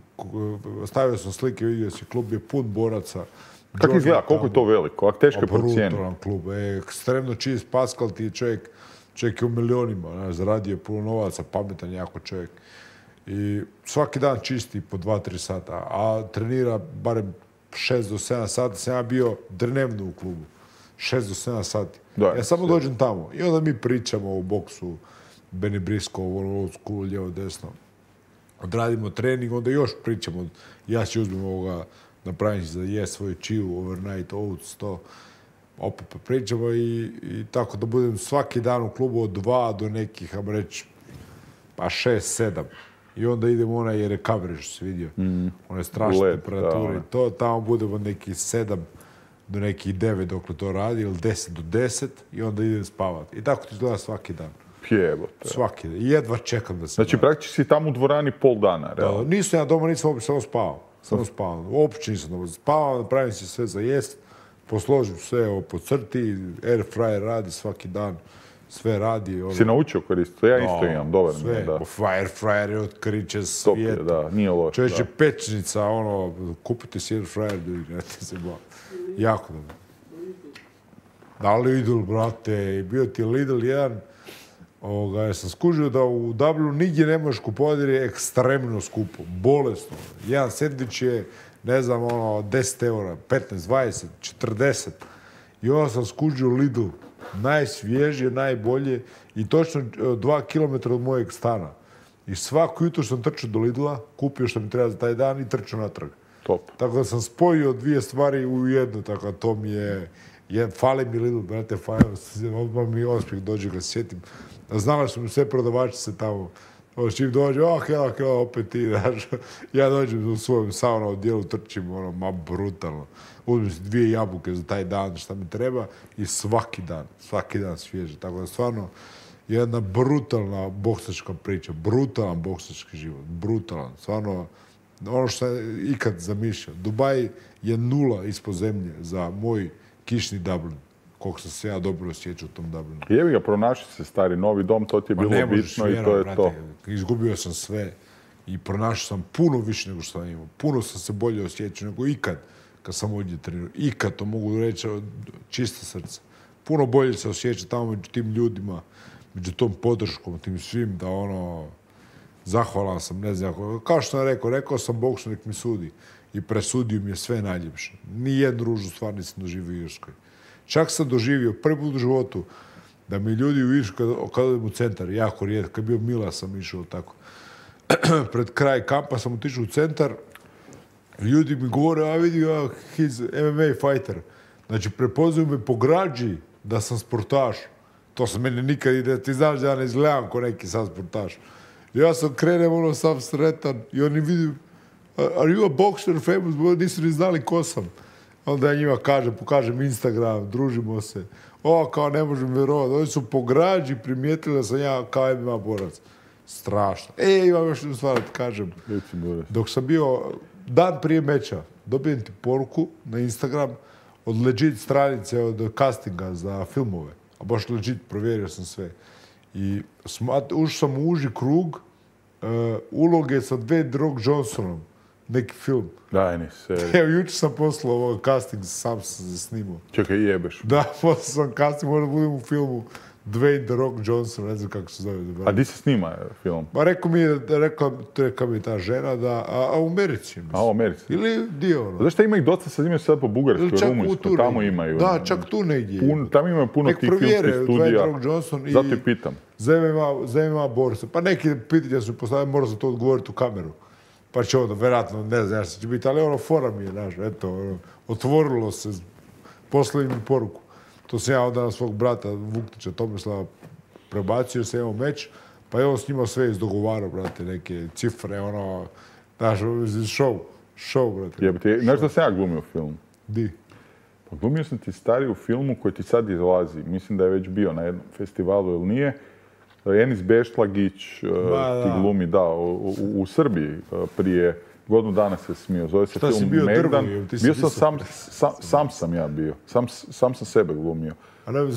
Stavio sam slike, vidio si, klub je pun boraca. Kako izgleda? Koliko je to veliko? Ako teško je procijeniti? Brutalan klub. E, ekstremno čist. Pascal ti je čovjek, čovjek je u milionima. Ne, zaradio je puno novaca, pametan jako čovjek. I svaki dan čisti po dva tri sata. A trenira barem šest do sedam sati. Sam ja bio dnevno u klubu. šest do sedam sati. Da, ja samo sve. Dođem tamo. I onda mi pričamo o boksu, Benny Briscoe, old school, lijevo, desno. Odradimo trening, onda još pričamo. Ja ću uzmem ovoga, napravim za je svoj čiju, overnight oats, to. Opet pričamo i, i tako da budem svaki dan u klubu od dva do nekih, ajmo reći, pa šest, sedam. I onda idemo onaj recovery, što si vidio. Mm. One strašne Led, temperature i to. Tamo budemo nekih sedam do nekih devet dok to radi, ili deset do deset i onda idem spavati. I tako ti izgleda svaki dan. Jebote. Svaki dan. I jedva čekam da se... Znači, praktički si tamo u dvorani pol dana, realno? Da, nisam ja doma, nisam uopće samo spavao. Samo spavao. Uopće nisam doma. Spavao, napravim si sve za jest, posložim sve ovo po crti, air fryer radi svaki dan, sve radi. Ono... Si naučio koristiti? Ja isto no, imam, dobar mi je, da. Air fryer je otkriće svijeta. Top je, da, nije loš. Čovječe, pečnica, ono, kupite si air fryer, ljudi, ne se ba. Jako dobro. Da, Lidl, brate, bio ti Lidl jedan, ovoga, ja sam skužio da u Dublinu nigdje ne možeš kupovati jer je ekstremno skupo, bolesno. Jedan sendvič je, ne znam, ono, deset eura, petnaest, dvadeset, četrdeset. I onda sam skužio Lidl, najsvježije, najbolje i točno dva kilometra od mojeg stana. I svako jutro sam trčao do Lidla, kupio što mi treba za taj dan i trčao natrag. Top. Tako da sam spojio dvije stvari u jednu, tako da to mi je... Jed, fali mi Lidl, brate, fali, odmah mi osmijeh dođe ga sjetim. Znala su mi sve prodavačice tamo. Čim dođe, oh, hela, hela, opet ti, znaš. Ja dođem u svojem sauna odjelu, trčim, ono, ma brutalno. Uzmem si dvije jabuke za taj dan, šta mi treba, i svaki dan, svaki dan svježe. Tako da stvarno, jedna brutalna boksačka priča, brutalan boksački život, brutalan. Stvarno, ono što sam ikad zamišljao. Dubaj je nula ispod zemlje za moj kišni Dublin. Koliko sam se ja dobro osjećao u tom Dublinu. Jebi ga, pronašli se stari novi dom, to ti je bilo bitno i to je brate, to. Izgubio sam sve i pronašao sam puno više nego što sam imao. Puno sam se bolje osjećao nego ikad kad sam ovdje trenirao. Ikad, to mogu reći, čista srca. Puno bolje se osjeća tamo među tim ljudima, među tom podrškom, tim svim, da ono... zahvalan sam, ne znam, kao što sam rekao, rekao sam boksu nek mi sudi i presudio mi je sve najljepše. Nijednu ružnu stvar nisam doživio u Irskoj. Čak sam doživio prvi put u životu da mi ljudi u Irskoj, kada odem u centar, jako rijetko, kad je bio Mila sam išao tako, pred kraj kampa sam otišao u centar, ljudi mi govore, a vidi, a, he's M M A fighter. Znači, prepoznaju me po građi da sam sportaš. To se meni nikad ide, ti znaš da ja ne izgledam ko neki sam sportaš. Ja sam krenem, ono, sam sretan i oni vidim, are you a boxer famous? Nisu ni znali ko sam. Onda ja njima kažem, pokažem Instagram, družimo se. O, kao ne možem vjerovati. Oni su po građi primijetili da sam ja kao M M A borac. Strašno. E, imam još jednu stvar da ti kažem. Dok sam bio dan prije meča, dobijem ti poruku na Instagram od legit stranice, od castinga za filmove. A baš legit, provjerio sam sve. I ušao sam u uži krug uh, uloge sa Dwayne Rock Johnsonom. Neki film. Daj, ni seriju. Evo, jučer sam poslao ovo casting, sam sam se snimao. Čekaj, jebeš. Da, poslao sam casting, možda budem u filmu Dwayne The Rock Johnson, ne znam kako se zove. A di se snima film? Pa rekao mi je, rekla, rekla mi je ta žena da, a, a u Americi. Mislim. A u Americi? Ili dio, ono. Znaš šta ima ih dosta, sad imaju sad po Bugarskoj, Rumunjskoj, tamo imaju. Da, čak tu negdje. Pun, tamo imaju puno nek tih filmskih studija. Dwayne Rock Johnson i... Zato i pitam. Za M M A, za M M A borca. Pa neki pitanja su postavili, mora se to odgovoriti u kameru. Pa će onda, vjerojatno, ne znam što će biti, ali ono, fora mi je, znaš, eto, ono, otvorilo se, poslali mi poruku. To sam ja onda na svog brata Vuktića Tomislava prebacio, jer sam imao meč, pa je on s njima sve izdogovarao, brate, neke cifre, ono, znaš, show, show, brate. Jebate, znaš da sam ja glumio u filmu? Di? Pa glumio sam ti stari u filmu koji ti sad izlazi, mislim da je već bio na jednom festivalu ili nije. Enis Beštlagić uh, ti glumi, da, u, u, u Srbiji uh, prije godinu dana se smio. Zove se Šta film si bio Megdan. drvo? Ti si bio sam sam, sam, sam sam ja bio. Sam, sam sam sebe glumio.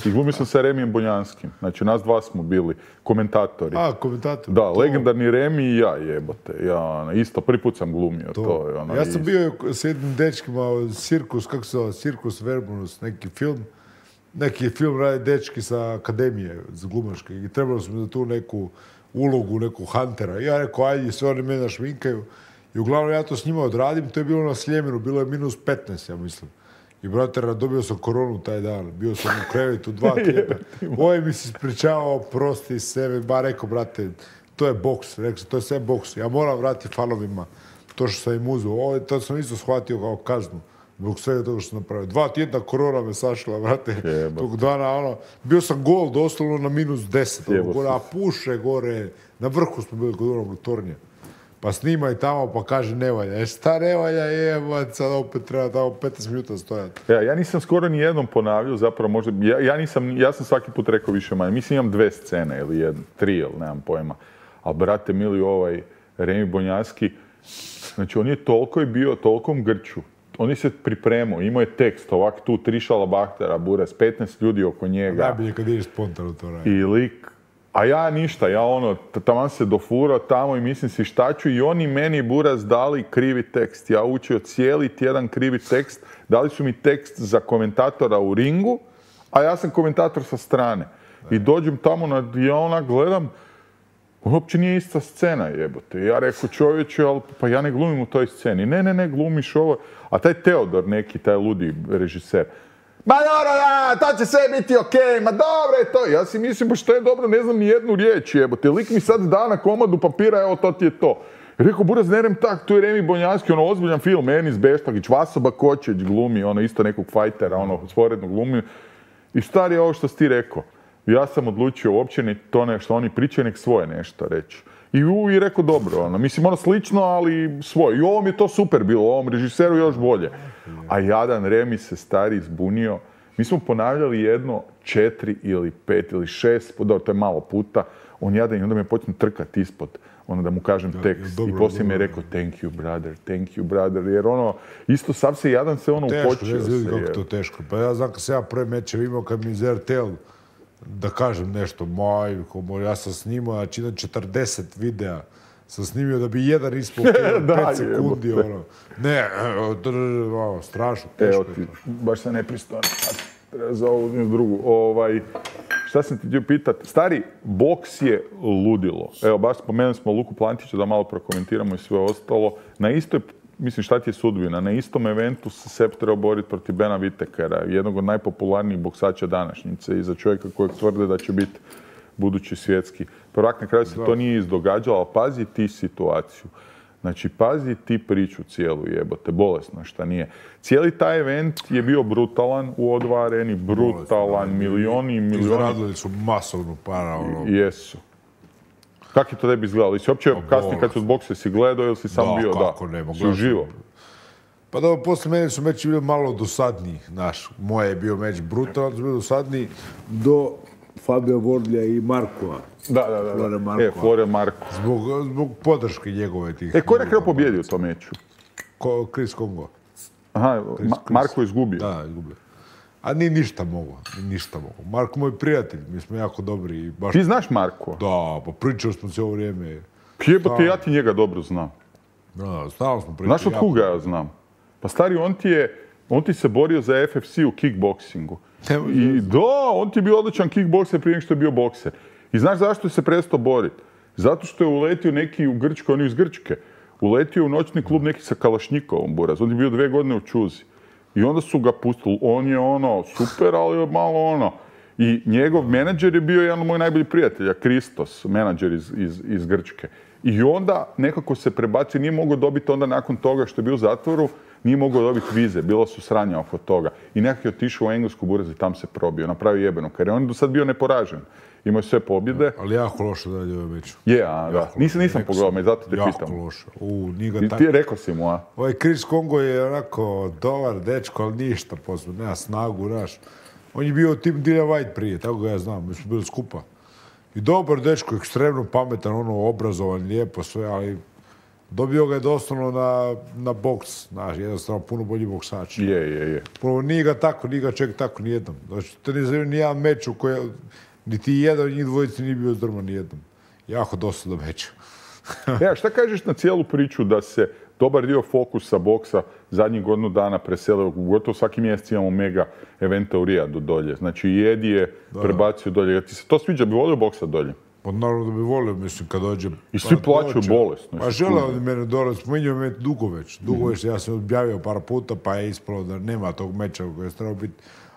I glumio sam sa Remijem Bonjanskim. Znači, nas dva smo bili komentatori. A, komentatori. Da, to... legendarni Remi i ja, jebote. Ja, isto, prvi put sam glumio to. to je, ono, ja sam i... bio s jednim dečkima, Cirkus, kako se zove, Cirkus Verbunus, neki film. Neki film radi dečki sa akademije za glumačke i trebalo smo za tu neku ulogu, neku huntera. I ja rekao, ajde, sve oni mene našminkaju. I uglavnom ja to s njima odradim, to je bilo na Sljemenu, bilo je minus petnaest, ja mislim. I brate, dobio sam koronu taj dan, bio sam u krevetu dva tjedna. Ovaj mi se ispričavao, prosti sebe, ba rekao, brate, to je boks, rekao sam, to je sve boks. Ja moram vratiti fanovima to što sam im uzeo. Ovo, to sam isto shvatio kao kaznu. Zbog svega toga što sam napravio. Dva tjedna korona me sašla, vrate, tog dana, ono, bio sam gol doslovno na minus deset, ono, gore, a puše gore, na vrhu smo bili kod onog tornja. Pa snimaj tamo, pa kaže ne valja. E šta ne valja, jebat, sad opet treba tamo petnaest minuta stojati. Ja, ja nisam skoro ni jednom ponavljao, zapravo možda, ja, ja nisam, ja sam svaki put rekao više manje. Mislim imam dve scene ili jednu, tri, ili nemam pojma. Ali brate mili, ovaj Remi Bonjanski, znači on je toliko je bio, tolikom grču. On je se pripremao, imao je tekst, ovak tu, tri šalabahtera, buras, petnaest ljudi oko njega. Najbolje kad ideš spontano to radi. I lik, a ja ništa, ja ono, taman se dofurao tamo i mislim si šta ću i oni meni buras dali krivi tekst. Ja učio cijeli tjedan krivi tekst, dali su mi tekst za komentatora u ringu, a ja sam komentator sa strane. I dođem tamo, na, ja onak gledam, uopće nije ista scena, jebote. Ja rekao čovječe, ali pa ja ne glumim u toj sceni. Ne, ne, ne, glumiš ovo. A taj Teodor neki, taj ludi režiser, ma dobro, da, to će sve biti okej, okay, ma dobro je to. Ja si mislim, pa što je dobro, ne znam ni jednu riječ, jebote. Lik mi sad da na komadu papira, evo to ti je to. I rekao, buraz, ne rem tak, tu je Remi Bonjanski, ono ozbiljan film, Enis Beštlagić, Vasoba Kočeć glumi, ono isto nekog fajtera, ono sporedno glumi. I stari je ovo što si ti rekao. Ja sam odlučio uopće ne to nešto, oni pričaju nek svoje nešto reći. I u i rekao dobro, ono, mislim ono slično, ali svoje. I ovom je to super bilo, ovom režiseru još bolje. A jadan Remi se stari zbunio. Mi smo ponavljali jedno četiri ili pet ili šest, dobro, to je malo puta. On jadan i onda me počne trkati ispod, ono da mu kažem tekst. I poslije mi je rekao thank you brother, thank you brother, jer ono, isto sav se jadan se ono upočio se. Teško, ne znam kako to teško. Pa ja znam kad sam ja prvi mečev imao, kad mi iz R T L da kažem nešto, majko, ja sam snimao, znači na četrdeset videa sam snimio da bi jedan ispao pet sekundi, ono. Ne, ono, strašno, teško je to. Baš sam nepristojno. za ovu drugu. Ovaj, šta sam ti htio pitati? Stari, boks je ludilo. Evo, baš spomenuli smo Luku Plantića da malo prokomentiramo i sve ostalo. Na istoj, mislim, šta ti je sudbina? Na istom eventu se Sepp trebao boriti protiv Bena Whittakera, jednog od najpopularnijih boksača današnjice i za čovjeka kojeg tvrde da će biti budući svjetski prvak. Na kraju se to nije izdogađalo, ali pazi ti situaciju. Znači, pazi ti priču cijelu, jebote, bolesno šta nije. Cijeli taj event je bio brutalan u O dva areni, brutalan, milioni i milioni. Izradili su masovnu para, ono. Jesu. Kako je to tebi izgledalo? Jesi uopće kasnije kad su od bokse si gledao ili si sam bio? Da, kako ne, si uživo? Pa dobro, poslije mene su meči bili malo dosadniji, znaš. Moje je bio meč brutalan, su bili dosadniji do Fabio Wardleya i Markova. Da, da, da. Flore Marko. E, Flore Marko. Zbog, zbog podrške njegove tih. E, ko je na kraju pobjedio u tom meču? Ko, Chris Kongo. Aha, Chris, Ma- Marko je izgubio. Da, izgubio. A ni ništa mogu, ni ništa mogu. Marko moj prijatelj, mi smo jako dobri. I baš... Ti znaš Marko? Da, pa pričali smo cijelo vrijeme. Jebote, ja ti njega dobro znam. Da, stalno smo pričali. Znaš od koga ja znam? Pa stari, on ti je, on ti se borio za F F C u kickboksingu. I da, on ti je bio odličan kickbokser prije nego što je bio bokser. I znaš zašto se prestao boriti? Zato što je uletio neki u Grčkoj, on je iz Grčke. Uletio u noćni klub neki sa Kalašnjikovom, buraz. On je bio dve godine u Čuzi. I onda su ga pustili. On je ono, super, ali je malo ono. I njegov menadžer je bio jedan od mojih najboljih prijatelja, Kristos, menadžer iz, iz, iz Grčke. I onda nekako se prebacio, nije mogao dobiti onda nakon toga što je bio u zatvoru, nije mogao dobiti vize, bila su sranja oko toga. I nekako je otišao u Englesku buraz i tam se probio, napravio jebenu karijeru. On je do sad bio neporažen. Imao je sve pobjede. Ali jako loše da je ovaj meč. Je, a da. Nisam, nisam pogledao me, zato te jako pitam. Jako loše. U, njega ti, tak... ti rekao si mu, a? Ovaj Chris Kongo je onako dobar dečko, ali ništa posebno, nema snagu, znaš. On je bio tim Dillian White prije, tako ga ja znam, mi smo bili skupa. I dobar dečko, ekstremno pametan, ono, obrazovan, lijepo sve, ali dobio ga je doslovno na, na boks, znaš, jednostavno puno bolji boksač. Je, je, je. Puno, nije ga tako, nije ga ček tako nijednom. Znači, to nije zanimljivo nijedan meč u kojem, niti jedan od njih dvojici nije bio zdrman nijednom. Jako dosta do meča. Ja, šta kažeš na cijelu priču da se dobar dio fokusa boksa zadnjih godinu dana preselio, gotovo svaki mjesec imamo mega eventa u Rijadu dolje. Znači i Edi je prebacio dolje. Ti se to sviđa, bi volio boksa dolje? Pa naravno da bi volio, mislim, kad dođe... I svi plaćaju bolesno. Pa žele od mene dole, spominjao me dugo već. Dugo već, ja sam objavio par puta, pa je ispalo da nema tog meča koji je trebao biti.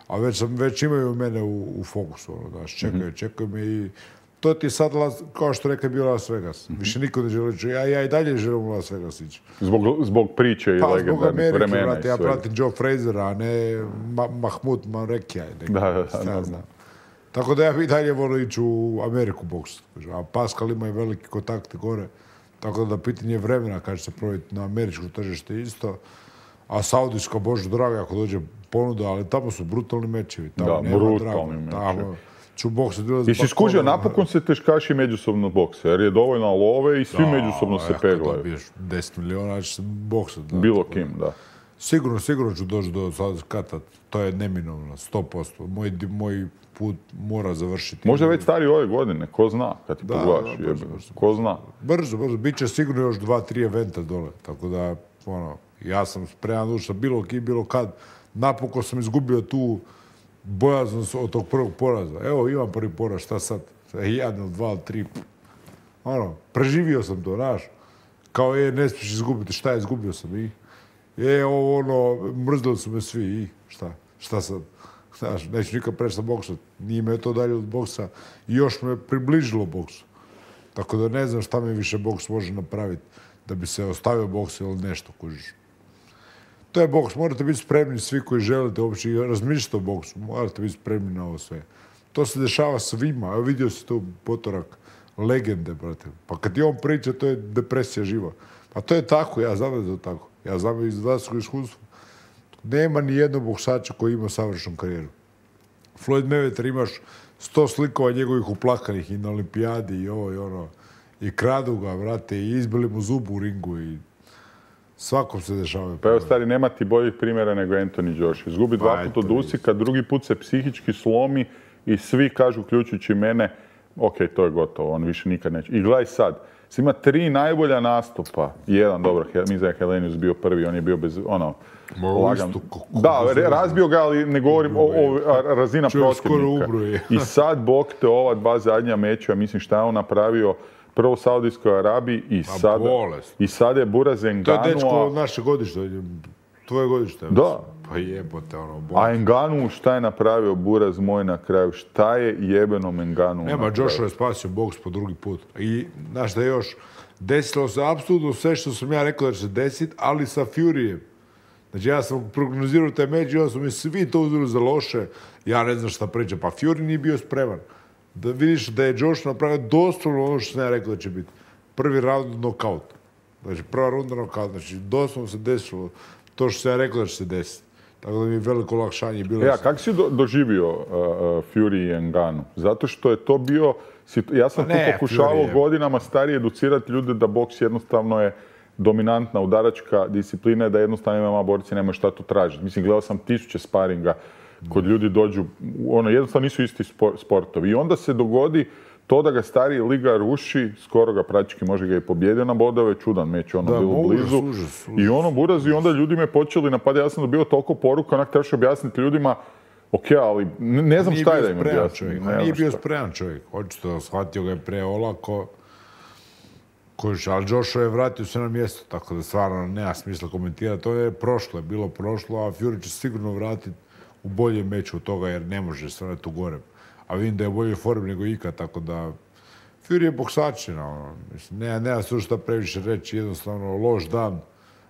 A već, sam, već imaju mene u, u fokusu, ono, znaš, čekaju, čekaju me i... To ti sad, kao što rekao, bio Las Vegas. Više niko ne želi reći, ja, ja i dalje želim u Las Vegas ići. Zbog, zbog priče i pa, legendarnih vremena brate, ja pratim Joe Frazera, a ne Ma, Mahmud Manrekija. Da, da, da, da. Tako da ja i dalje volim ići u Ameriku boks. A Pascal ima i veliki kontakte gore. Tako da pitanje vremena kad će se provjeti na američko tržište isto. A saudijska, bože draga, ako dođe ponuda, ali tamo su brutalni mečevi. Tamo da, nema brutalni mečevi. Ću boksa dolazi... I si skužio, napokon se teškaši međusobno bokse, jer je dovoljno love i svi da, međusobno se peglaju. Da, dobiješ deset miliona, će se boksat. Da, bilo kim, da. Sigurno, sigurno ću doći do kata. To je neminovno, sto posto. Moj, moj put mora završiti. Možda već stari ove godine, ko zna, kad ti da, pogledaš, da, brzo, brzo, ko zna. Brzo, brzo, bit će sigurno još dva, tri eventa dole, tako da, ono, ja sam spreman ući sa bilo kim, bilo kad. Napokon sam izgubio tu bojaznost od tog prvog poraza. Evo, imam prvi poraz, šta sad? Jedan, dva, tri. Ono, preživio sam to, znaš. Kao je, ne smiješ izgubiti, šta je, izgubio sam i... Je, ovo, ono, mrzili su me svi i šta, šta sad? Znaš, neću nikad prestati boksati. Nije me to dalje od boksa i još me približilo boksu. Tako da ne znam šta mi više boks može napraviti da bi se ostavio boks ili nešto, kužiš. To je boks, morate biti spremni svi koji želite uopće razmišljati o boksu, morate biti spremni na ovo sve. To se dešava svima, evo vidio si tu potorak legende, brate. Pa kad ti on priča, to je depresija živa. Pa to je tako, ja znam da je to tako. Ja znam iz vlastnog iskustva. Nema ni jednog boksača koji ima savršenu karijeru. Floyd Mayweather imaš sto slikova njegovih uplakanih i na olimpijadi i ovo i ono. I kradu ga, brate, i izbili mu zubu u ringu i svakom se dešava. Pa evo, stari, nema ti boljih primjera nego Anthony Joshua. Izgubi dva puta od Usika, drugi put se psihički slomi i svi kažu, uključujući mene, ok, to je gotovo, on više nikad neće. I gledaj sad, Ima tri najbolja nastupa. Jedan, dobro, mislim da je Helenius bio prvi, on je bio bez, ono, lagan. Da, razbio ga, ali ne govorim o, o razina protivnika. I sad, bog te, ova dva zadnja meča, mislim šta je on napravio, prvo u Saudijskoj Arabiji i sad, i sad je Buraz Ngannou. To je dečko od naše godište, tvoje godište. Da. Pa jebote, ono, bolest. A Ngannou šta je napravio Buraz moj na kraju? Šta je jebeno Ngannou Nema, Joshua je spasio boks po drugi put. I, znaš da još, desilo se apsolutno sve što sam ja rekao da će se desiti, ali sa Furyjem. Znači, ja sam prognozirao taj meč i onda su mi svi to uzeli za loše. Ja ne znam šta priča. Pa Fury nije bio spreman. Da vidiš da je Josh napravio doslovno ono što sam ja rekao da će biti. Prvi round knockout. Znači, prva runda knockout. Znači, doslovno se desilo to što sam ja rekao da će se desiti. Tako da mi je veliko olakšanje bilo. Ja, kako si do, doživio uh, Fury i Ngannou? Zato što je to bio... Ja sam pa tu pokušavao godinama starije educirati ljude da boks jednostavno je dominantna udaračka disciplina, da jednostavno M M A borci nemaju šta tu tražiti. Mislim, gledao sam tisuće sparinga kod ljudi dođu, ono, jednostavno nisu isti sportovi. I onda se dogodi to da ga stariji liga ruši, skoro ga praktički može ga i pobjedio na bodove, čudan meč, ono da, bilo blizu. Užas, užas, užas. I ono Buraz i onda ljudi me počeli napadati, ja sam dobio toliko poruka, onak trebaš objasniti ljudima, ok, ali ne, ne znam šta je da im objasnim. Nije bio spreman čovjek, očito shvatio ga je pre olako. Kojiš, ali Joshua je vratio se na mjesto, tako da stvarno nema smisla komentirati. To je prošlo, je bilo prošlo, a Fury će sigurno vratiti u boljem meču od toga, jer ne može stvarno tu gore. A vidim da je u boljoj formi nego ikad, tako da Fury je boksačina, ono. Mislim, nema, nema se šta previše reći, jednostavno loš dan,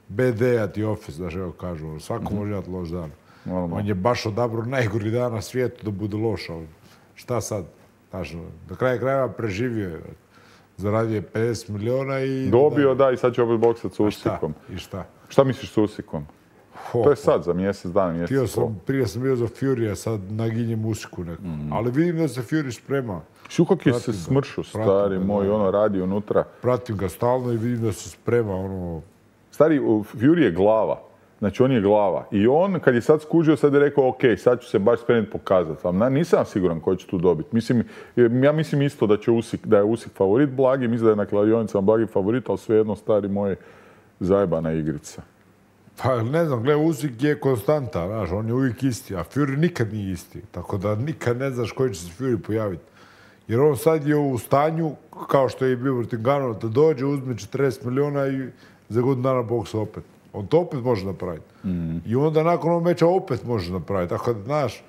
B D-a ti office, znaš, evo kažu, svako mm-hmm. može imati loš dan. Normalno. On je baš odabrao najgori dan na svijetu da bude loš, ali šta sad? Znaš, do kraja krajeva preživio je. Zaradio je pedeset miliona i... Dobio, da, i sad će opet boksat s Usikom. I šta? Šta misliš s Usikom? Ho, to je sad, za mjesec dana, mjesec sam, prije sam bio za Fury, a sad naginjem Usiku neku. Mm. Ali vidim da se Fury sprema. Šukak je se smršao, stari moj, da, ono radi unutra. Pratim ga stalno i vidim da se sprema, ono... Stari, Fury je glava. Znači, on je glava. I on, kad je sad skužio, sad je rekao, ok, sad ću se baš spremiti pokazati vam. Nisam siguran ko će tu dobiti. Mislim, ja mislim isto da, će Usik, da je Usik favorit blagi, mislim da je na kladionicama blagi favorit, ali svejedno, stari moj, zajebana igrica. Pa ne znam, gledaj, Usik je konstanta, znaš, on je uvijek isti, a Fury nikad nije isti. Tako da nikad ne znaš koji će se Fury pojaviti. Jer on sad je u stanju, kao što je bio protiv Ngannou, da dođe, uzme četrdeset miliona i za godinu dana boksa opet. On to opet može napraviti. Mm. I onda nakon ovog meča opet može napraviti. Tako da, znaš,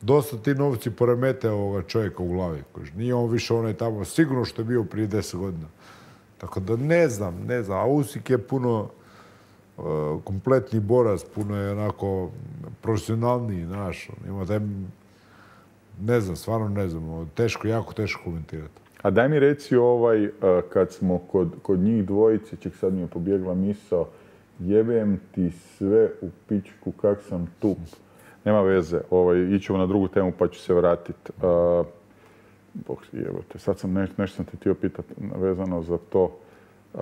dosta ti novci poremete ovoga čovjeka u glavi. Nije on više onaj tamo sigurno što je bio prije deset godina. Tako da ne znam, ne znam. A Usik je puno uh, kompletni borac, puno je onako profesionalniji, znaš. Ima taj, ne znam, stvarno ne znam. Teško, jako teško komentirati. A daj mi reci ovaj, uh, kad smo kod, kod njih dvojice, ček sad mi je pobjegla misao, jebem ti sve u pičku, kak sam tup. Nema veze, ovaj, ićemo na drugu temu pa ću se vratiti. Uh, Bog jebote, sad sam neš, nešto sam te htio pitati vezano za to. Uh,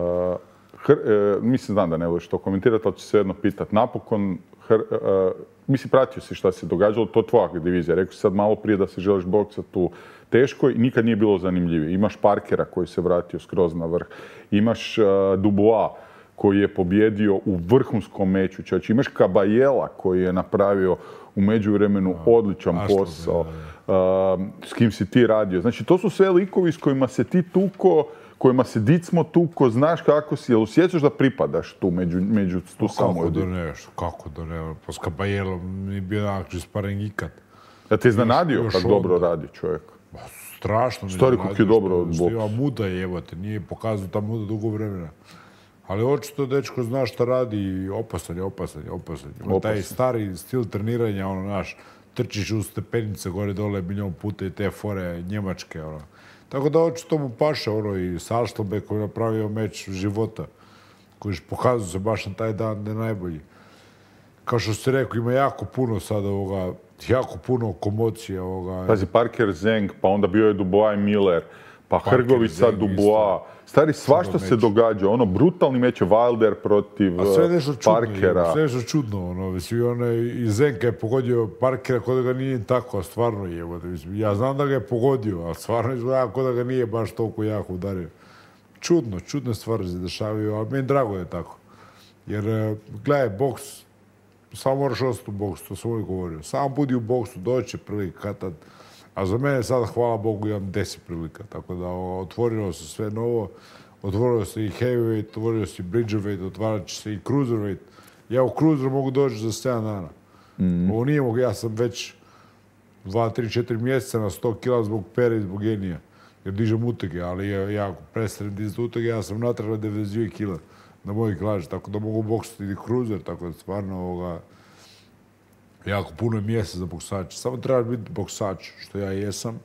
hr, uh, mislim, znam da ne voliš to komentirati, ali ću se jedno pitati. Napokon, hr, uh, mislim, pratio si šta se događalo, to je tvoja divizija. Rekao si sad malo prije da se želiš boksati u teškoj, nikad nije bilo zanimljivije. Imaš Parkera koji se vratio skroz na vrh. Imaš uh, Dubois koji je pobjedio u vrhunskom meču. Čač, imaš Kabajela koji je napravio u međuvremenu odličan posao. Uh, s kim si ti radio. Znači, to su sve likovi s kojima se ti tuko, kojima se Dicmo tuko, znaš kako si, jel osjećaš da pripadaš tu među, među tu samo Kako da ne, kako da ne, pa s Kabajelom nije bio nakon sparing ikad. Ja te iznenadio kako dobro radi čovjek. Strašno mi Stari kako je dobro od boksa. Ima muda jebate, nije pokazao ta muda dugo vremena. Ali očito dečko zna šta radi i opasan je, opasan je, opasan je. Ima taj stari stil treniranja, ono, naš, trčiš u stepenice gore dole milijon puta i te fore njemačke, ono. Tako da očito mu paše, ono, i Salštobe koji je napravio meč života, koji je pokazao se baš na taj dan da je najbolji. Kao što ste rekao, ima jako puno sad ovoga, jako puno komocije ovoga. Pazi, Parker Zeng, pa onda bio je Dubois i Miller, pa Hrgovica, Dubois. Stari, svašta se događa, ono, brutalni meč je Wilder protiv A sve nešto čudno, Parkera. Sve nešto čudno, ono, mislim, ono, i Zenka je pogodio Parkera kod da ga nije tako, a stvarno je, mislim, ja znam da ga je pogodio, a stvarno izgleda kod da ga nije baš toliko jako udario. čudno, čudne stvari se dešavaju, ali meni drago je tako. Jer, gledaj, boks, samo moraš ostati u boksu, to sam uvijek govorio. Samo budi u boksu, doće prilika tad. A za mene sada, hvala Bogu, imam deset prilika. Tako da otvorilo se sve novo. Otvorilo se i heavyweight, otvorilo se i bridgerweight, otvarat će se i cruiserweight. Ja u cruiser mogu doći za sedam dana. Mm. Ovo nije mogu, ja sam već dva, tri, četiri mjeseca na sto kila zbog pere i zbog genija. Jer dižem utege, ali ja ako prestanem dizati utege, ja sam natrag na devedeset dvije kila na mojoj klaži. Tako da mogu boksati i cruiser, tako da stvarno ovoga, jako puno je mjesta za boksača. Samo trebaš biti boksač, što ja jesam,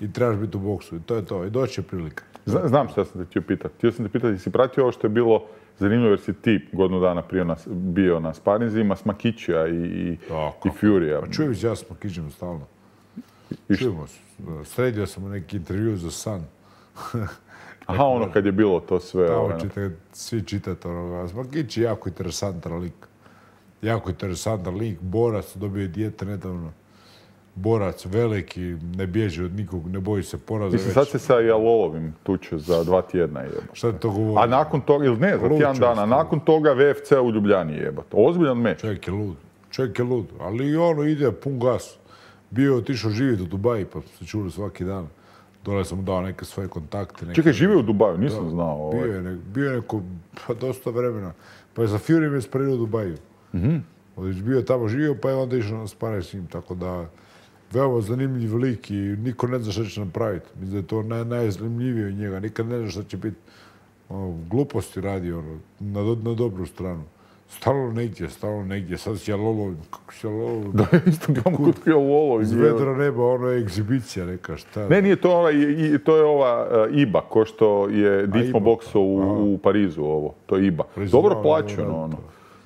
i trebaš biti u boksu. I to je to. I doći je prilika. Znam što sam te htio pitati. Htio sam te pitati, si pratio ovo što je bilo zanimljivo jer si ti godinu dana prije nas, bio na sparinzima s Makićija i, i, i Furija. Pa čujem se ja s Makićem stalno. Čujemo se. Sredio sam u neki intervju za Sun. Aha, ono kad je bilo to sve. Tamo čita, svi čitate onoga. Makić je jako interesantan lik. Jako interesantan lik. Borac, dobio je dijete nedavno. Borac, veliki, ne bježi od nikog, ne boji se poraza. Mislim, sad se sa Jalolovim tuče za dva tjedna jeba. Šta ti to govori? A nakon toga, ili ne, za tjedan dana, nakon toga V F C u Ljubljani jebat. Ozbiljan meč. Čovjek je lud, čovjek je lud, ali i ono ide pun gas. Bio je otišao živjeti u Dubaji, pa se čuli svaki dan. Dole sam mu dao neke svoje kontakte. Neke... Čekaj, živio u Dubaju, nisam da, znao. Ovaj. Bio je, ne, bio je neko, pa dosta vremena. Pa je za Fury me spario u Dubaju. Mm-hmm. Bio je tamo živio, pa je onda išao na sparaj s njim, tako da... Veoma zanimljiv lik i niko ne zna šta će napraviti. Mislim da je to naj, najzanimljivije od njega. Nikad ne zna šta će biti. Ono, gluposti radi ono, na, na dobru stranu. Stalno negdje, stalno negdje. Sad si Jalolovim. Kako si Jalolovim? Da, isto gledam kod Jalolovim. Iz vedra neba, ono je egzibicija neka. Šta? Ne, nije to ova, i, to je ova uh, I B A, ko što je Ditmo boksao u, u Parizu ovo. To je I B A. Parizu, dobro plaćeno ono.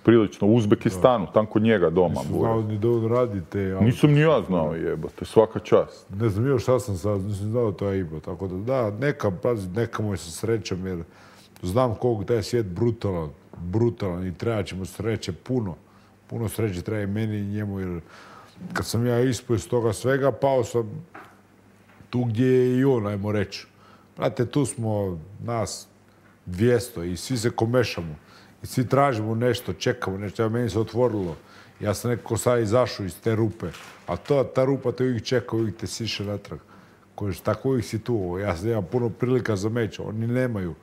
Prilično, u Uzbekistanu, tam kod njega doma. Nisam znao ni da on radite. Ali... Nisam ni ja znao jebate, svaka čast. Ne znam još šta sam sad, nisam znao to je I B A. Tako da da, neka, pazi, neka mu je sa srećom jer znam koliko taj svijet brutalan, brutalan i treba će mu sreće puno. Puno sreće treba i meni i njemu jer kad sam ja ispao iz toga svega, pao sam tu gdje je i on, ajmo reći. Znate, tu smo nas dvjesto i svi se komešamo. I svi tražimo nešto, čekamo nešto, meni se otvorilo. Ja sam nekako sad izašao iz te rupe. A to, ta rupa te uvijek čeka, uvijek te siše natrag. Kojiš, tako uvijek si tu. Ja sam imam puno prilika za meč, oni nemaju.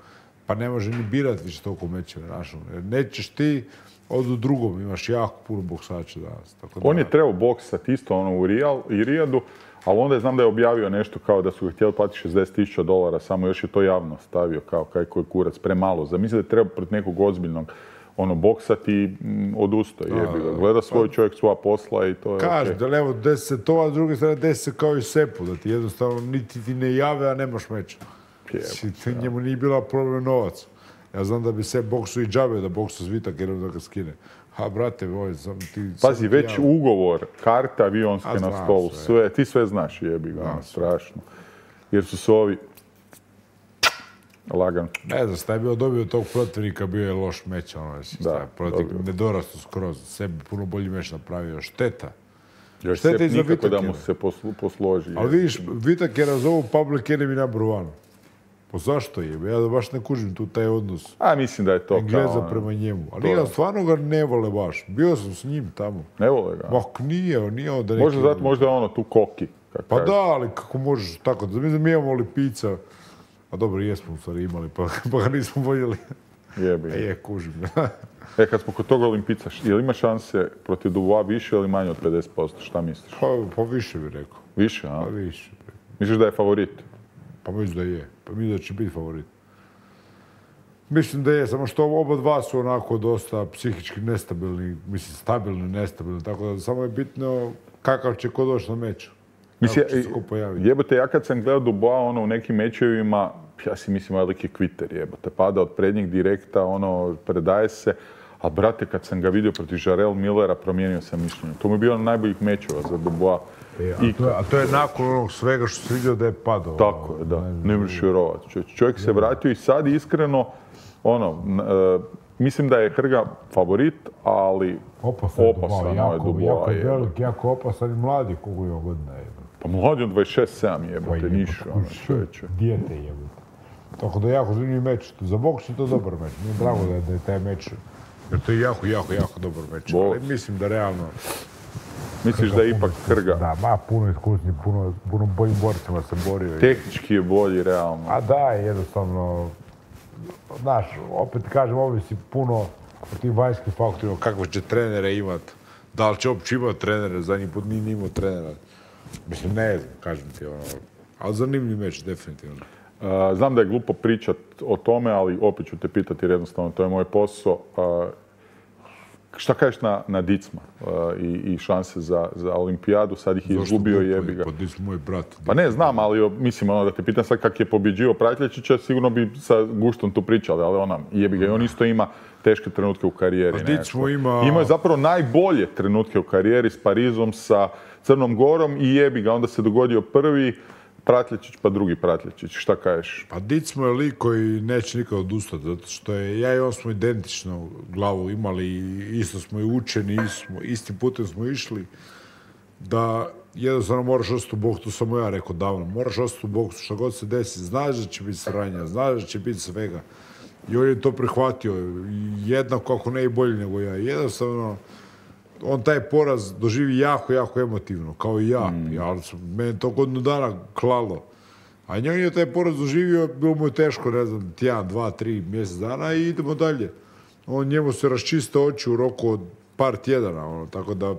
Pa ne može ni birati više toliko mečeve. Jer nećeš ti, od u drugom, imaš jako puno boksača danas. Tako da... On je trebao boksati isto ono u Rijal, i Rijadu, ali onda je znam da je objavio nešto kao da su ga htjeli platiti šezdeset tisuća dolara, samo još je to javno stavio kao kaj koji kurac, premalo. Zamisli da je treba protiv nekog ozbiljnog ono, boksati i mm, odustao. Jebi ga. Gleda svoj čovjek svoja posla i to je Kaži, okay. Da levo deset to, a s druge strane deset kao i Sepu, da ti jednostavno niti ti ne jave, a nemaš meča. Ja. Njemu nije bila problem novac. Ja znam da bi se boksu i džabe da boksu Zvitak jer da ga skine. Ha, brate, ovaj, sam ti... Pazi, već javno. Ugovor, karte avionske a, na stolu, sve. sve, ti sve znaš, jebi ga, ono, strašno. Jer su se ovi... Lagan. Ne znam, šta je bio dobio tog protivnika, bio je loš meč, ono, da, protivnik ne dorastu skroz, sebi puno bolji meč napravio, šteta. Još Šteta Sep nikako Vitakera. Da mu se poslu, posloži. Ali vidiš, Vitakera zovu public enemy number one. Pa zašto je? Ja da baš ne kužim tu taj odnos. A mislim da je to Engleza kao... prema njemu. Ali ja stvarno ga ne vole baš. Bio sam s njim tamo. Ne vole ga? Ma nije, nije onda neki... Možda zato, možda je ono tu koki. Pa kaže. Da, ali kako možeš tako. Da mi znam, imamo Lipica. A dobro, jesmo u stvari imali, pa, pa ga nismo voljeli. Jebi. E, je, kužim. E, kad smo kod toga Olimpica, je li ima šanse protiv Dubois više ili manje od pedeset posto? Šta misliš? Pa, pa više bih rekao. Više, a? Pa više. Misliš da je favorit? Pa mislim da je. Pa mislim da će biti favorit. Mislim da je, samo što oba dva su onako dosta psihički nestabilni, mislim stabilni, nestabilni, tako da samo je bitno kakav će ko doći na meč. Mislim, jebote, ja kad sam gledao Dubois ono, u nekim mečevima, ja si mislim veliki kviter, jebote, pada od prednjeg direkta, ono, predaje se, a brate, kad sam ga vidio protiv Jarrell Millera, promijenio sam mišljenje. To mi je bio jedan najboljih mečeva za Dubois. E, a, to je, a to je nakon onog svega što se vidio da je padao. Tako je, da, ne, ne možeš vjerovati. Čovjek, čovjek se vratio i sad iskreno, ono, uh, mislim da je Hrga favorit, ali opasan, opasan jako, je Dubois. Jako je velik, jako opasan i mladi, koliko je godina je. Pa mladi on dvadeset šest sedam jebote, ništa, ono, čovječe. Dijete jebote. Tako da je jako zanimljiv meč. Za boks je to dobar meč. Nije drago da je, da je taj meč, jer to je jako, jako, jako dobar meč. Ali mislim da realno... Misliš da je ipak Krga? Da, ma puno iskusni, puno, puno boljim borcima se borio. Tehnički je bolji, realno. A da, jednostavno, znaš, opet kažem, ovisi puno o tim vanjskim faktorima, kakve će trenere imat, da li će uopće imati trenere, zadnji put nije imao trenera. Mislim, ne znam, kažem ti, ono, ali zanimljiv meč, definitivno. Uh, znam da je glupo pričat o tome, ali opet ću te pitati jer jednostavno to je moj posao. Uh, šta kažeš na, na Dicma uh, i, i šanse za, za olimpijadu? Sad ih je izgubio i jebi ga. Pa Dicma moj brat. Pa ne, znam, ali mislim ono da te pitam sad kak je pobjeđio Pratljačića, sigurno bi sa guštom tu pričali, ali ona jebi ga i on isto ima teške trenutke u karijeri. Dicmo ima... Imao je zapravo najbolje trenutke u karijeri s Parizom, sa Crnom Gorom i jebi ga, onda se dogodio prvi Pratljačić pa drugi Pratljačić. Šta kažeš? Pa Dicmo je lik koji neće nikad odustati, zato što je, ja i on smo identično glavu imali, isto smo i učeni, isto, istim putem smo išli, da jednostavno moraš ostati u boksu, to sam ja rekao davno, moraš ostati u boksu, što god se desi, znaš da će biti sranja, znaš da će biti svega. I on je to prihvatio, jednako ako ne i bolje nego ja. Jednostavno, on taj poraz doživi jako, jako emotivno, kao i ja. Mm. ja mene to godinu dana klalo. A njoj je taj poraz doživio, bilo mu je teško, ne znam, tjedan, dva, tri mjesec dana i idemo dalje. On njemu se raščiste oči u roku od par tjedana, ono, tako da,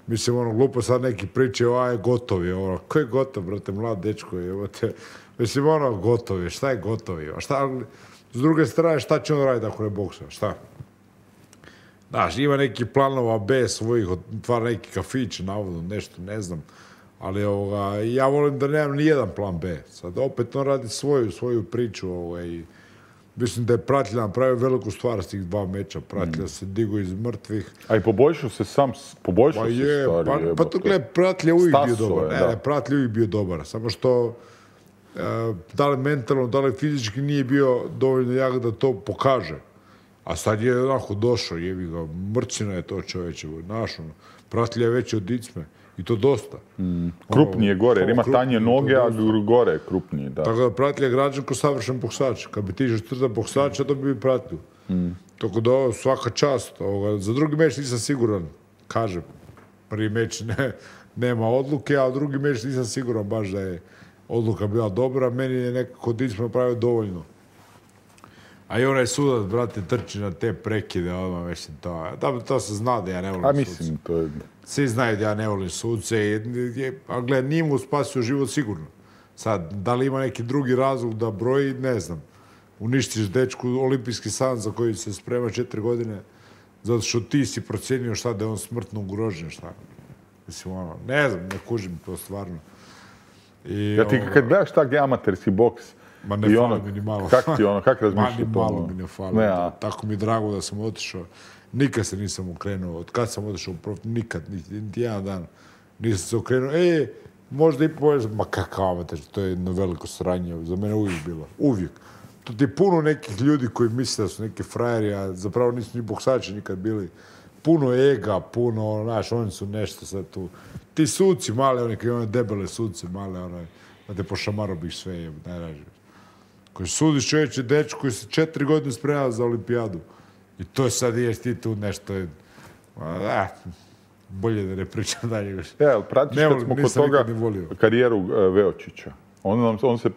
mislim, ono, glupo sad neki priče, aj, gotov je, ono, ko je gotov, brate, mlad dečko je, evo te, mislim, ono, gotov je, šta je gotov je, šta, s druge strane, šta će on raditi ako ne boksa, šta? Znaš, ima neki planova B svojih, otvara neki kafić, navodno, nešto, ne znam. Ali ovoga, ja volim da nemam ni jedan plan B. Sad opet on radi svoju, svoju priču. Ovoga, i mislim da je Pratlja napravio veliku stvar s tih dva meča. Pratlja mm. se digo iz mrtvih. A i poboljšao se sam, poboljšao pa se je, stvari. Pa, je, pa to gleda, Pratlja uvijek bio dobar. Je, ne, ne, Pratlja uvijek bio dobar. Samo što e, da li mentalno, da li fizički nije bio dovoljno jak da to pokaže. A sad je onako došao, jebi ga, mrcina je to čovječe, naš, ono, Pratlja je veći od Dicme, i to dosta. Mm. Krupniji je gore, jer ima tanje noge, a gore je krupniji, da. Tako da Pratlja je građan ko savršen boksač. Kad bi ti žestrta boksača, to bi bi Pratlju. Mm. Tako da ovo, svaka čast. Ovoga, za drugi meč nisam siguran, kažem. Prvi meč ne, nema odluke, a drugi meč nisam siguran baš da je odluka bila dobra. Meni je nekako Dicme napravio dovoljno. A i onaj sudac, brate, trči na te prekide, odmah, mislim, to, da, to se zna da ja ne volim A mislim, suce. To je... Svi znaju da ja ne volim suce, je, a gled, nije mu spasio život sigurno. Sad, da li ima neki drugi razlog da broji, ne znam. Uništiš dečku olimpijski san za koji se sprema četiri godine, zato što ti si procjenio šta da je on smrtno ugrožen, šta. Mislim, ono, ne znam, ne kužim to stvarno. I, ja ti ovo, kad gledaš tak amaterski boks, ma ne fali mi ni malo. Kak ti ono, kak razmišljaš to? Ma ni malo mi ne fali. Ne, a... Tako mi je drago da sam otišao. Nikad se nisam okrenuo. Od kad sam otišao u prof... Nikad, niti jedan dan nisam se okrenuo. E, možda i povijek. Ma kakav amater, to je jedno veliko sranje. Za mene uvijek bilo. Uvijek. To ti je puno nekih ljudi koji misle da su neki frajeri, a zapravo nisu ni boksači nikad bili. Puno ega, puno, znaš, oni su nešto sad tu. Ti suci male, oni koji one debele suci male, onaj, da te pošamarobiš sve, je, najrađe. Koji sudiš čovječe dečku koji se četiri godine spremao za olimpijadu. I to sad ješ ti tu nešto... A, bolje da ne pričam dalje više. Ja, ali pratiš kad smo kod toga karijeru uh, Veočića. On, on se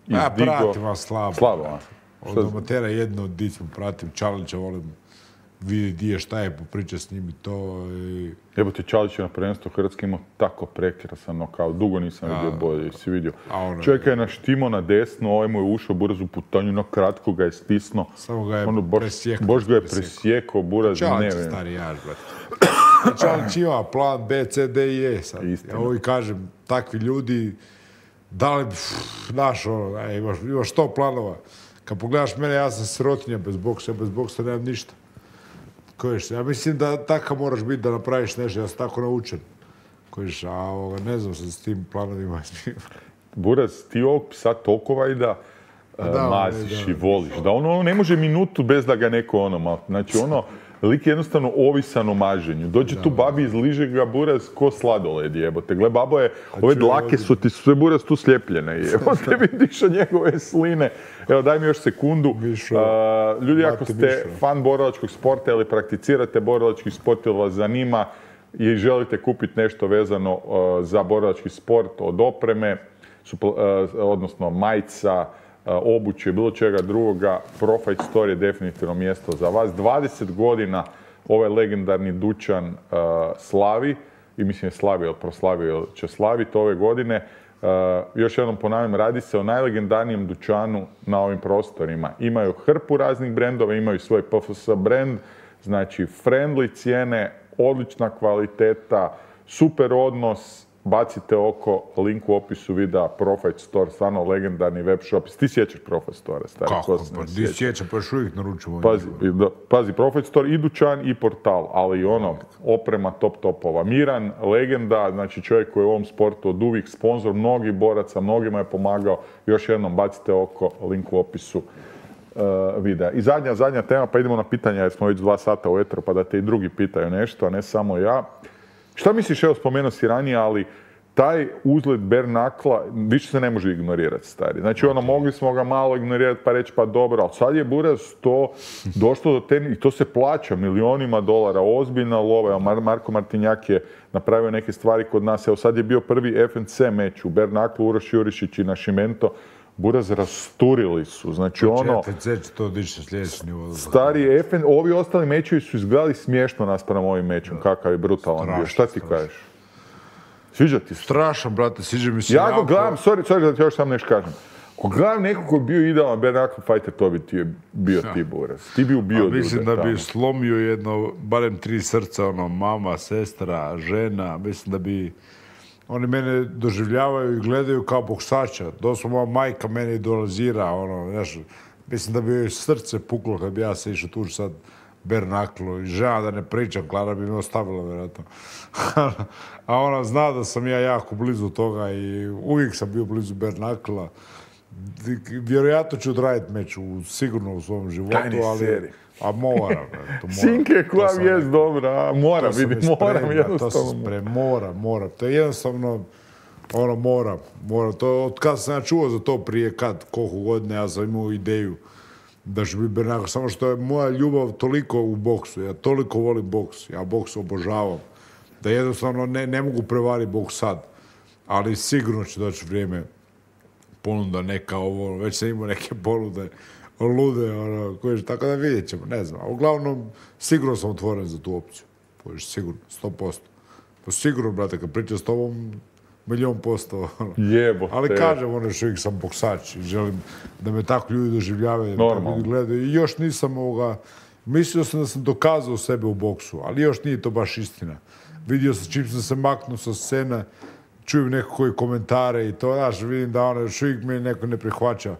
izdigo... Ja pratim, a slabo. Slabo, a? Od amatera jedno od Dicmu pratim, Čalića volim vidjeti di je, šta je, popričati s njim i to. I... Jebote, Čalić je na prvenstvu Hrvatske imao tako prekrasan nokaut. Dugo nisam vidio bolje, si vidio. Čovjek je naštimo na desno, ovaj mu je ušao Buraz u putanju, no kratko ga je stisnuo. Samo ga je ono, presjekao. Bož ga je presjekao, Buraz. Čalić je stari jaž, brate. Čalić ima plan B, C, D i E sad. Ja ovo i kažem, takvi ljudi, da li, znaš, ono, aj, imaš, imaš sto planova. Kad pogledaš mene, ja sam sirotinja bez boksa, bez boksa nemam ništa. Kojiš, ja mislim da takav moraš biti da napraviš nešto, ja sam tako naučen. Kojiš, a ovoga, ne znam se s tim planovima. Buraz, ti ovog psa toliko vajda uh, maziš i voliš. Da ono, ono ne može minutu bez da ga neko ono, mal, znači ono, lik je jednostavno ovisan o maženju. Dođe tu babi, izliže ga buraz ko sladoled, jebote. Gle, babo je, ove dlake su ti sve buraz tu sljepljene, jebote, vidiš od njegove sline. Evo, daj mi još sekundu. Uh, ljudi, ako ste fan borilačkog sporta ili prakticirate borilački sport ili vas zanima i želite kupiti nešto vezano uh, za borilački sport od opreme, supl, uh, odnosno majica, uh, obuće, bilo čega drugoga, Pro-Fight Store je definitivno mjesto za vas. dvadeset godina ovaj legendarni dućan uh, slavi, i mislim je slavio, ili proslavio, ili će slaviti ove godine. Uh, još jednom ponavljam, radi se o najlegendarnijem dućanu na ovim prostorima. Imaju hrpu raznih brendova, imaju svoj P F S brend, znači friendly cijene, odlična kvaliteta, super odnos, bacite oko, link u opisu videa, Pro-Fight Store, stvarno legendarni web shop. Ti sjećaš Pro-Fight Store, stari? Kako? Pa ti sjećam, pa još uvijek naručujem. Pazi, pazi, Pro-Fight Store i dućan i portal, ali i ono, oprema top topova. Miran, legenda, znači čovjek koji je u ovom sportu od uvijek sponzor mnogih boraca, mnogima je pomagao. Još jednom, bacite oko, link u opisu uh, videa. I zadnja, zadnja tema, pa idemo na pitanja jer smo već dva sata u etru, pa da te i drugi pitaju nešto, a ne samo ja. Šta misliš, evo spomenuo si ranije, ali taj uzlet bare knuckla više se ne može ignorirati, stari. Znači, ono, mogli smo ga malo ignorirati pa reći pa dobro, ali sad je buraz to došlo do te, i to se plaća milionima dolara, ozbiljna lova. Evo, Mar- Marko Martinjak je napravio neke stvari kod nas. Evo, sad je bio prvi F N C meč u bare knucklu, Uroš Jurišić i Našimento. Buraz rasturili su, znači ono... F N C će to dići na sljedeći nivo. Stari, F N, ovi ostali mečevi su izgledali smiješno naspram ovim mečom, kakav je brutalan bio. Šta ti kažeš? Sviđa ti se? Strašan, brate, sviđa mi se ja jako. Ja gledam, sorry, sorry da ti još sam nešto kažem. Ako gledam nekog koji je bio idealan bare knuckle fighter, to bi ti bio ja. Ti buraz. Ti bi ubio ljude. Mislim da bi slomio jedno, barem tri srca, ono, mama, sestra, žena, mislim da bi... Oni mene doživljavaju i gledaju kao boksača. Doslovno moja majka mene idolizira, ono, znaš, mislim da bi joj srce puklo kad bi ja se išao tuži sad bare knucklu i žena da ne pričam, Klara bi me ostavila, vjerojatno. A ona zna da sam ja jako blizu toga i uvijek sam bio blizu bare knuckla. Vjerojatno ću odraditi meč sigurno u svom životu, ali... A mora, to mora. Sinke koja vijest dobra, mora, vidim, moram jednostavno. To sam sprem, mora, mora. To je jednostavno, ono, mora, mora. To, od kada sam ja čuo za to prije kad, koliko godine, ja sam imao ideju da ću biti bare knuckle. Samo što je moja ljubav toliko u boksu, ja toliko volim boks, ja boks obožavam, da jednostavno ne, ne mogu prevariti boks sad. Ali sigurno će doći vrijeme ponuda neka ovo, već sam imao neke ponude, lude, ono, koje, tako da vidjet ćemo, ne znam. A uglavnom, sigurno sam otvoren za tu opciju. Poviš, sigurno, sto posto. Pa sigurno, brate, kad pričam s tobom, milion posto. Ono. Jebo. Ali kažem, ono, još uvijek sam boksač i želim da me tako ljudi doživljavaju, da tako ljudi gledaju. I još nisam ovoga, mislio sam da sam dokazao sebe u boksu, ali još nije to baš istina. Vidio sam, čim sam se maknuo sa scene, čujem neko koji komentare i to, znaš, vidim da ono, još uvijek me neko ne prihvaća.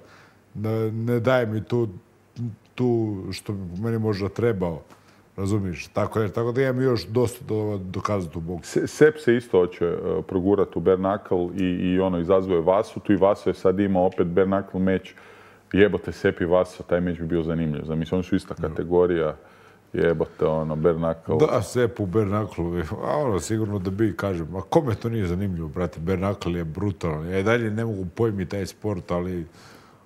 Da ne daje mi tu, tu što bi meni možda trebao, razumiješ? Tako je, tako da imam još dosta do, dokazati u boksu. Sep se isto hoće uh, progurati u bare knuckle i, i ono, izazvao je Vasu. Tu i Vaso je sad imao opet bare knuckle meč. Jebote, Sep i Vaso, taj meč bi bio zanimljiv. Mislim, oni su ista kategorija. Jebote, ono, bare knuckle. Da, Sep u bare knuckle, a ono, sigurno da bi, kažem, a kome to nije zanimljivo, brate, bare knuckle je brutalan. Ja i dalje ne mogu pojmiti taj sport, ali...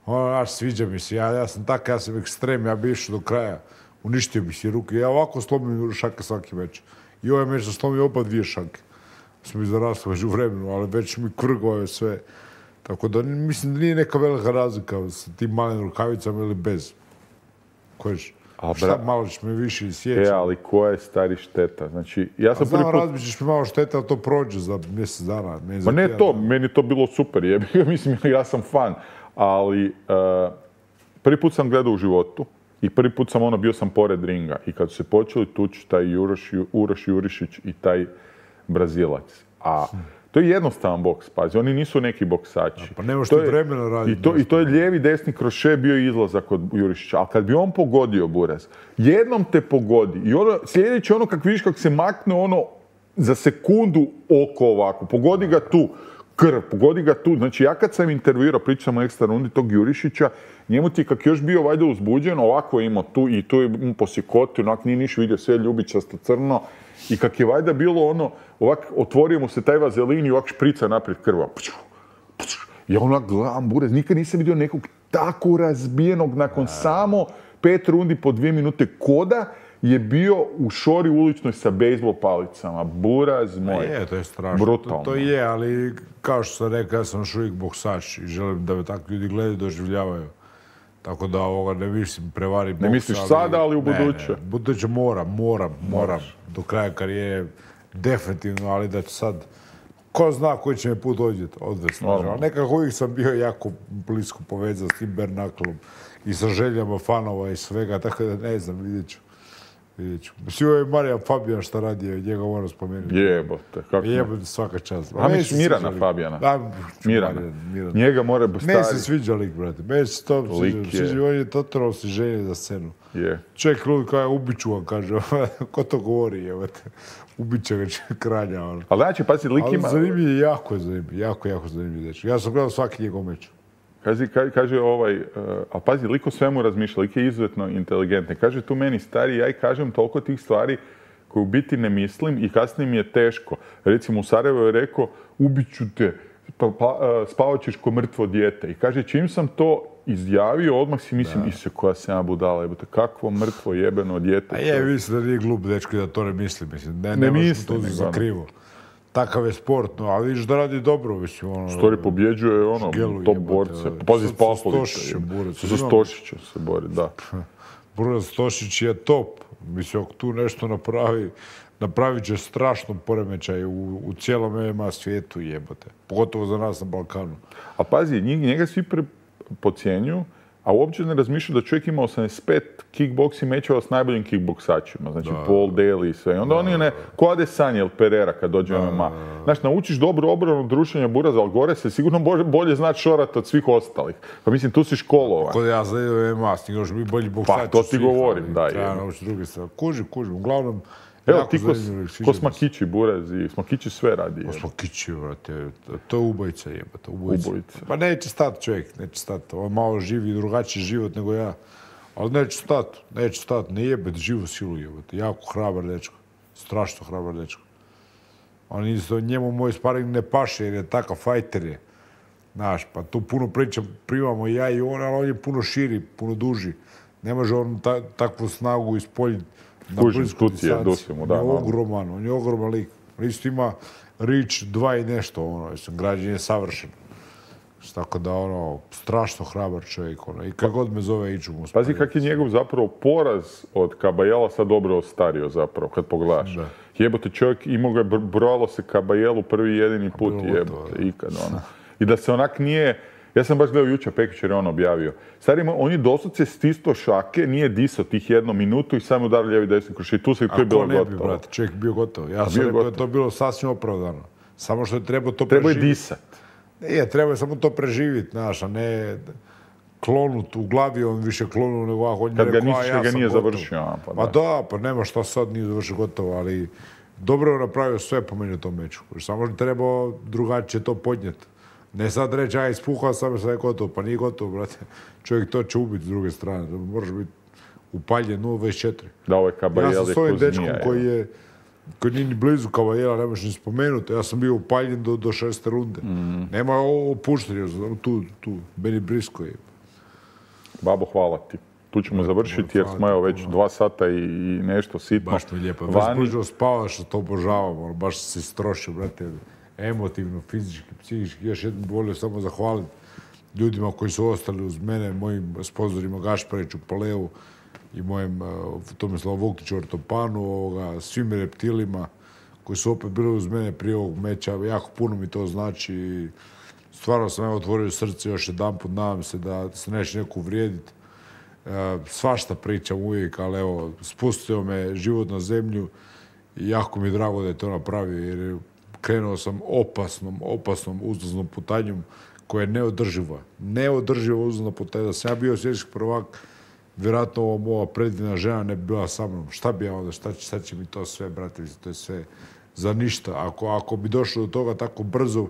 Ono, naš, sviđa mi se, ja, ja sam tak, ja sam ekstrem, ja bi išao do kraja, uništio bi si ruke, ja ovako slomim šake svaki meč. I ovaj meč sam slomio opet dvije šake. Smo izrasli već u vremenu, ali već mi kvrgovaju sve. Tako da, mislim da nije neka velika razlika sa tim malim rukavicama ili bez. Kojiš, šta malo ćeš me više sjećati. E, ali koja je stari šteta? Znači, ja sam prvi put... Znam, razbićeš mi malo šteta, ali to prođe za mjesec dana. Ma ne to, meni je to bilo super, jebi, mislim, ja sam fan. Ali uh, prvi put sam gledao u životu i prvi put sam ono, bio sam pored ringa. I kad su se počeli tući taj Uroš, Uroš Jurišić i taj Brazilac. A to je jednostavan boks, pazi, oni nisu neki boksači. A, pa nemaš ti vremena raditi. I to, I to je lijevi, desni kroše bio izlazak od Jurišića. Ali kad bi on pogodio buraz, jednom te pogodi i ono, sljedeće ono kak vidiš kak se makne ono za sekundu oko ovako, pogodi ga tu. krv, pogodi ga tu. Znači, ja kad sam intervjuirao, pričam o ekstra rundi tog Jurišića, njemu ti kak još bio valjda uzbuđen, ovako je imao tu i tu je mu posjekotio, onak nije niš vidio, sve ljubičasto crno. I kak je valjda bilo ono, ovak otvorio mu se taj vazelin i ovak šprica naprijed krva. Ja onak gledam, burez, nikad nisam vidio nekog tako razbijenog nakon samo pet rundi po dvije minute koda je bio u šori uličnoj sa bejzbol palicama. Buraz moj. Je, to je strašno. Brutalno. To, to je, ali kao što sam rekao, ja sam još uvijek boksač i želim da me takvi ljudi gledaju i doživljavaju. Tako da ovoga ne mislim prevari boksa. Ne misliš ali, sada, ali u buduće? Ne, ne. Buduće moram, moram, moram. Do kraja karijere definitivno, ali da će sad ko zna koji će me put odvesti. Ali nekako uvijek sam bio jako blisko povezan s tim Bernaklom i sa željama fanova i svega, tako da ne znam, vidjet ću. Vidjet ću. Svi je Marija Fabijan šta radi, njega moram spomenuti. Jebote, kako ne? Jebote, svaka čast. A misliš Mirana Fabijana? Da, Mirana. Mirana. Njega mora biti stari. Meni se sviđa lik, brate. Meni se to sviđa. On je totalno si želje za scenu. Je. Čovjek lud kao je ubiću vam, kaže. Ko to govori, jebote. Ubiće ga kralja, ono. Ali znači, pazi, lik ima... Ali zanimljiv je, jako je zanimljiv. Jako, jako zanimljiv dečko. Ja sam gledao svaki njegov meč. Kaže, kaže ovaj, uh, a pazi, lik o svemu razmišlja, lik je izuzetno inteligentni. Kaže tu meni stari, ja i kažem toliko tih stvari koje u biti ne mislim i kasnije mi je teško. Recimo u Sarajevo je rekao, ubit ću te, pa, pa, uh, spavat ćeš ko mrtvo dijete. I kaže, čim sam to izjavio, odmah si mislim, isje koja sam ja budala, jebote, kakvo mrtvo jebeno dijete. A je, mislim da nije glup dečko da to ne misli, mislim. Ne, ne, ne mislim, to za krivo. Takav je sport, no, ali vidiš da radi dobro, mislim, ono... Stori pobjeđuje, ono, šgelu, top jebate, borce. Pazi, s Pavlovića. Sa Stošićem se bori, da. Buraz Stošić je top. Mislim, ako tu nešto napravi, napravit će strašno poremećaj u, u cijelom M M A svijetu, jebote. Pogotovo za nas na Balkanu. A pazi, njega svi pocijenju, a uopće ne razmišljaju da čovjek ima osamdeset pet kickboxing mečeva s najboljim kickboksačima, znači da, Paul Daly i sve. I onda da, oni ne, ko Adesanya ili Pereira kad dođe u M M A. Znači, naučiš dobru obranu druženja Buraza, ali gore se sigurno bolje, bolje znati šorat od svih ostalih. Pa mislim, tu si školovan. Kod ja znam u M M A, stigao bi bolji boksač. Pa, to ti govorim, da. Treba naučiti druge stvari. Kužim, kužim. Uglavnom, evo, ti ko, ko Smakići Buraz i Smakići sve radi. Ko Smakići, vrate, to je ubojica jebata, ubojica. ubojica. Pa neće stati čovjek, neće stati. On malo živi drugačiji život nego ja. Ali neće stati, neće stati, ne jebati živu silu jebati. Jako hrabar dečko, strašno hrabar dečko. On isto, njemu moj sparing ne paše jer je takav fajter je. Znaš, pa tu puno priča primamo ja i on, ali on je puno širi, puno duži. Ne može on ta, takvu snagu ispoljiti na blisku distanci. On je ogroman, on je ogroman lik. On isto ima rič dva i nešto, ono, građen je savršen. Tako da, ono, strašno hrabar čovjek, ono, i kad god me zove iću mu. Pazi kak je njegov zapravo poraz od Kabajela sad dobro ostario zapravo, kad pogledaš. Da. Jebote, čovjek imao ga, brojalo se Kabajelu prvi jedini put, jebote, ikad, ono. I da se onak nije, ja sam baš gledao jučer, Pekić je on objavio. Stari, on je doslovce stisto šake, nije disao tih jednu minutu i samo udario lijevi desni kroš. I tu se to je bilo gotovo. A ko ne bi, brate, čovjek bio gotovo. Ja sam rekao da je to bilo sasvim opravdano. Samo što je trebao to preživjeti. Trebao je disat. Nije, treba je samo to preživjeti, znaš, a ne klonut u glavi, on više klonu nego ovako. On kad je ga rekao, ništa ja ga nije gotov. Završio. A, pa, da. Pa da, pa nema šta sad nije završio gotovo, ali dobro je napravio sve po meni u tom meču. Samo je trebao drugačije to podnijeti. Ne sad reći, aj, ispuhao sam, sad je gotovo, pa nije gotovo, brate. Čovjek to će ubiti s druge strane. Moraš biti upaljen nula dvadeset četiri. Da, ovo je Kabajel je ja sam s ovim dečkom koji je koji nije ni blizu Kabajela, ne možeš ni spomenuti. Ja sam bio upaljen do, do šeste runde. Mm. Nema opuštenja, tu, tu, meni brisko je. Babo, hvala ti. Tu ćemo završiti jer smo evo već dva sata i, i nešto sitno. Baš mi je lijepo. Vani... Baš buđo spavaš, to obožavam. Baš si strošio, brate. Emotivno, fizički, psihički. Još jednom volio samo zahvaliti ljudima koji su ostali uz mene, mojim sponzorima Gašpariću, Palevu i mojem uh, Tomislavu Vukliću, Ortopanu, ovoga, svim reptilima koji su opet bili uz mene prije ovog meča. Jako puno mi to znači i stvarno sam evo otvorio srce još jedan put, nadam se da se neće neko uvrijediti. Uh, svašta pričam uvijek, ali evo, spustio me život na zemlju i jako mi je drago da je to napravio jer krenuo sam opasnom, opasnom uzlaznom putanjom koja je neodrživa. Neodrživa uzlazna putanja. Da sam ja bio svjetski prvak, vjerojatno ova moja predivna žena ne bi bila sa mnom. Šta bi ja onda, šta će, šta će mi to sve, brate, to je sve za ništa. Ako, ako bi došlo do toga tako brzo,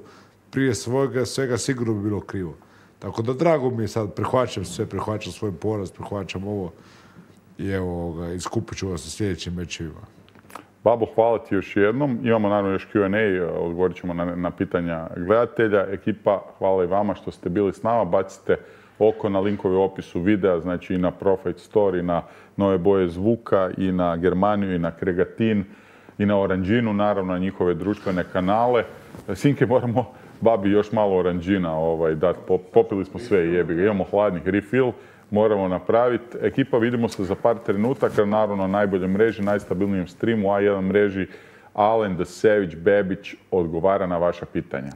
prije svojega svega sigurno bi bilo krivo. Tako da drago mi je sad, prihvaćam sve, prihvaćam svoj poraz, prihvaćam ovo i evo ga, iskupit ću vas u sljedećim mečevima. Babo, hvala ti još jednom. Imamo naravno još Q and A, odgovorit ćemo na, na pitanja gledatelja. Ekipa, hvala i vama što ste bili s nama. Bacite oko na linkove u opisu videa, znači i na Profit Store, i na nove boje zvuka, i na Germaniju, i na Kregatin, i na Oranđinu, naravno na njihove društvene kanale. Sinke, moramo babi još malo oranđina ovaj, dati. Popili smo sve i jebi ga. Imamo hladnih refill, moramo napraviti. Ekipa, vidimo se za par trenutaka, naravno na najboljoj mreži, najstabilnijem streamu, A jedan mreži. Alen the Savage Bebić odgovara na vaša pitanja.